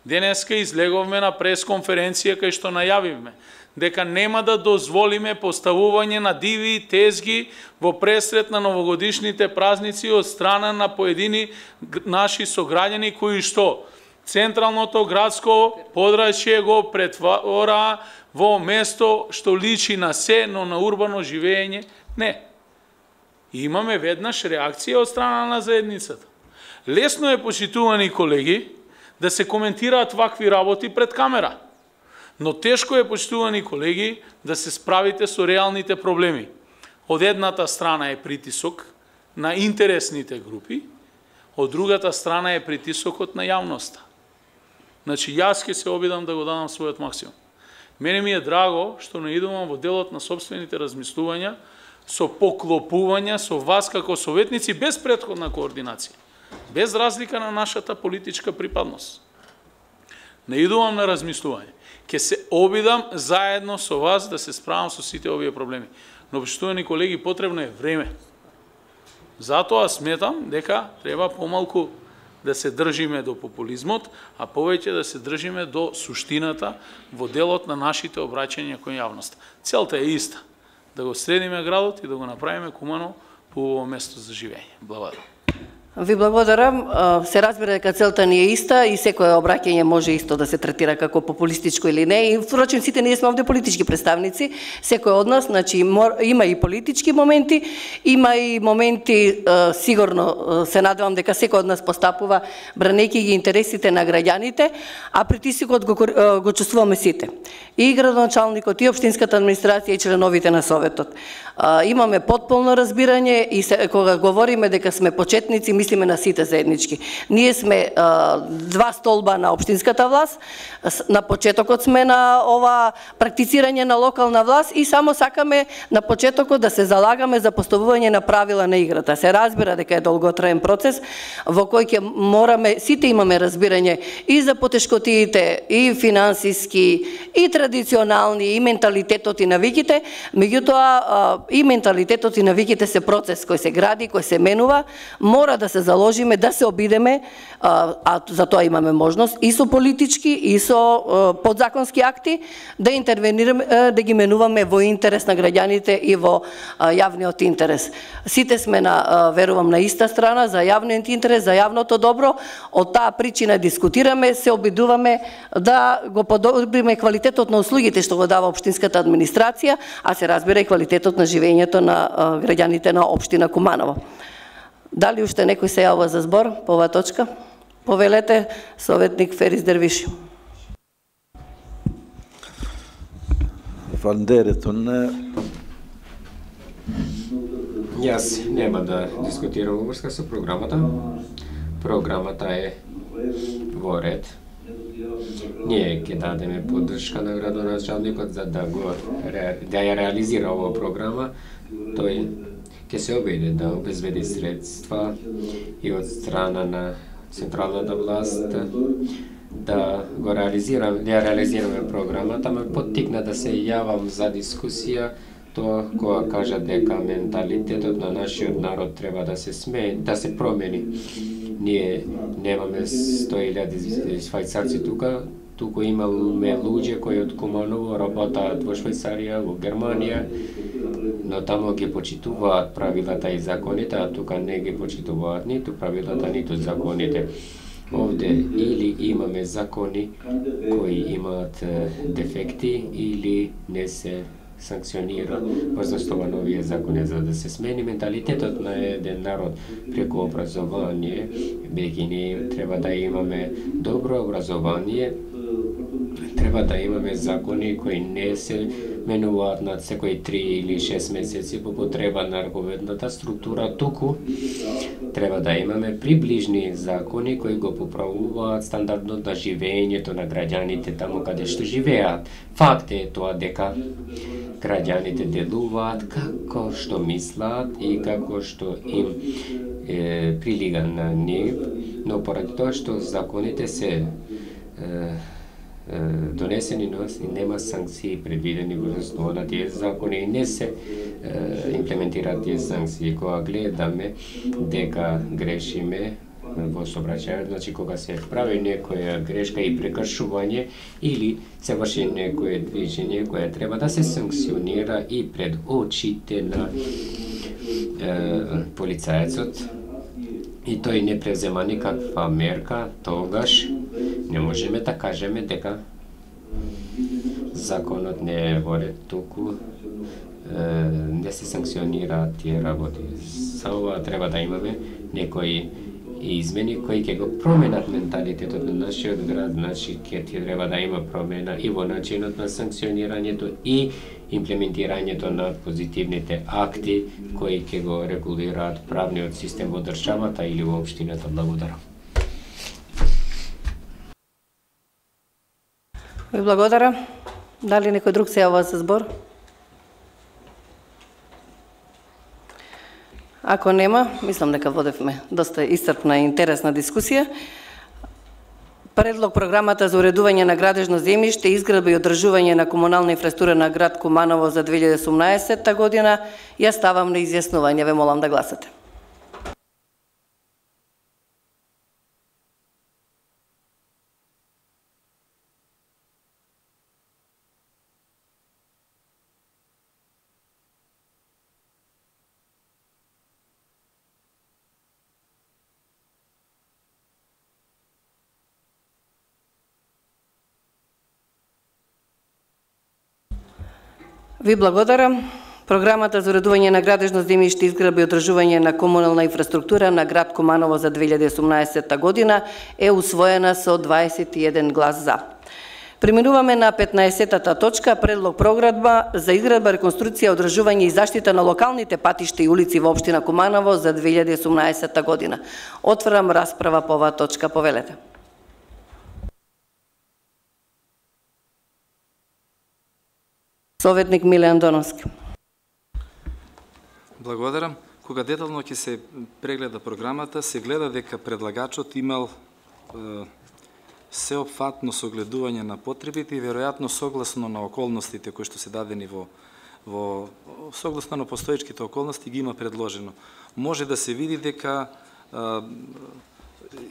I: Денеска излеговме на пресконференција кај што најавивме дека нема да дозволиме поставување на диви тезги во пресрет на новогодишните празници од страна на поедини наши сограѓани кои што централното градско подрачје го претвора во место што личи на се, но на урбано живење не. И имаме веднаш реакција од страна на заедницата. Лесно е, почитувани колеги, да се коментираат вакви работи пред камера. Но тешко е, почитувани колеги, да се справите со реалните проблеми. Од едната страна е притисок на интересните групи, од другата страна е притисокот на јавноста. Значи, јас ќе се обидам да го дадам својот максимум. Мене ми е драго што наидувам во делот на собствените размислувања, со поклопувања со вас како советници без претходна координација, без разлика на нашата политичка припадност. Наидувам на размислување. Ке се обидам заедно со вас да се справам со сите овие проблеми. Но, почитувани колеги, потребно е време. Затоа сметам дека треба помалку да се држиме до популизмот, а повеќе да се држиме до суштината во делот на нашите обраќања кон јавноста. Целта е иста. Да го средиме градот и да го направиме Куманово по место за живење. Благодарам.
A: Ви благодарам. Се разбира дека целта ни е иста и секое обраќање може исто да се третира како популистичко или не. И впрочем сите ние сме овде политички представници. Секој од нас, значи има и политички моменти, има и моменти сигурно се надевам дека секој од нас постапува бранејќи ги интересите на граѓаните, а притисокот го, го чувствуваме сите. И градоначалникот, и општинската администрација, и членовите на советот. Имаме потполно разбирање и се, кога говориме дека сме почетници, мислиме на сите заеднички. Ние сме а, два столба на општинската власт, на почетокот сме на ова практицирање на локална власт и само сакаме на почетокот да се залагаме за поставување на правила на играта. Се разбира дека е долготраен процес во кој ќе мораме, сите имаме разбирање и за потешкотиите, и финансиски, и традиционални, и менталитетот и навиките, меѓутоа и менталитетот и навиките се процес кој се гради, кој се менува, мора да се заложиме, да се обидеме, а, а за тоа имаме можност и со политички, и со а, подзаконски акти, да интервенираме, а, да ги менуваме во интерес на граѓаните и во а, јавниот интерес. Сите сме на, а, верувам, на иста страна, за јавниот интерес, за јавното добро, од таа причина дискутираме, се обидуваме да го подобриме квалитетот на услугите што го дава општинската администрација, а се разбира и квалитетот на живењето на а, граѓаните на општина Куманово. Дали уште некој се јавува за збор по оваа точка? Повелете, советник Ферис Дервиши.
C: Јас нема да дискутирам во врска со програмата. Програмата е во ред. Ние ќе дадеме поддршка на градоначалникот за да го да ја реализира оваа програма. Тој ќе се обиде да обезбеди средства и од страна на централната власт да го реализираме, да ја реализираме програмата, ме поттикна да се јавам за дискусија тоа кога кажа дека менталитетот на нашиот народ треба да се смени, да се промени. Ние немаме сто илјади швајцарци тука, туку имаме луѓе кои од Куманово работаат во Швајцарија, во Германија, но тамо ги почитуваат правилата и законите, а тука не ги почитуваат ниту правилата, ниту законите. Овде или имаме закони кои имаат дефекти, или не се санкционира врз основа на овие закони, за да се смени менталитетот на еден народ преку образование, бидејќи ние треба да имаме добро образование, треба да имаме закони кои не се менуваат над секои три или шест месеци по потреба на раковедната структура, туку треба да имаме приближни закони кои го поправуваат стандардот на живењето на граѓаните таму каде што живеат. Факт е тоа дека граѓаните делуваат како што мислат и како што им е, прилига на нив, но поради тоа што законите се е, донесени, но нема санкции предвидени во основа на тие закони и не се е, имплементираат тие санкции. Кога гледаме дека грешиме во сообраќајот, значи кога се прави некоја грешка и прекршување или се врши некое движење кое треба да се санкционира и пред очите на е, полицаецот и тој не презема никаква мерка, тогаш не можеме да кажеме дека законот не е во ред, туку е, не се санкционираат тие работи. За ова треба да имаме некои измени кои ќе го променат менталитетот на нашиот град, значи ќе треба да има промена и во начинот на санкционирањето и имплементирањето на позитивните акти кои ќе го регулираат правниот систем во државата или во општината. Благодарам.
A: Ви благодарам. Дали некој друг се јавува за збор? Ако нема, мислам дека водевме доста исцрпна и интересна дискусија. Предлог програмата за уредување на градежно земјиште, изградба и одржување на комунална инфраструктура на град Куманово за две илјади и осумнаесетта година ја ставам на изјаснување. Ве молам да гласате. Ви благодарам. Програмата за уредување на градежно земјиште, изградба и одржување на комунална инфраструктура на град Куманово за две илјади и осумнаесетта година е усвоена со дваесет и еден глас за. Преминуваме на петнаесеттата точка, предлог програма за изградба, реконструкција, одржување и заштита на локалните патишта и улици во општина Куманово за две илјади и осумнаесетта година. Отварам расправа по оваа точка, повелете. Советник Миле Андоновски.
J: Благодарам. Кога детално ќе се прегледа програмата, се гледа дека предлагачот имал е, сеопфатно согледување на потребите и веројатно согласно на околностите кои што се дадени во во согласно на постоечките околности ги има предложено. Може да се види дека е,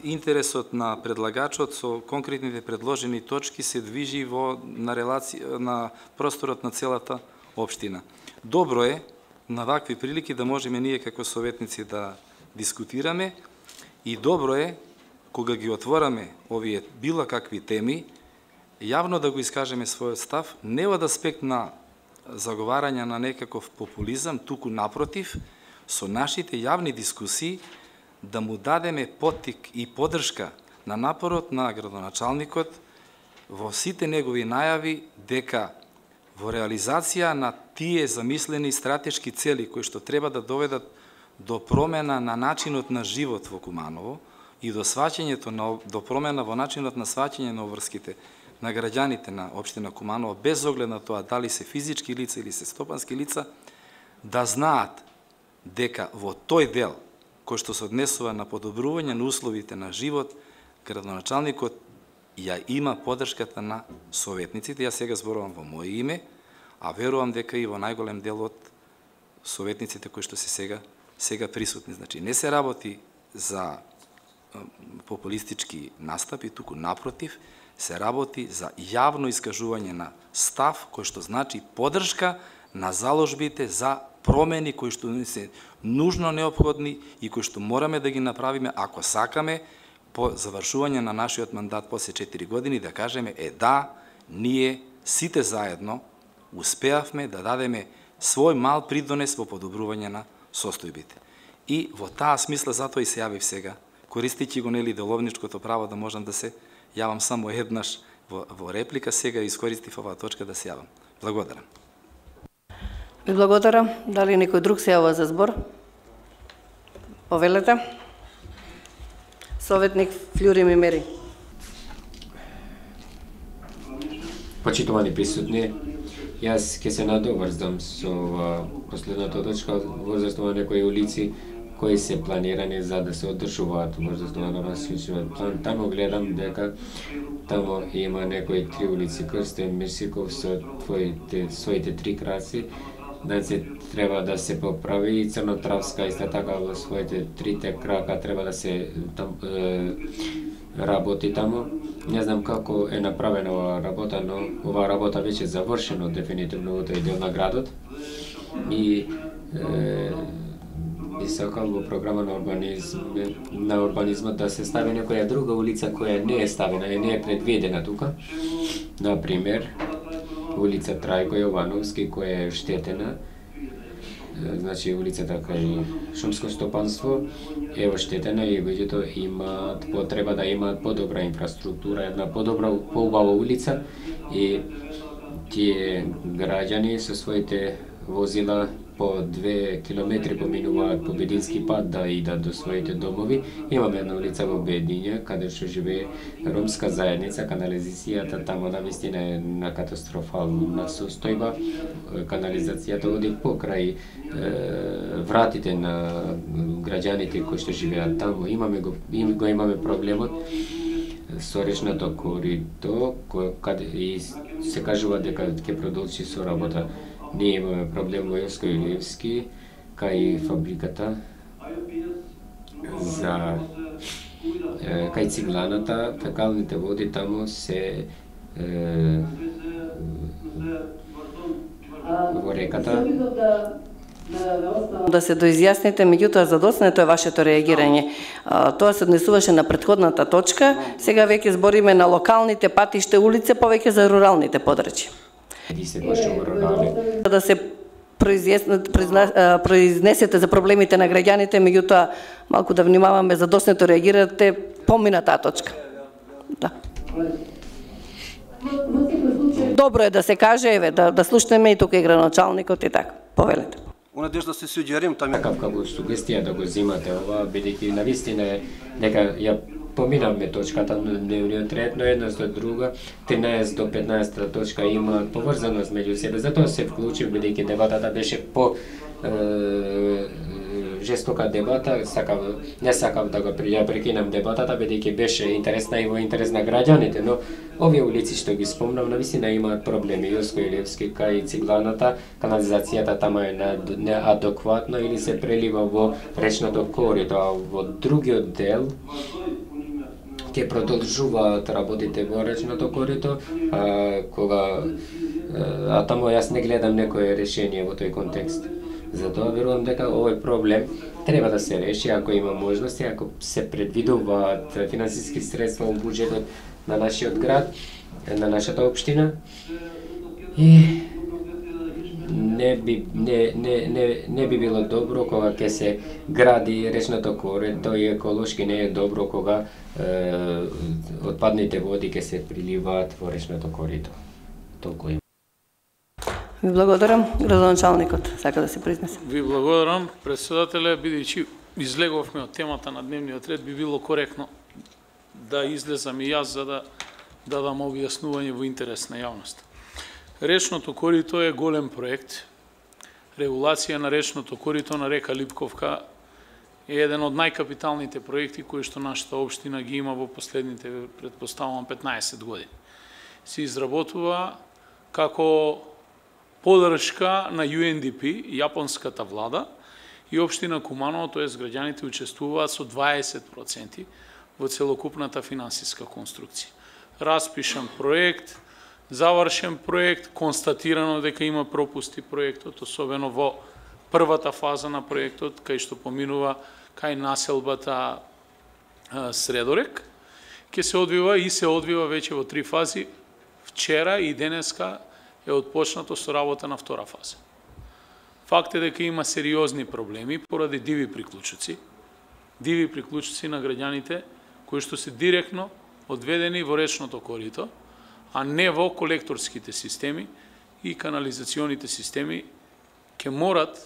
J: интересот на предлагачот со конкретните предложени точки се движи во на релација на просторот на целата општина. Добро е на вакви прилики да можеме ние како советници да дискутираме и добро е кога ги отвораме овие било какви теми, јавно да го искажеме својот став, не од аспект на заговарање на некаков популизам, туку напротив, со нашите јавни дискусии да му дадеме поттик и поддршка на напорот на градоначалникот во сите негови најави дека во реализација на тие замислени стратешки цели кои што треба да доведат до промена на начинот на живот во Куманово и до сваќањето на до промена во начинот на сваќање на обврските на граѓаните на општина Куманово, без оглед на тоа дали се физички лица или се стопански лица, да знаат дека во тој дел кој што се однесува на подобрување на условите на живот, градоначалникот ја има поддршката на советниците. Јас сега зборувам во моје име, а верувам дека и во најголем дел од советниците кои што се сега сега присутни. Значи, не се работи за популистички настапи, туку напротив, се работи за јавно искажување на став кој што значи поддршка на заложбите за промени кои што не се нужно неопходни и кои што мораме да ги направиме ако сакаме по завршување на нашиот мандат после четири години да кажеме е да, ние сите заедно успеавме да дадеме свој мал придонес во подобрување на состојбите. И во таа смисла затоа и се јавив сега, користејќи го нели деловничкото право да можам да се јавам само еднаш во, во реплика, сега искористив оваа точка да се јавам. Благодарам.
A: Ви благодарам. Дали некој друг се јава за збор? Повелете. Советник Флюри Мимери.
C: Почитувани присутни, јас ќе се надоврзам со последната точка во заснова некои улици кои се планирани за да се одржуваат во заснова на насличниот план. Тамо гледам дека тамо има некои три улици, Крстен Мирсиков со твоите, своите три краци. Значи, треба да се поправи и Црнотравска исто така во своите трите крака треба да се там, е, работи тамо. Не знам како е направена оваа работа, но оваа работа веќе е завршена дефинитивно во тој дел на градот. И е, и сакам во програма на урбанизм, на урбанизмот да се стави некоја друга улица која не е ставена и не е предвидена тука. Например, улица Трајко Јовановски која е штетена. Значи улицата кај шумско стопанство е оштетена и луѓето имаат потреба да имаат подобра инфраструктура, една подобра, поубава улица и тие граѓани со своите возила по две километри поминуваат по Бедински пат да идат до своите домови. Имаме една улица во Бедиња, каде што живее ромска заедница, канализацијата тамо навистина е на катастрофална состојба. Канализацијата оди покрај е, вратите на граѓаните кои што живеат тамо. Имаме го, им, го имаме проблемот со речното корито, каде и се кажува дека ќе продолжи со работа. Ние имаме проблем во Јоско Илиевски, кај фабриката за е, кај цигланата, фекалните води тамо се е, во реката.
A: Да се доизјасните, меѓутоа задоснето е вашето реагирање. Тоа се однесуваше на претходната точка, сега веќе збориме на локалните патишта улице, повеќе за руралните подрачја. Да се произнесете за проблемите на граѓаните, меѓутоа малку да внимаваме за доснето реагирате помина таа точка. Да. Добро е да се каже, еве, да, да слушнеме и тука и градоначалникот и така. Повелете.
L: У надежда се суѓерим таму.
C: Какав како сугестија да го земате ова, бидејќи навистина е дека ја поминавме точката на дневниот ред, но една со друга, тринаесет до петнаесет точка има поврзаност меѓу себе. Затоа се вклучив, бидејќи дебатата беше по е, жестока дебата, сакав, не сакав да го ја прекинам дебатата, бидејќи беше интересна и во интерес на граѓаните, но овие улици што ги спомнав, навистина имаат проблеми. Јоско Илевски, кај Цигланата, канализацијата тама е неадекватна или се прелива во речното корито, а во другиот дел ќе продолжуваат работите во речното корито, а, кога а таму јас не гледам некое решение во тој контекст. Затоа верувам дека овој проблем треба да се реши ако има можности, ако се предвидуваат финансиски средства во буџетот на нашиот град, на нашата општина. И не би не не не не би било добро кога ќе се гради речното корито и еколошки не е добро кога е, отпадните води ќе се приливаат во речното корито. Толку има.
A: Ви благодарам, градоначалникот сака да се произнесе.
I: Ви благодарам, председателе, бидејќи излеговме од темата на дневниот ред, би било коректно да излезам и јас за да дадам објаснување во интерес на јавноста. Речното корито е голем проект. Регулација на речното корито на река Липковка е еден од најкапиталните проекти кои што нашата општина ги има во последните, претпоставувам, петнаесет години. Се изработува како подршка на Ю Ен Ди Пи, јапонската влада, и општина Куманово, тоест граѓаните учествуваат со дваесет проценти во целокупната финансиска конструкција. Распишан проект, завршен проект, констатирано дека има пропусти проектот, особено во првата фаза на проектот, кај што поминува кај населбата Средорек, ќе се одвива и се одвива веќе во три фази. Вчера и денеска е отпочнато со работа на втора фаза. Факт е дека има сериозни проблеми поради диви приклучоци, диви приклучоци на граѓаните кои што се директно одведени во речното корито, а не во колекторските системи и канализационите системи, ќе морат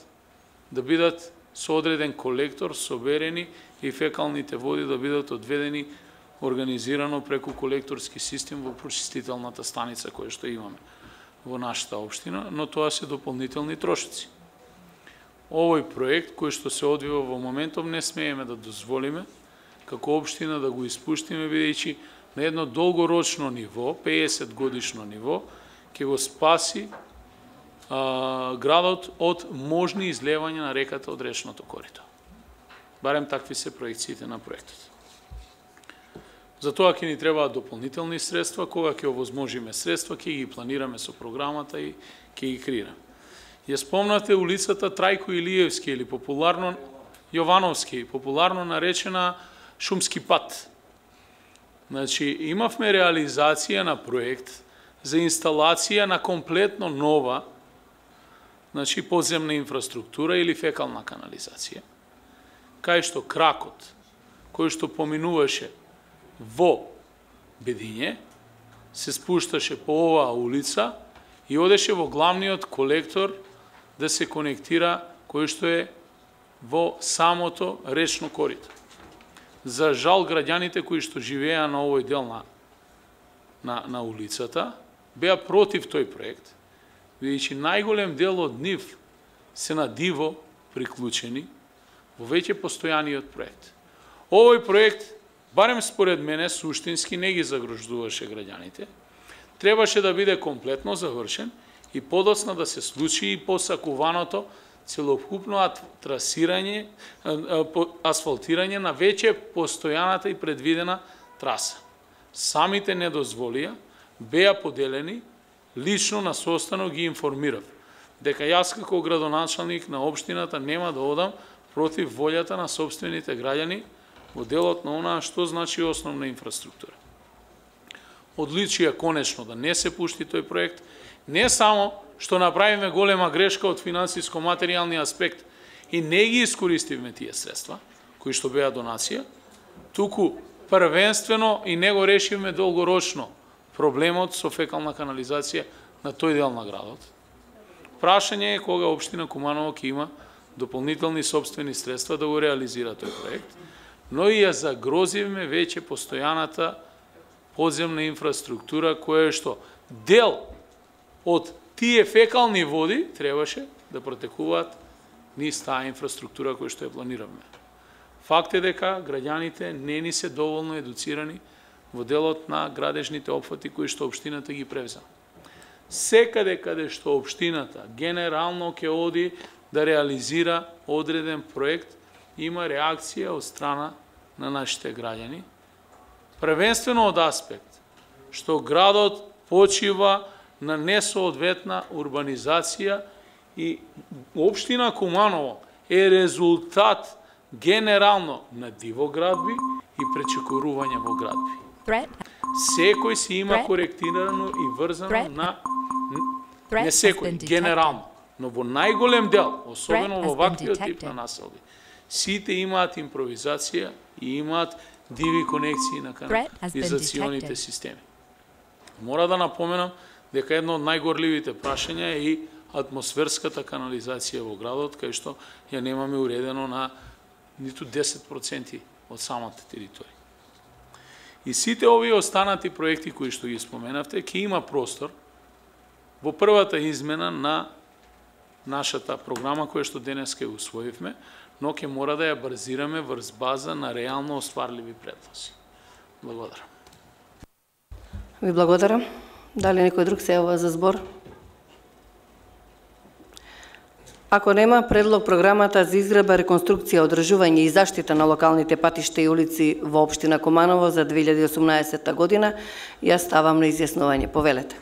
I: да бидат со одреден колектор соберени и фекалните води да бидат одведени организирано преку колекторски систем во прочистителната станица која што имаме во нашата општина, но тоа се дополнителни трошоци. Овој проект кој што се одвива во моментов не смееме да дозволиме како општина да го испуштиме, бидејќи на едно долгорочно ниво, пеесет годишно ниво, ќе го спаси а, градот од можни излевања на реката од речното корито. Барем такви се проекциите на проектот. Затоа ќе ни требаат дополнителни средства, кога ќе овозможиме средства, ќе ги планираме со програмата и ќе ги креираме. Ја спомнате улицата Трајко Илиевски или популарно Јовановски, популарно наречена Шумски пат. Значи, имавме реализација на проект за инсталација на комплетно нова, значи подземна инфраструктура или фекална канализација, кај што кракот, кој што поминуваше во Бедиње, се спушташе по оваа улица и одеше во главниот колектор да се конектира кој што е во самото речно корито. За жал, граѓаните кои што живеа на овој дел на, на, на улицата беа против тој проект, бидејќи најголем дел од нив се на диво приклучени во веќе постојаниот проект. Овој проект, барем според мене, суштински не ги загрождуваше граѓаните, требаше да биде комплетно завршен и подоцна да се случи и посакуваното целокупно трасирање, асфалтирање на веќе постојаната и предвидена траса. Самите недозволија беа поделени, лично на состанок ги информирав, дека јас како градоначалник на општината нема да одам против волјата на сопствените граѓани во делот на онаа што значи основна инфраструктура. Одличија конечно да не се пушти тој проект, Не само што направиме голема грешка од финансиско-материјални аспект и не ги искористивме тие средства, кои што беа донација, туку првенствено и не го решивме долгорочно проблемот со фекална канализација на тој дел на градот. Прашање е кога општина Куманово ќе има дополнителни собствени средства да го реализира тој проект, но и ја загрозивме веќе постојаната подземна инфраструктура која што дел од тие фекални води требаше да протекуваат низ таа инфраструктура која што ја планиравме. Факт е дека граѓаните не ни се доволно едуцирани во делот на градежните опфати кои што општината ги превзема. Секаде каде што општината генерално ќе оди да реализира одреден проект, има реакција од страна на нашите граѓани, првенствено од аспект што градот почива на несоодветна урбанизација и општина Куманово е резултат генерално на дивоградби и пречекорување во градби. Секој си има коректирано и врзано на не секој, генерално, но во најголем дел, особено во ваквиот тип на населби, сите имаат импровизација и имаат диви конекции на канализационите системи. Мора да напоменам дека едно од најгорливите прашања е и атмосферската канализација во градот, кај што ја немаме уредено на ниту десет проценти од самата територија. И сите овие останати проекти кои што ги споменавте, ќе има простор во првата измена на нашата програма која што денес ќе усвоивме, но ќе мора да ја базираме врз база на реално остварливи предлози. Благодарам.
A: Ви благодарам. Дали некој друг се јавува за збор? Ако нема, предлог програмата за изградба, реконструкција, одржување и заштита на локалните патишта и улици во општина Куманово за две илјади и осумнаесетта година, ја ставам на изјаснување. Повелете.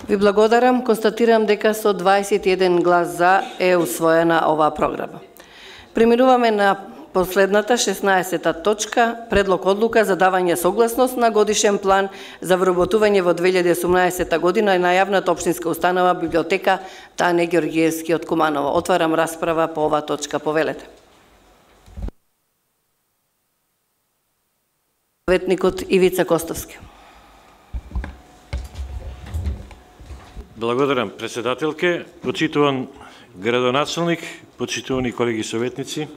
A: Ви благодарам. Констатирам дека со дваесет и еден глас за е усвоена оваа програма. Преминуваме на последната шеснаесета точка, предлог одлука за давање согласност на годишен план за вработување во две илјади и осумнаесетта година на јавната општинска установа библиотека Тане Георгиевски од Куманово. Отварам расправа по оваа точка. Повелете. Советникот Ивица Костовски.
M: Благодарам, председателке, почитуван градоначалник, почитувани колеги советници,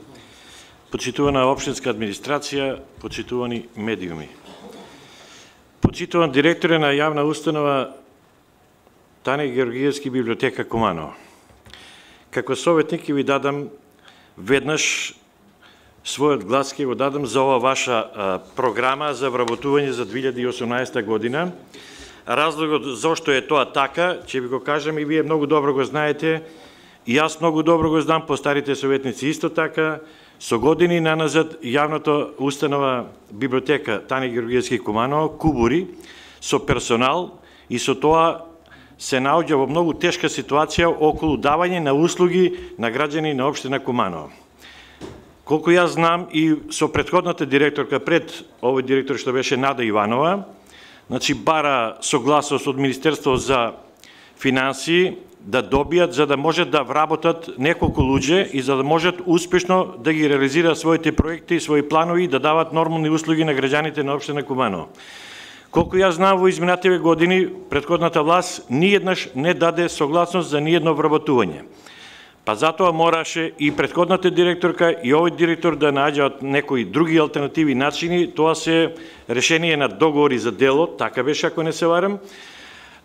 M: почитувана општинска администрација, почитувани медиуми. Почитуван директоре на јавна установа Тане Георгиевски библиотека Куманово. Како советник ќе ви дадам веднаш својот глас ќе го дадам за ова ваша а, програма за вработување за две илјади и осумнаесетта година. Разлогот зошто е тоа така, ќе ви го кажам и вие многу добро го знаете, и јас многу добро го знам, постарите советници исто така. Со години наназад јавната установа библиотека Тане Георгиевски Куманово кубури со персонал и со тоа се наоѓа во многу тешка ситуација околу давање на услуги на граѓани на општина Куманово. Колку јас знам и со претходната директорка пред овој директор што беше Нада Иванова, значи бара согласност од Министерство за финансии да добијат за да можат да вработат неколку луѓе и за да можат успешно да ги реализираат своите проекти и своји планови и да дават нормални услуги на граѓаните на општина Куманово. Колку јас знам, во изминативе години претходната власт ниеднаш не даде согласност за ниедно вработување. Па затоа мораше и претходната директорка и овој директор да наđаат некои други алтернативи начини. Тоа се решение на договори за дело, така беше ако не се варам.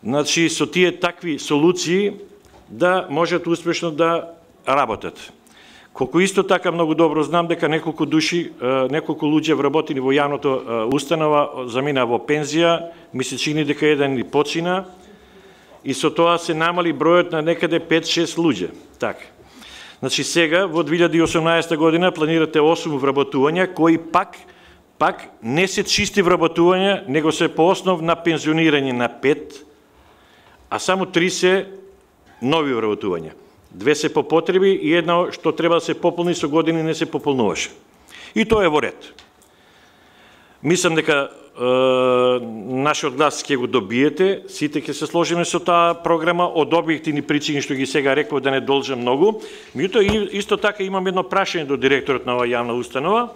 M: Значи со тие такви солуции да можат успешно да работат. Колку исто така многу добро знам дека неколку души, неколку луѓе вработени во јавната установа замина во пензија, ми се чини дека еден и почина, и со тоа се намали бројот на некаде пет-шест луѓе. Така. Значи сега во две илјади и осумнаесета година планирате осум вработувања кои пак пак не се чисти вработувања, него се по основ на пензионирање на пет, а само три се нови вработувања. Две се по потреби и едно што треба да се пополни со години не се пополнуваше. И тоа е во ред. Мислам дека е, нашиот глас ќе го добиете, сите ќе се сложиме со таа програма од објективни причини што ги сега реков да не должам многу. Меѓутоа исто така имам едно прашање до директорот на оваа јавна установа.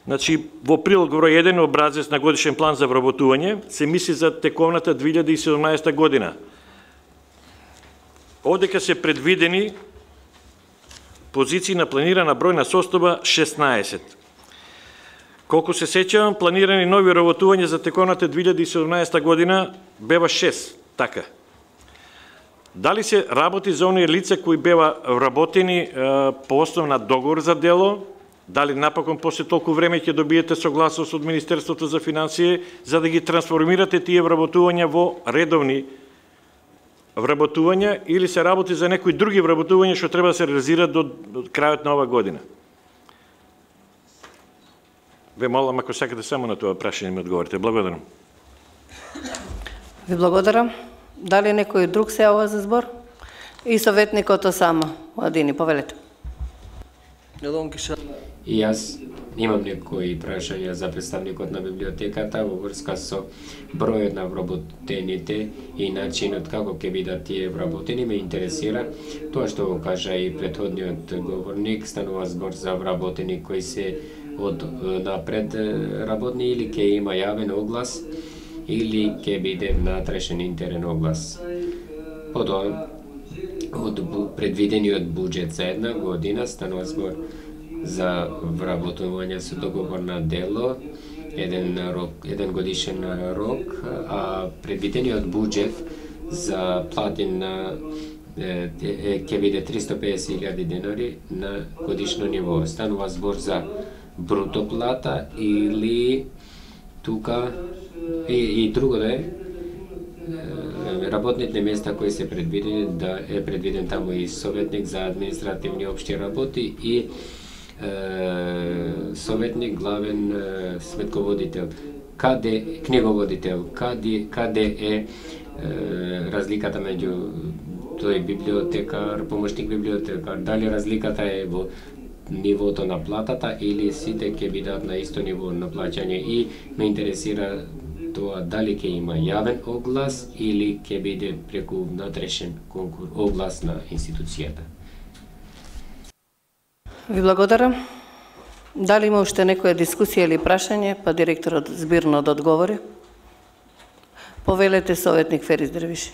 M: Значи, во прилог број еден образец на годишен план за вработување се мисли за тековната две илјади и седумнаесета година. Одека се предвидени позиции на планирана бројна состојба шеснаесет. Колку се сеќавам, планирани нови вработувања за тековната две илјади и седумнаесета година бева шест, така. Дали се работи за оние лица кои бева вработени е, по основ на договор за дело? Дали напокон после толку време ќе добиете согласност од Министерството за финансии за да ги трансформирате тие вработувања во редовни вработувања или се работи за некои други вработувања што треба да се реализираат до, до крајот на ова година? Ве молам, ако сакате само на тоа прашање ми одговорите. Благодарам.
A: Ви благодарам. Дали некој друг се јавува за збор? И советникот Осама Младини, повелете.
C: И јас имам некои прашања за представникот на библиотеката во врска со бројот на вработените и начинот како ќе бидат тие вработени. Ме интересира тоа што го кажа и претходниот говорник, станува збор за вработени кои се од напред работни или ќе има јавен оглас или ќе биде натрешен интерен оглас. Потоа од предвидениот буџет за една година станува збор за вработување со договор на дело, еден рок, еден годишен рок, а предвидениот буџет за плати на ќе биде триста и песет илјади денари на годишно ниво. Станува збор за бруто плата или тука и, и друго да е работните места кои се предвидени, да е предвиден таму и советник за административни општи работи и е, советник главен е, сметководител. Каде книговодител, каде каде е, е разликата меѓу тој библиотекар, помошник библиотекар, дали разликата е во нивото на платата или сите ќе бидат на исто ниво на плаќање, и ме интересира тоа дали ќе има јавен оглас или ќе биде преку натрешен конкурс, оглас на институцијата.
A: Ви благодарам. Дали има уште некоја дискусија или прашање, па директорот збирно да одговори? Повелете, советник Ферис Дрвиши.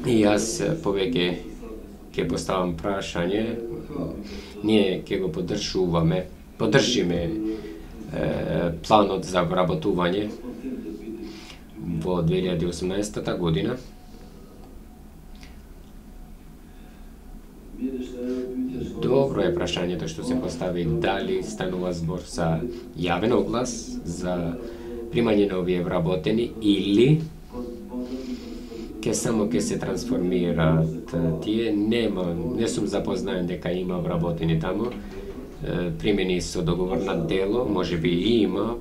C: И јас повеќе ќе поставам прашање. Ние ќе го поддржуваме, поддржиме е, планот за вработување во две илјади и осумнаесета година. Добро е прашањето што се постави, дали станува збор за јавен оглас, за примање на овие вработени или ке само ке се трансформираат тие. Нема, не сум запознаен дека има вработени таму, примени со договор на дело, може би и има,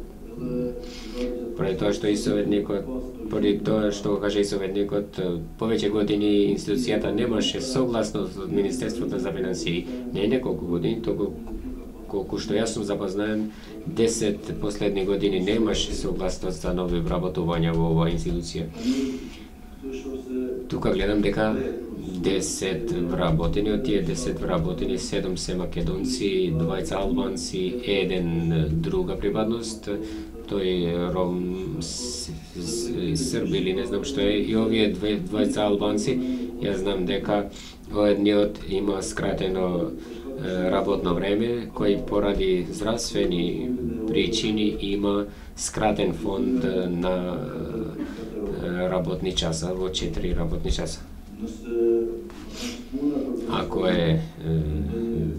C: поради тоа што и советникот, поради тоа што го кажа и советникот, повеќе години институцијата немаше согласност од Министерството за финансии, не неколку години, току колку што јас сум запознаен, десет последни години немаше согласност за нови вработувања во оваа институција. Тука гледам дека десет вработени, од тие десет вработени, седум се македонци, двајца албанци, еден друга припадност, тој ром, срби или не знам што е, и овие двајца албанци, јас знам дека едниот има скратено работно време, кој поради здравствени причини има скратен фонд на работни часа, во четири работни часа. Ако е, е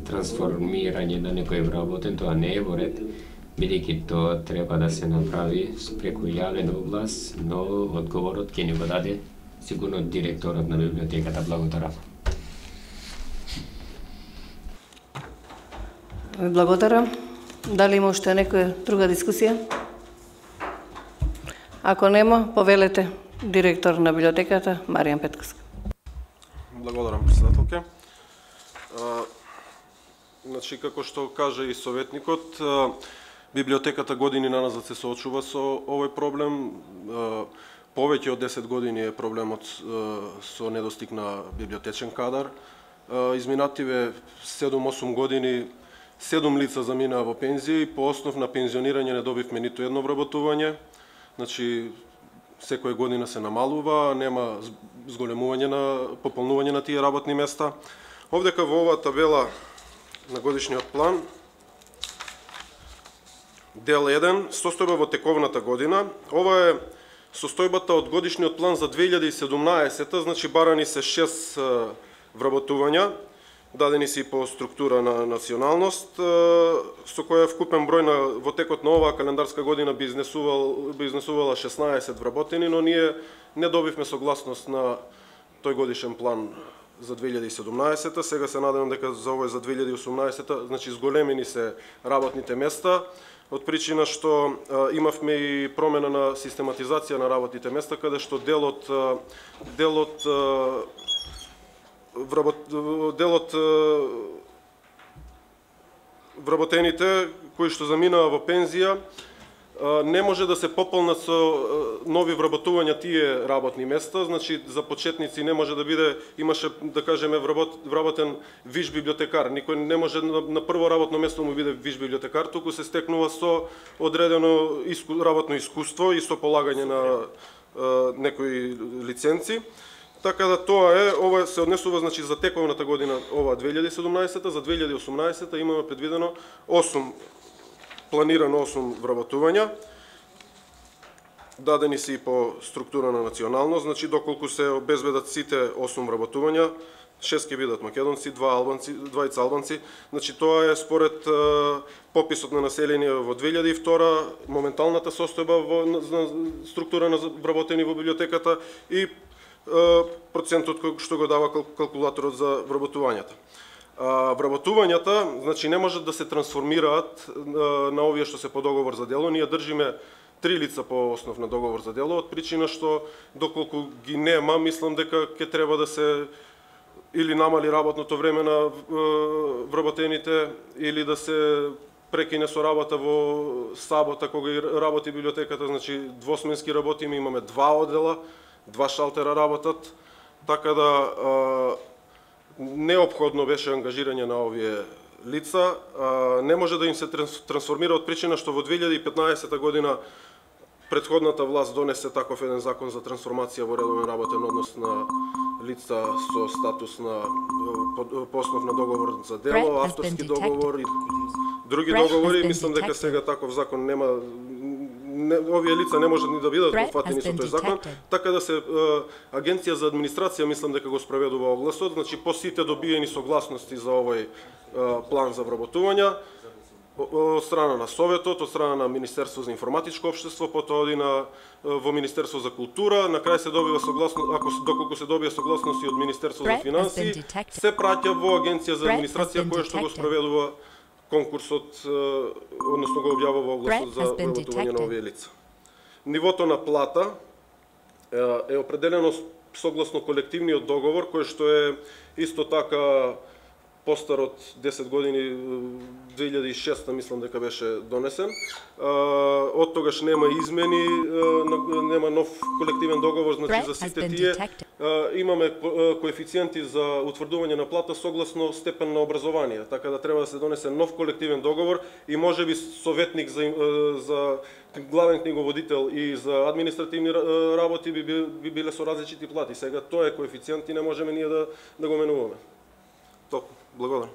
C: трансформирање на некој вработен, тоа не е во ред, бидејќи тоа треба да се направи преку јавен оглас, но одговорот ќе ни го даде сигурно директорот на библиотеката. Благодарам.
A: Ви благодарам. Дали има уште некоја друга дискусија? Ако нема, повелете директор на библиотеката Маријан Петковска.
D: Благодарам, председателке. Значи, како што кажа и советникот, библиотеката години наназад се соочува со овој проблем. Повеќе од десет години е проблемот со недостиг на библиотечен кадар. Изминативе седум-осум години седум лица заминаа во пензија и по основ на пензионирање не добивме ниту едно вработување. Значи, секоја година се намалува, нема зголемување на пополнување на тие работни места. Овдека во оваа табела на годишниот план, дел еден, состојба во тековната година. Ова е состојбата од годишниот план за две илјади и седумнаесета, значи барани се шест вработувања, дадени се и по структура на националност, со која вкупен број на во текот на оваа календарска година би изнесувал би изнесувала шеснаесет вработени, но ние не добивме согласност на тој годишен план за две илјади и седумнаесета. Сега се надевам дека за овој за две илјади и осумнаесета, значи зголемени се работните места, од причина што а, имавме и промена на систематизација на работните места, каде што делот а, делот а, вработ, делот вработените кои што заминаа во пензија не може да се пополнат со нови вработувања тие работни места, значи за почетници не може да биде, имаше да кажеме вработ, вработен виш библиотекар, никој не може на, на прво работно место му биде виш библиотекар, туку се стекнува со одредено иску, работно искуство и со полагање на а, некои лиценци. Така да тоа е, ова се однесува значи за тековната година, ова две илјади и седумнаесета, за две илјади и осумнаесета имаме предвидено осум планирано осум вработувања, дадени се и по структура на националност, значи доколку се обезбедат сите осум вработувања, шест ќе бидат македонци, два албанци, двајца албанци, значи тоа е според е, пописот на население во две илјади и втора, моменталната состојба во на, структура на вработени во библиотеката и е, процентот кој што го дава калкулаторот за вработувањата. А, вработувањата, значи не можат да се трансформираат а, на овие што се по договор за дело. Ние држиме три лица по основ на договор за дело, од причина што доколку ги нема, мислам дека ќе треба да се или намали работното време на а, вработените, или да се прекине со работа во сабота кога работи библиотеката, значи двосменски работиме, имаме два оддела, два шалтера работат, така да а, неопходно беше ангажирање на овие лица. А, не може да им се трансформира од причина што во две илјади и петнаесета година претходната власт донесе таков еден закон за трансформација во редовен работен однос на лица со статус на по основ на договор за дело, авторски договор и други договори. Мислам дека сега таков закон нема, не, овие лица не можат ни да бидат опфатени со тој закон, така да се е, Агенција за администрација мислам дека го спроведува огласот, значи по сите добиени согласности за овој е, план за вработувања од страна на Советот, од страна на Министерство за информатичко општество, потоа оди на во Министерство за култура, на крај се добива согласност, ако доколку се добија согласност и од Министерство за финансии, се праќа во Агенција за администрација која што го спроведува конкурсот, односно го објавува огласот за вработување на овие лица. Нивото на плата е определено согласно колективниот договор, кој што е исто така постар од десет години, две илјади и шеста мислам дека беше донесен. Од тогаш нема измени, нема нов колективен договор, значи за сите тие имаме коефициенти за утврдување на плата согласно степен на образование, така да треба да се донесе нов колективен договор и можеби советник за, за главен книговодител и за административни работи би, би биле со различити плати. Сега тоа е коефициент и не можеме ние да, да го менуваме. Толку. Благодарам.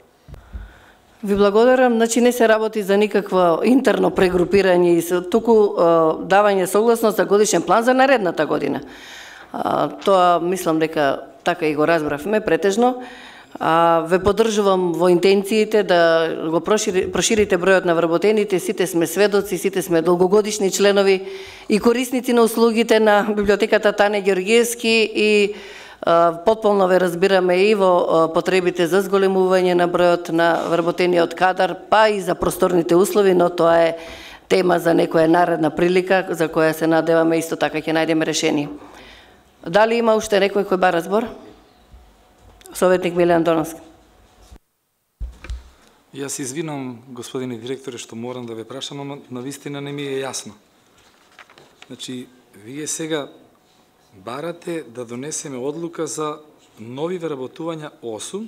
A: Ви благодарам. Значи не се работи за никакво интерно прегрупирање и туку давање согласност за годишен план за наредната година. А, тоа мислам дека така и го разбравме претежно. А, ве поддржувам во интенциите да го прошири, проширите бројот на вработените, сите сме сведоци, сите сме долгогодишни членови и корисници на услугите на библиотеката Тане Ѓорѓиевски и а, потполно ве разбираме и во а, потребите за зголемување на бројот на вработениот кадар, па и за просторните услови, но тоа е тема за некоја наредна прилика за која се надеваме исто така ќе најдеме решение. Дали има уште некој кој бара збор? Советник Милјан Доновски.
J: Јас извинам, господине директоре, што морам да ве прашам, но навистина не ми е јасно. Значи, вие сега барате да донесеме одлука за нови вработувања осум,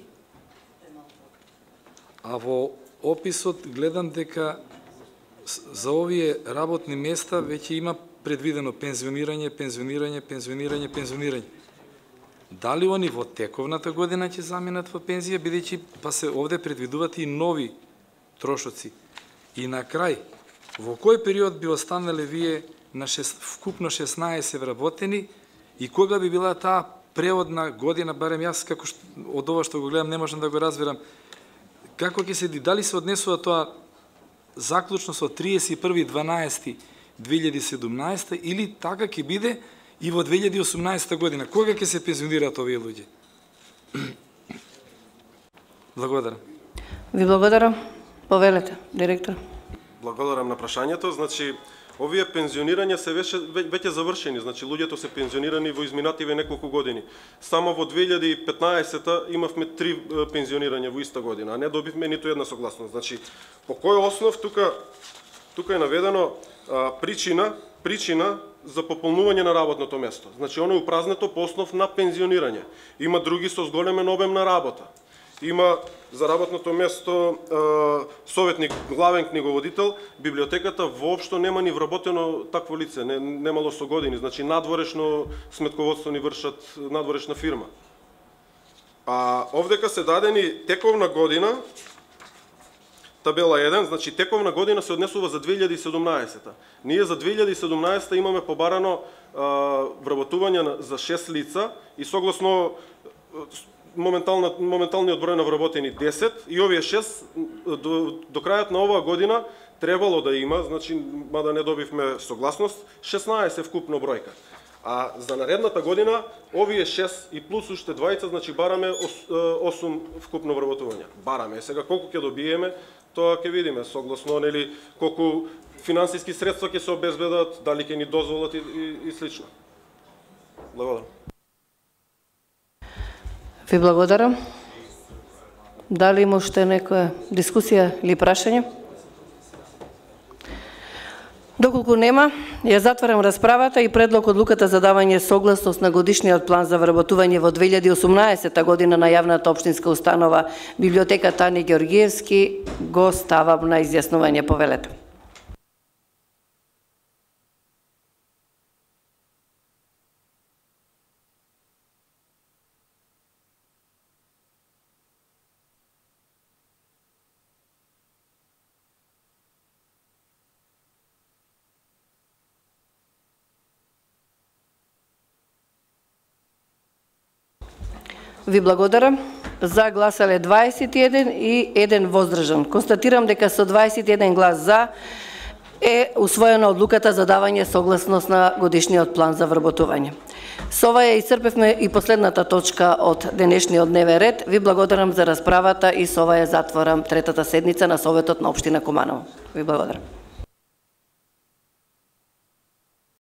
J: а во описот гледам дека за овие работни места веќе има предвидено пензионирање, пензионирање, пензионирање, пензионирање. Дали они во тековната година ќе заминат во пензија, бидејќи па се овде предвидуваат и нови трошоци. И на крај, во кој период би останале вие на шест, вкупно шеснаесет вработени и кога би била таа преводна година, барем јас како што, од ова што го гледам не можам да го разберам, како ќе се, дали се однесува тоа заклучно со триесет и први дванаести две илјади и седумнаесета или така ќе биде и во две илјади и осумнаесета година? Кога ќе се пензионираат овие луѓе? Благодарам.
A: Ви благодарам. Повелете, директор.
D: Благодарам на прашањето. Значи, овие пензионирања се веќе, веќе завршени. Значи, луѓето се пензионирани во изминативе неколку години. Само во две илјади и петнаесета имавме три пензионирања во иста година, а не добивме ниту една согласност. Значи, по кој основ тука тука е наведено а, причина, причина за пополнување на работното место. Значи, оно е упразнето по основ на пензионирање. Има други со зголемен обем на работа. Има за работното место советник, главен книговодител, библиотеката воопшто нема ни вработено такво лице, не, немало со години, значи надворешно сметководство ни вршат надворешна фирма. А овдека се дадени тековна година, табела еден, значи тековна година се однесува за две илјади и седумнаесета. Ние за две илјади и седумнаесета имаме побарано а, вработување за шест лица и согласно моменталниот број на вработени десет и овие шест до, до крајот на оваа година требало да има, значи мада не добивме согласност, шеснаесет вкупно бројка. А за наредната година овие шест и плюс уште двајца, значи бараме осум вкупно вработувања. Бараме. Сега колку ќе добиеме, тоа ќе видиме согласно нели колку финансиски средства ќе се обезбедат, дали ќе ни дозволат и, и, и слично. Благодарам.
A: Ви благодарам. Дали има уште некоја дискусија или прашање? Доколку нема, ја затварам расправата и предлог одлуката за давање согласност на годишниот план за вработување во две илјади и осумнаесета година на јавната општинска установа Библиотека Тане Ѓорѓиевски го ставам на изјаснување. Повелете. Ви благодарам. За гласале дваесет и еден и еден воздржан. Констатирам дека со дваесет и еден глас за е усвоена одлуката за давање согласност на годишниот план за вработување. Со ова ја исцрпевме и последната точка од денешниот дневен ред. Ви благодарам за расправата и со ова ја затворам третата седница на Советот на општина Куманово. Ви благодарам.